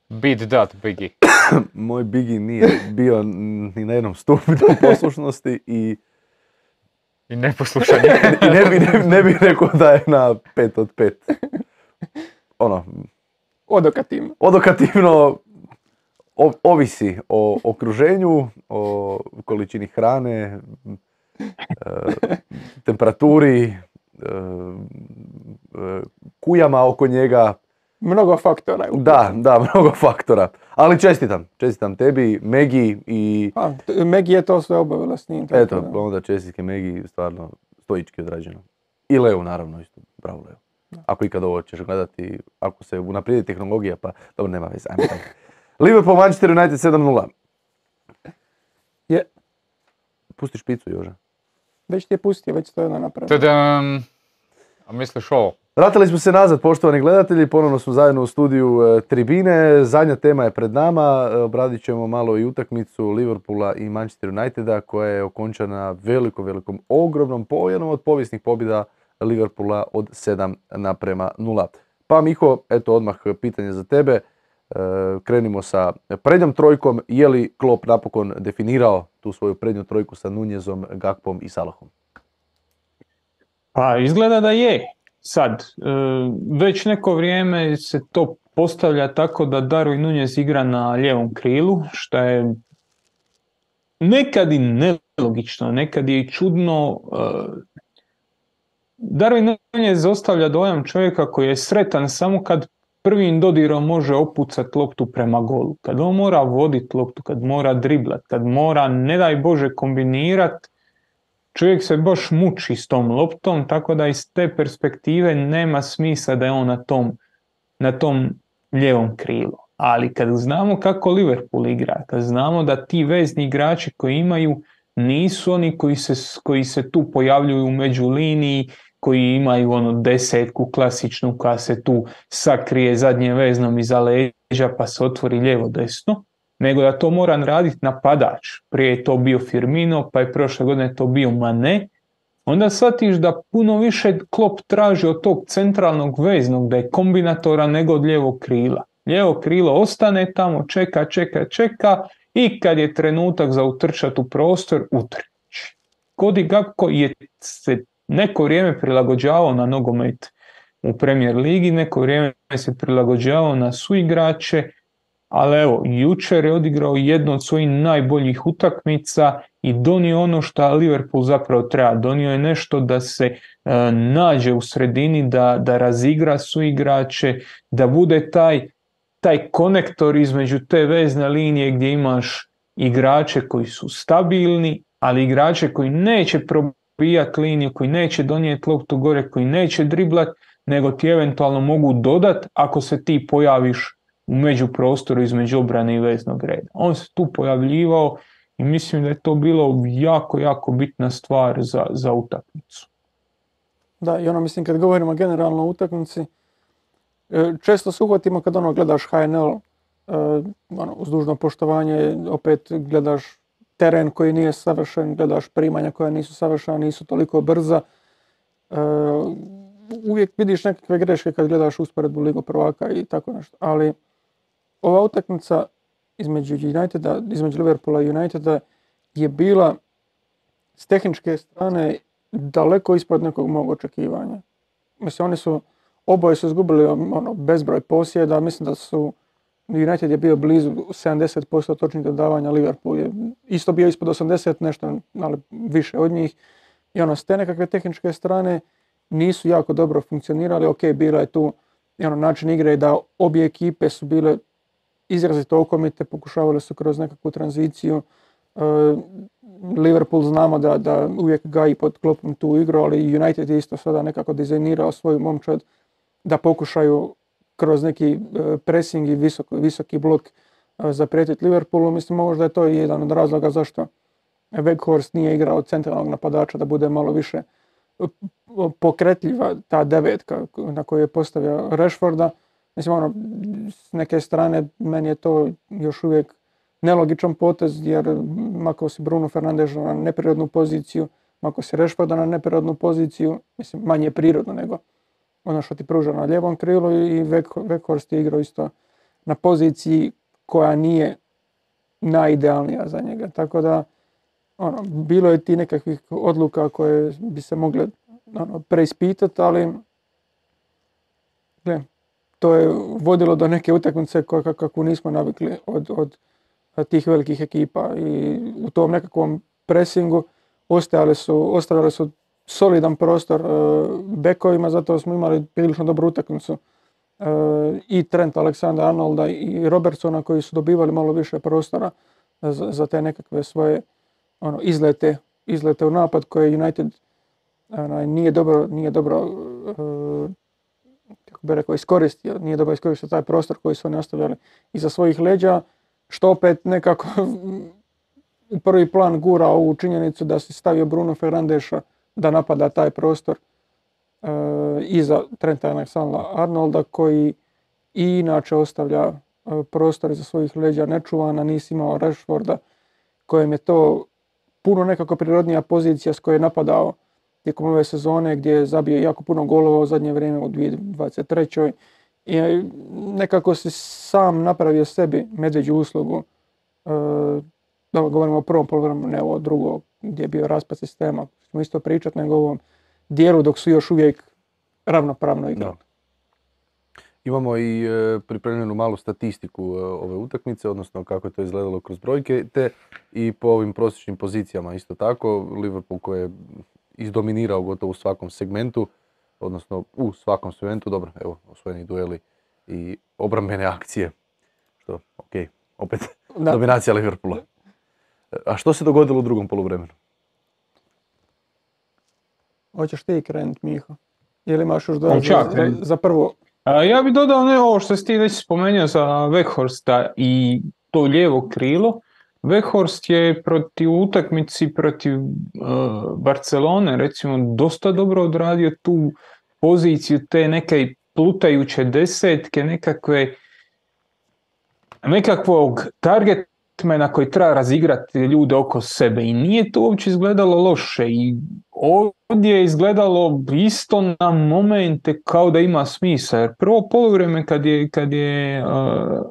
Beat that, Biggie. Moj Biggie nije bio ni na jednom stupnju poslušnosti i I neposlušanje. i ne bi, ne, ne bi rekao da je na pet od pet. Ono, Odokativno. odokativno o, ovisi o okruženju, o količini hrane, e, temperaturi, e, e, kujama oko njega. Mnogo faktora. Da, da, mnogo faktora. Ali čestitam, čestitam tebi, Megi i... A, Megi je to sve obavila s njim. Eto, da. Onda čestitke Megi, stvarno stoički odrađeno. I Leo naravno isto, bravo Leo. Da. Ako ikad ovo ćeš gledati, ako se unaprijedi tehnologija, pa dobro, nema veze, ajmo tako. Liverpool, Manchester United sedam nula. Je. Pusti špicu, Joža. Već ti je pustio, već to je napravio. Tadam. A misliš ovo? Vratili smo se nazad, poštovani gledatelji, ponovno smo zajedno u studiju e, Tribine. Zadnja tema je pred nama, e, obradit ćemo malo i utakmicu Liverpoola i Manchester Uniteda koja je okončana velikom, velikom, ogromnom po jednom od povijesnih pobjeda Liverpoola od sedam naprema nula. Pa Miho, eto odmah pitanje za tebe, e, krenimo sa prednjom trojkom, je li Klopp napokon definirao tu svoju prednju trojku sa Nunezom, Gakpom i Salahom? Pa izgleda da je. Sad, već neko vrijeme se to postavlja tako da Darwin Nunez igra na lijevom krilu, što je nekad i nelogično, nekad je i čudno. Darwin Nunez ostavlja dojam čovjeka koji je sretan samo kad prvim dodirom može opucati loptu prema golu. Kad on mora voditi loptu, kad mora driblat, kad mora, ne daj Bože, kombinirati, čovjek se baš muči s tom loptom, tako da iz te perspektive nema smisla da je on na tom, na tom lijevom krilu. Ali kad znamo kako Liverpool igra, kad znamo da ti vezni igrači koji imaju nisu oni koji se, koji se tu pojavljuju u međuliniji, koji imaju ono desetku klasičnu koja se tu sakrije zadnje veznom iza leđa pa se otvori lijevo desno, nego da to mora raditi napadač. Prije je to bio Firmino, pa je prošle godine to bio Mane. Onda shvatiš da puno više Klopp traži od tog centralnog veznog, da je kombinatora nego od lijevog krila. Lijevo krilo ostane tamo, čeka, čeka, čeka i kad je trenutak za utrčati u prostor, utrči. Cody Gakpo je se neko vrijeme prilagođavao na nogomet u Premier ligi, neko vrijeme se prilagođavao na suigrače, ali evo, jučer je odigrao jednu od svojih najboljih utakmica i donio ono što Liverpool zapravo treba. Donio je nešto da se e, nađe u sredini, da, da razigra suigrače, da bude taj, taj konektor između te vezne linije gdje imaš igrače koji su stabilni, ali igrače koji neće probijati liniju, koji neće donijeti loptu gore, koji neće driblat, nego ti eventualno mogu dodat ako se ti pojaviš u međuprostoru između obrane i veznog reda. On se tu pojavljivao i mislim da je to bilo jako, jako bitna stvar za, za utakmicu. Da, i ono mislim kad govorimo generalno o utakmici, često se uhvatimo kad ono gledaš H N L, ono, uz dužno poštovanje, opet gledaš teren koji nije savršen, gledaš primanja koja nisu savršena, nisu toliko brza. Uvijek vidiš nekakve greške kad gledaš usporedbu Ligu prvaka i tako nešto, ali ova utakmica između Uniteda, između Liverpoola i Uniteda je bila s tehničke strane daleko ispod nekog mog očekivanja. Mislim, oni su, oboje su izgubili ono, bezbroj posjeda, mislim da su, United je bio blizu sedamdeset posto točnih dodavanja, Liverpool je isto bio ispod osamdeset, nešto, ali više od njih. I ono, s te nekakve tehničke strane nisu jako dobro funkcionirali, ok, bila je tu i ono, način igre da obje ekipe su bile izrazito okomite, pokušavali su kroz nekakvu tranziciju. Uh, Liverpool znamo da, da uvijek gaji pod klopom tu igru, ali United je isto sada nekako dizajnirao svoju momčad da pokušaju kroz neki uh, pressing i visok, visoki blok uh, zaprijetiti Liverpoolu. Mislim, možda je to i jedan od razloga zašto Weghorst nije igrao centralnog napadača, da bude malo više pokretljiva ta devetka na koju je postavio Rashforda. Mislim, ono, s neke strane meni je to još uvijek nelogičan potez, jer mako si Bruno Fernandes na neprirodnu poziciju, mako si Rashforda na neprirodnu poziciju, mislim, manje prirodno nego ono što ti pruža na lijevom krilu, i Weghorst je igrao isto na poziciji koja nije najidealnija za njega. Tako da, ono, bilo je ti nekakvih odluka koje bi se mogle ono, preispitati, ali gle, to je vodilo do neke utakmice kako nismo navikli od, od tih velikih ekipa, i u tom nekakvom presingu ostavili su, ostavili su solidan prostor uh, bekovima, zato smo imali prilično dobru utakmicu uh, i Trent Alexander-Arnolda i Robertsona, koji su dobivali malo više prostora za, za te nekakve svoje ono, izlete, izlete u napad koje United ono, nije dobro, nije dobro uh, kako bi rekao, iskoristio, nije dobro iskoristio taj prostor koji su oni ostavljali iza svojih leđa, što opet nekako u prvi plan gura ovu činjenicu da si stavio Bruno Fernandesa da napada taj prostor uh, iza Trenta Alexander-Arnolda, koji i inače ostavlja uh, prostor iza svojih leđa nečuvana. Nisi imao Rashforda, kojem je to puno nekako prirodnija pozicija s koje je napadao tijekom ove sezone, gdje je zabio jako puno golova u zadnje vrijeme u dvije tisuće dvadeset trećoj. I nekako si sam napravio sebi medveđu uslugu. Uh, da govorimo o prvom poluvremenu, ne o drugom, gdje je bio raspad sistema. Smo isto pričati, nego o ovom dijelu dok su još uvijek ravnopravno igrali. Imamo i e, pripremljenu malu statistiku e, ove utakmice, odnosno kako je to izgledalo kroz brojke, te i po ovim prosječnim pozicijama isto tako. Liverpool koji je izdominirao gotovo u svakom segmentu, odnosno u svakom segmentu, dobro, evo, osvojeni dueli i obrambene akcije, što, ok, opet da. Dominacija Liverpoola. A što se dogodilo u drugom poluvremenu? Hoćeš ti krenut, Miho? Ili imaš još dodati za, za, za prvo? A, ja bih dodao ne ovo što si ti već spomenuo za Weghorsta i to lijevo krilo. Weghorst je protiv utakmici protiv uh, Barcelone recimo dosta dobro odradio tu poziciju te neke plutajuće desetke, nekakve nekakvog targetmana koji treba razigrati ljude oko sebe, i nije to uopće izgledalo loše, i ovdje je izgledalo isto na momente kao da ima smisla, jer prvo poluvreme kad je, kad je, uh,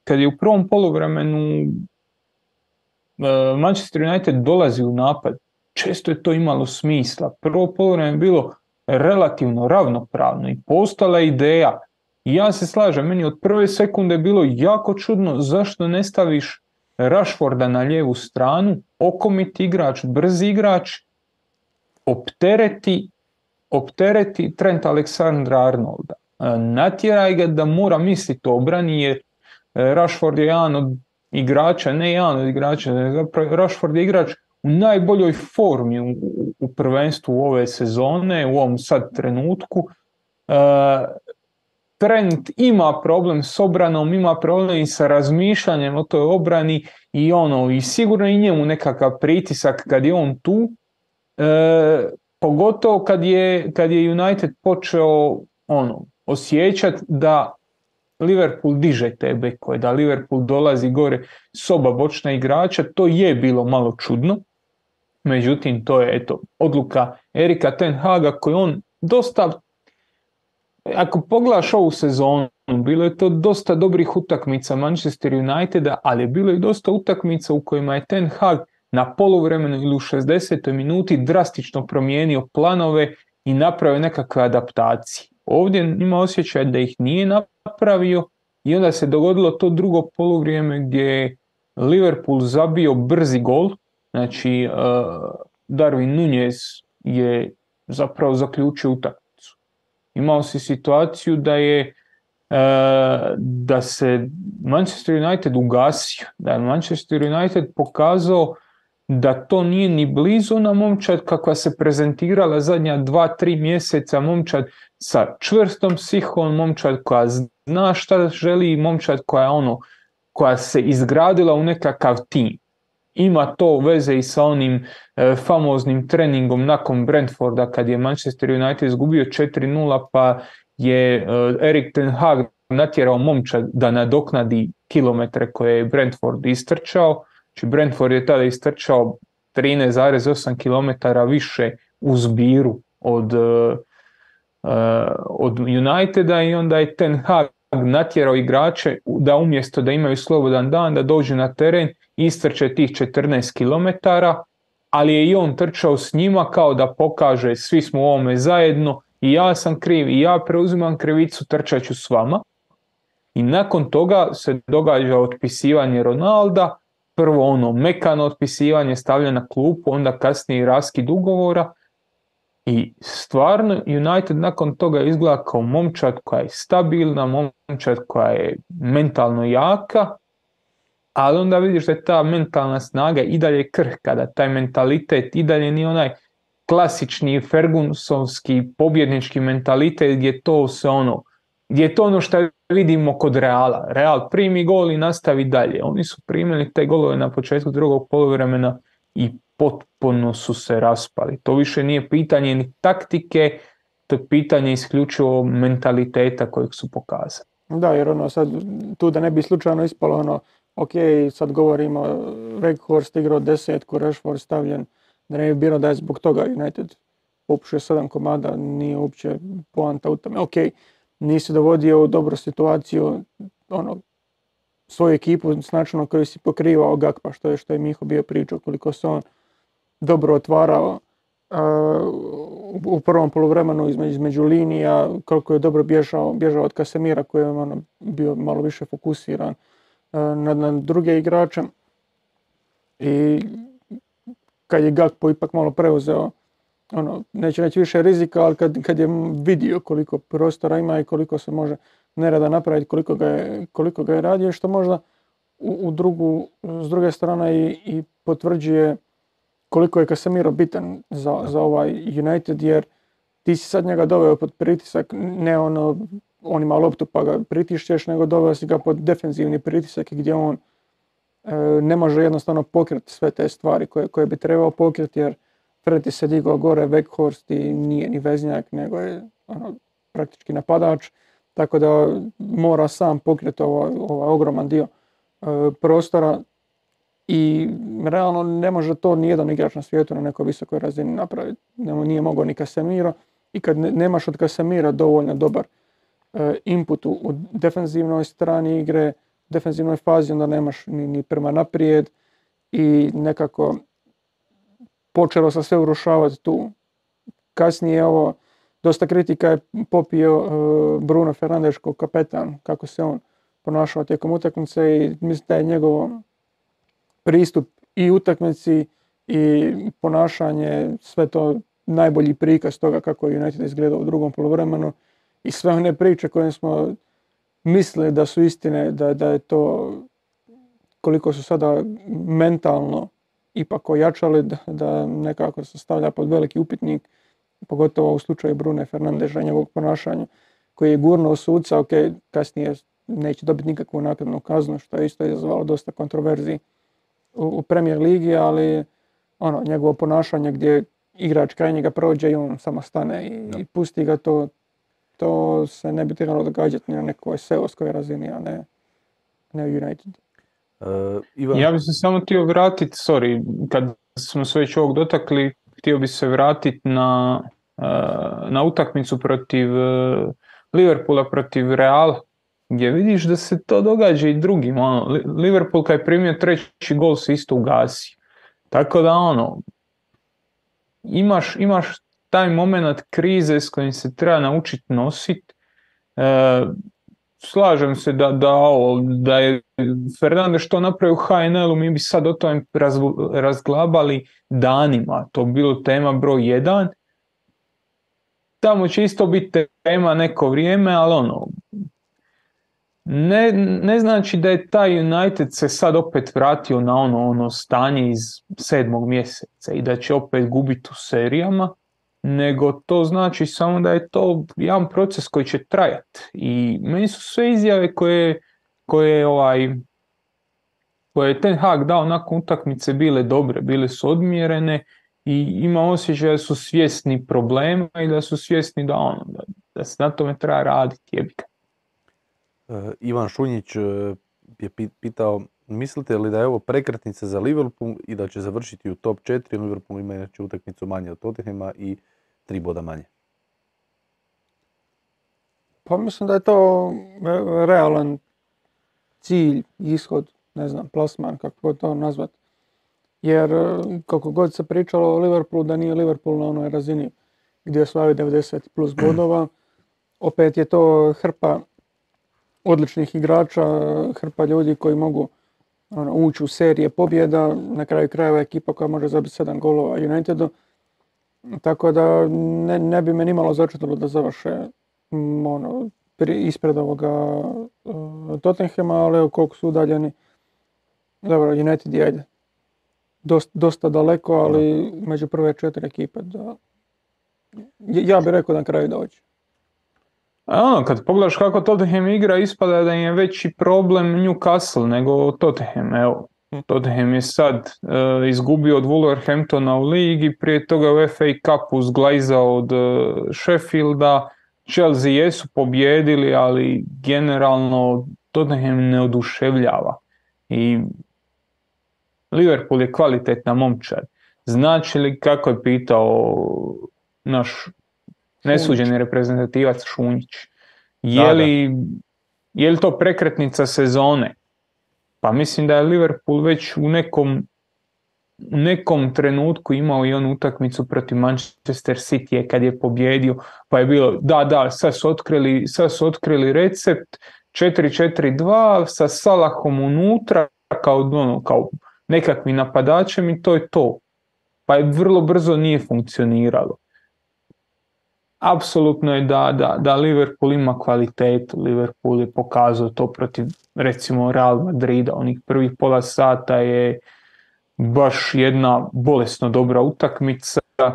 kad je u prvom poluvremenu uh, Manchester United dolazi u napad, često je to imalo smisla. Prvo poluvreme je bilo relativno ravnopravno i postala ideja I ja se slažem, meni od prve sekunde je bilo jako čudno zašto ne staviš Rashforda na lijevu stranu, okomiti igrač, brzi igrač, optereti, optereti Trent Alexander-Arnolda. Natjeraj ga da mora misliti o obrani, jer Rashford je jedan od igrača, ne jedan od igrača, zapravo Rashford je igrač u najboljoj formi u, u prvenstvu ove sezone, u ovom sad trenutku. Uh, Trent ima problem s obranom, ima problem i sa razmišljanjem o toj obrani i ono, i sigurno i njemu nekakav pritisak kad je on tu, e, pogotovo kad je, kad je United počeo ono, osjećati da Liverpool diže te bekove, da Liverpool dolazi gore s oba bočna igrača, to je bilo malo čudno. Međutim, to je eto, odluka Erika Ten Haga koji on dosta, ako pogledaš ovu sezonu, bilo je to dosta dobrih utakmica Manchester Uniteda, ali je bilo i dosta utakmica u kojima je Ten Hag na poluvremenu ili u šezdesetoj minuti drastično promijenio planove i napravio nekakve adaptacije. Ovdje ima osjećaj da ih nije napravio i onda se dogodilo to drugo poluvrijeme gdje je Liverpool zabio brzi gol. Znači, uh, Darwin Nunez je zapravo zaključio utakmicu. Imao si situaciju da je uh, da se Manchester United ugasio, da je Manchester United pokazao da to nije ni blizu ona momčad kakva se prezentirala zadnja dva, tri mjeseca, momčad sa čvrstom psihom, momčad koja zna šta želi, momčad koja je ono, koja se izgradila u nekakav tim. Ima to veze i sa onim e, famoznim treningom nakon Brentforda kad je Manchester United izgubio četiri nula pa je e, Erik Ten Hag natjerao momčad da nadoknadi kilometre koje je Brentford istrčao. Znači Brentford je tada istrčao trinaest zarez osam kilometara više u zbiru od, uh, od Uniteda i onda je Ten Hag natjerao igrače da umjesto da imaju slobodan dan da dođu na teren i istrče tih četrnaest kilometara, ali je i on trčao s njima kao da pokaže svi smo u ovome zajedno i ja sam kriv i ja preuzimam krivicu, trčat ću s vama. I nakon toga se događa otpisivanje Ronalda, prvo ono mekano otpisivanje, stavljanje na klupu, onda kasnije raskid ugovora i stvarno United nakon toga izgleda kao momčad koja je stabilna, momčad koja je mentalno jaka, ali onda vidiš da je ta mentalna snaga i dalje krhka, da taj mentalitet i dalje nije onaj klasični Fergusonski pobjednički mentalitet gdje to se ono, gdje je to ono što vidimo kod Reala. Real primi gol i nastavi dalje. Oni su primili te golove na početku drugog poluvremena i potpuno su se raspali. To više nije pitanje ni taktike, to je pitanje isključivo mentaliteta kojeg su pokazali. Da, jer ono sad, tu da ne bi slučajno ispalo ono, ok, sad govorimo, Weghorst igrao desetku, Rashford stavljen, da ne bi bilo da je zbog toga United popušio sedam komada, nije uopće poanta u tome. Ok, nisi dovodio u dobru situaciju ono, svoju ekipu s načinom koji si pokrivao Gakpa, što je, što je Miho bio pričao, koliko se on dobro otvarao uh, u prvom poluvremenu između, između linija, koliko je dobro bježao, bježao od Casemira koji je ono, bio malo više fokusiran uh, na, na druge igrače. I kad je Gakpo ipak malo preuzeo, ono, neće reći više rizika, ali kad, kad je vidio koliko prostora ima i koliko se može nereda napraviti, koliko ga je, koliko ga je radio, što možda u, u drugu, s druge strane i, i potvrđuje koliko je Casemiro bitan za, za ovaj United, jer ti si sad njega doveo pod pritisak, ne ono, on ima loptu pa ga pritišćeš, nego doveo si ga pod defenzivni pritisak gdje on e, ne može jednostavno pokriti sve te stvari koje, koje bi trebao pokriti, jer Freti se digao gore, Weghorst i nije ni veznjak, nego je ono, praktički napadač, tako da mora sam pokriti ovaj, ovaj ogroman dio e, prostora i realno ne može to nijedan igrač na svijetu na nekoj visokoj razini napraviti. Nije mogao ni Casemiro i kad ne, nemaš od Casemira dovoljno dobar e, input u, u defenzivnoj strani igre, defenzivnoj fazi, onda nemaš ni, ni prema naprijed i nekako počelo se sve urušavati tu. Kasnije ovo dosta kritika je popio uh, Bruno Fernandes kao kapetan, kako se on ponašao tijekom utakmice i mislim da je njegov pristup i utakmici i ponašanje, sve to najbolji prikaz toga kako je United izgledao u drugom poluvremenu i sve one priče koje smo mislili da su istine, da, da je to koliko su sada mentalno ipak ojačali, da, da nekako se stavlja pod veliki upitnik, pogotovo u slučaju Brune Fernandesa i njegovog ponašanja, koji je gurnuo suca, ok, kasnije neće dobiti nikakvu naknadnu kaznu, što je isto izazvalo dosta kontroverziji u, u Premier ligi, ali ono, njegovo ponašanje gdje igrač kraj njega prođe i on samo stane i, no. i pusti ga, to, to se ne bi trebalo događati na nekoj seoskoj razini, a ne, ne u United. Uh, Ivan... Ja bih se samo htio vratiti, sorry, kad smo se već ovog dotakli, htio bih se vratiti na, uh, na utakmicu protiv uh, Liverpoola protiv Reala, gdje vidiš da se to događa i drugim. Ono, Liverpool kad je primio treći gol se isto ugasi. Tako da ono, imaš, imaš taj moment krize s kojim se treba naučiti nositi. E, slažem se da, da, ovo, da je Fernandes što napravio u H N L-u, mi bi sad o tome raz, razglabali danima. To bi bilo tema broj jedan. Tamo će isto biti tema neko vrijeme, ali ono, Ne, ne znači da je taj United se sad opet vratio na ono, ono stanje iz sedmog mjeseca i da će opet gubiti u serijama, nego to znači samo da je to jedan proces koji će trajati. I meni su sve izjave koje, koje, ovaj, koje je Ten Hag dao nakon utakmice bile dobre, bile su odmjerene i ima osjećaj da su svjesni problema i da su svjesni da, ono, da, da se na tome treba raditi, jebika. Uh, Ivan Šunjić uh, je pitao, mislite li da je ovo prekretnica za Liverpool i da će završiti u top četiri, Liverpool ima inače utakmicu manje od Tottenhama i tri boda manje? Pa mislim da je to realan cilj, ishod, ne znam, plasman, kako to nazvat. Jer kako god se pričalo o Liverpoolu, da nije Liverpool na onoj razini gdje osvaja devedeset plus bodova, opet je to hrpa odličnih igrača, hrpa ljudi koji mogu ono, ući u serije pobjeda, na kraju krajeva ekipa koja može zabiti sedam golova Unitedu. Tako da ne, ne bi me nimalo začutilo da završe ono, ispred ovoga uh, Tottenhama, ali evo koliko su udaljeni. Dobro, United je ajde. Dost, dosta daleko, ali među prve četiri ekipe. Da, ja bih rekao da na kraju dođe. Ono, kad pogledaš kako Tottenham igra, ispada da im je veći problem Newcastle nego Tottenham. Evo, Tottenham je sad uh, izgubio od Wolverhamptona u ligi, prije toga u F A Cupu zglajzao od uh, Sheffielda. Chelsea jesu pobjedili, ali generalno Tottenham ne oduševljava. I Liverpool je kvalitetna momčad. Znači li, kako je pitao naš nesuđeni reprezentativac Šunjić, je li, je li to prekretnica sezone? Pa mislim da je Liverpool već u nekom, u nekom trenutku imao i onu utakmicu protiv Manchester City kad je pobjedio, pa je bilo da, da, sad su otkrili, sad su otkrili recept četiri četiri dva sa Salahom unutra kao, ono, kao nekakvim napadačem i to je to. Pa je vrlo brzo nije funkcioniralo. Apsolutno je da, da, da Liverpool ima kvalitetu. Liverpool je pokazao to protiv recimo Real Madrida. Onih prvih pola sata je baš jedna bolesno dobra utakmica. E,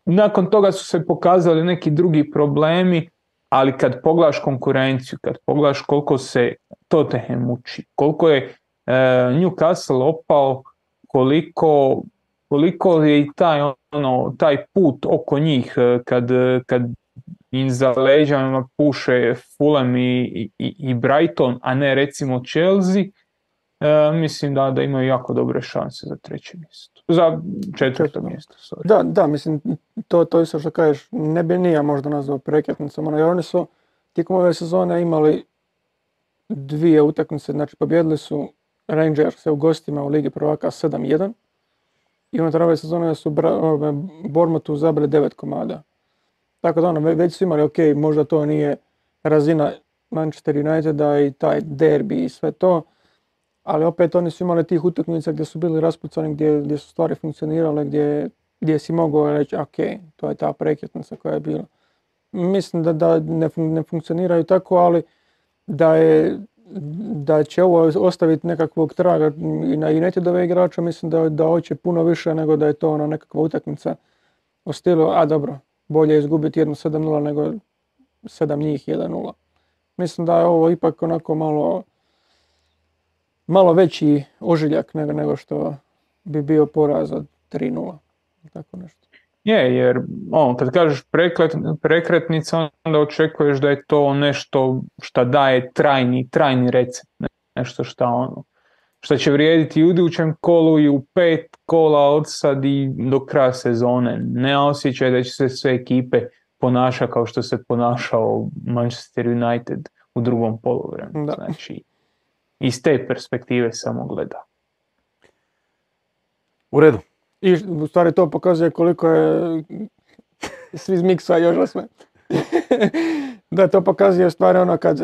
nakon toga su se pokazali neki drugi problemi, ali kad pogledaš konkurenciju, kad pogledaš koliko se Tottenham muči, koliko je e, Newcastle opao, koliko koliko je i taj, ono, taj put oko njih kad, kad im za leđama puše Fulham i, i, i Brighton, a ne recimo Chelsea, e, mislim da, da imaju jako dobre šanse za treće mjesto. Za četvrto mjesto, sorry. Da, da, mislim, to, to isto što kažeš, ne bi nije možda nazvao prekretnicom, jer oni su tijekom ove sezone imali dvije utakmice, znači pobjedili su Rangerse u gostima u Ligi prvaka sedam jedan, i unutar ove sezone su Bournemouthu zabili devet komada. Tako da ono, već su imali, ok, možda to nije razina Manchester Uniteda i taj derbi i sve to, ali opet oni su imali tih utakmica gdje su bili raspucani, gdje, gdje su stvari funkcionirale, gdje, gdje si mogao reći, ok, to je ta prekretnica koja je bila. Mislim da, da ne, ne funkcioniraju tako, ali da, je, da će ovo ostaviti nekakvog traga i na Unitedove igrača, mislim da, da hoće puno više nego da je to ono nekakva utakmica u stilu, a dobro, bolje je izgubiti jednu sedam nula nego sedam njih jedan nula. Mislim da je ovo ipak onako malo, malo veći ožiljak nego, nego što bi bio poraz od tri nula. Tako nešto. Je, jer on, kad kažeš prekret, prekretnica, onda očekuješ da je to nešto što daje trajni, trajni recept. Nešto što ono, što će vrijediti i u idućem kolu i u pet kola od sad i do kraja sezone. Ne osjećaj da će se sve ekipe ponaša kao što se ponašao Manchester United u drugom poluvremenu. Znači, iz te perspektive samo gleda. U redu. I u stvari to pokazuje koliko je svi zmiksa još sve. Da, to pokazuje stvari ono kad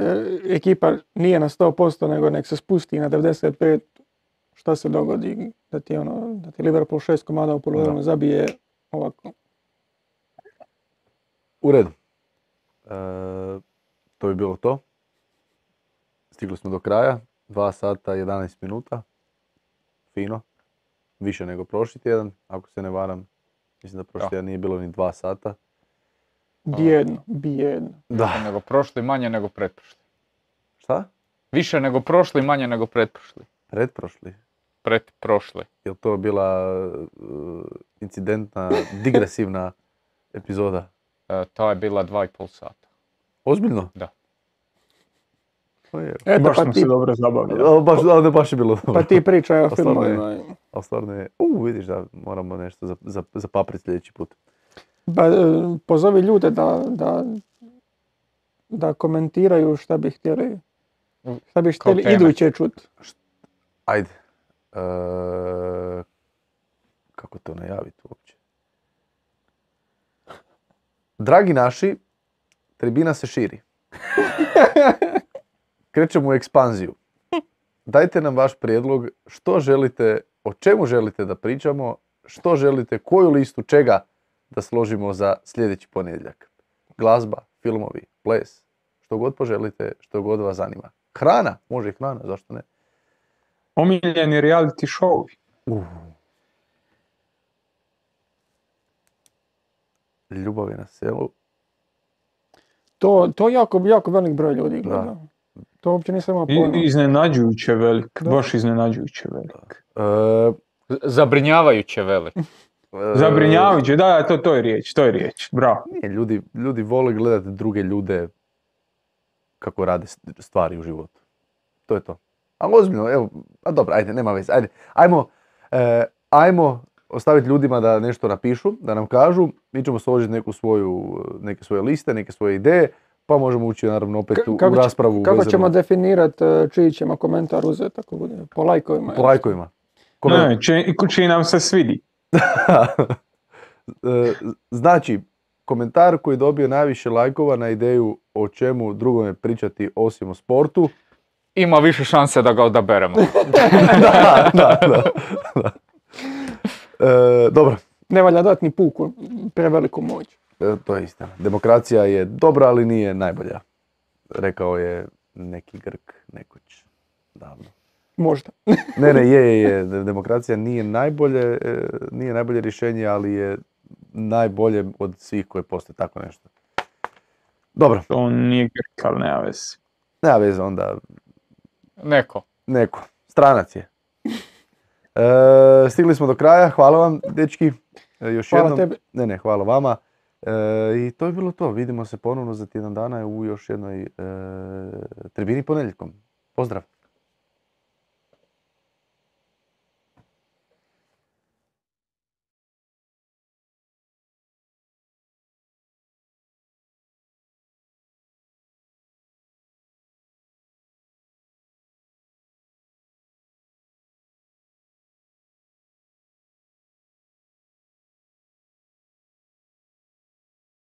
ekipa nije na sto posto nego nek se spusti na devedeset pet, šta se dogodi, da ti, ono, da ti Liverpool šest komada u poluvremenu zabije ovako. U redu. E, to bi bilo to. Stigli smo do kraja. dva sata jedanaest minuta. Fino. Više nego prošli tjedan, ako se ne varam. Mislim da prošli tjedan nije bilo ni dva sata. Bijedno, bijedno. Da. Više nego prošli, manje nego pretprošli. Šta? Više nego prošli, manje nego pretprošli. Pretprošli? Pretprošli. Je li to bila uh, incidentna, digresivna epizoda? E, to je bila dva i pol sata. Ozbiljno? Da. Eto, baš pa smo ti, se dobro zabavili. Baš, ali baš je bilo dobro. Pa ti pričaj o Stvarno je. filmovima. Ali stvarno je, u vidiš da moramo nešto za, za, za paprit sljedeći put. Ba, pozovi ljude da, da, da komentiraju šta bi htjeli, šta bi htjeli iduće čut. Ajde. E, kako to najaviti uopće? Dragi naši, tribina se širi. Krećemo u ekspanziju. Dajte nam vaš prijedlog što želite, o čemu želite da pričamo, što želite, koju listu čega da složimo za sljedeći ponedjeljak. Glazba, filmovi, ples, što god poželite, što god vas zanima. Hrana, može i hrana, zašto ne? Omiljeni reality show. Uh. Ljubav je na selu. To, to jako, jako velik broj ljudi gleda. Da. To uopće nisam imao pojma. Iznenađujuće velik, da. Baš iznenađujuće velik. Uh, Zabrinjavajuće velik. Zabrinjavajuće, da, da, to, to je riječ, to je riječ, bravo. Nije, ljudi, ljudi vole gledati druge ljude kako rade stvari u životu. To je to. Ali ozbiljno, evo, a dobro, ajde, nema veze, ajde. Ajmo, eh, ajmo ostaviti ljudima da nešto napišu, da nam kažu, mi ćemo složiti neku svoju, neke svoje liste, neke svoje ideje, pa možemo ući naravno opet u, kako u raspravu. Kako vezano. ćemo definirati čiji ćemo komentar uzeti, ako bude, po lajkovima? Po lajkovima. Ne, čiji nam se svidi. Znači, komentar koji dobije najviše lajkova na ideju o čemu drugome pričati osim o sportu, ima više šanse da ga odaberemo. da, da, da, da. E, dobro. Ne valja dati ni puku, preveliku moć. E, to je istina. Demokracija je dobra, ali nije najbolja. Rekao je neki Grk nekoć davno. Možda. ne, ne, je, je, je. Demokracija nije najbolje, nije najbolje rješenje, ali je najbolje od svih koje postoje, tako nešto. Dobro. On nije Grk, ali nema veze. Nema veze, onda... Neko. Neko. Stranac je. E, stigli smo do kraja, hvala vam, dečki. E, još hvala jednom. tebi. Ne, ne, hvala vama. E, I to je bilo to. Vidimo se ponovno za tjedan dana u još jednoj e, tribini ponedjeljkom. Pozdrav.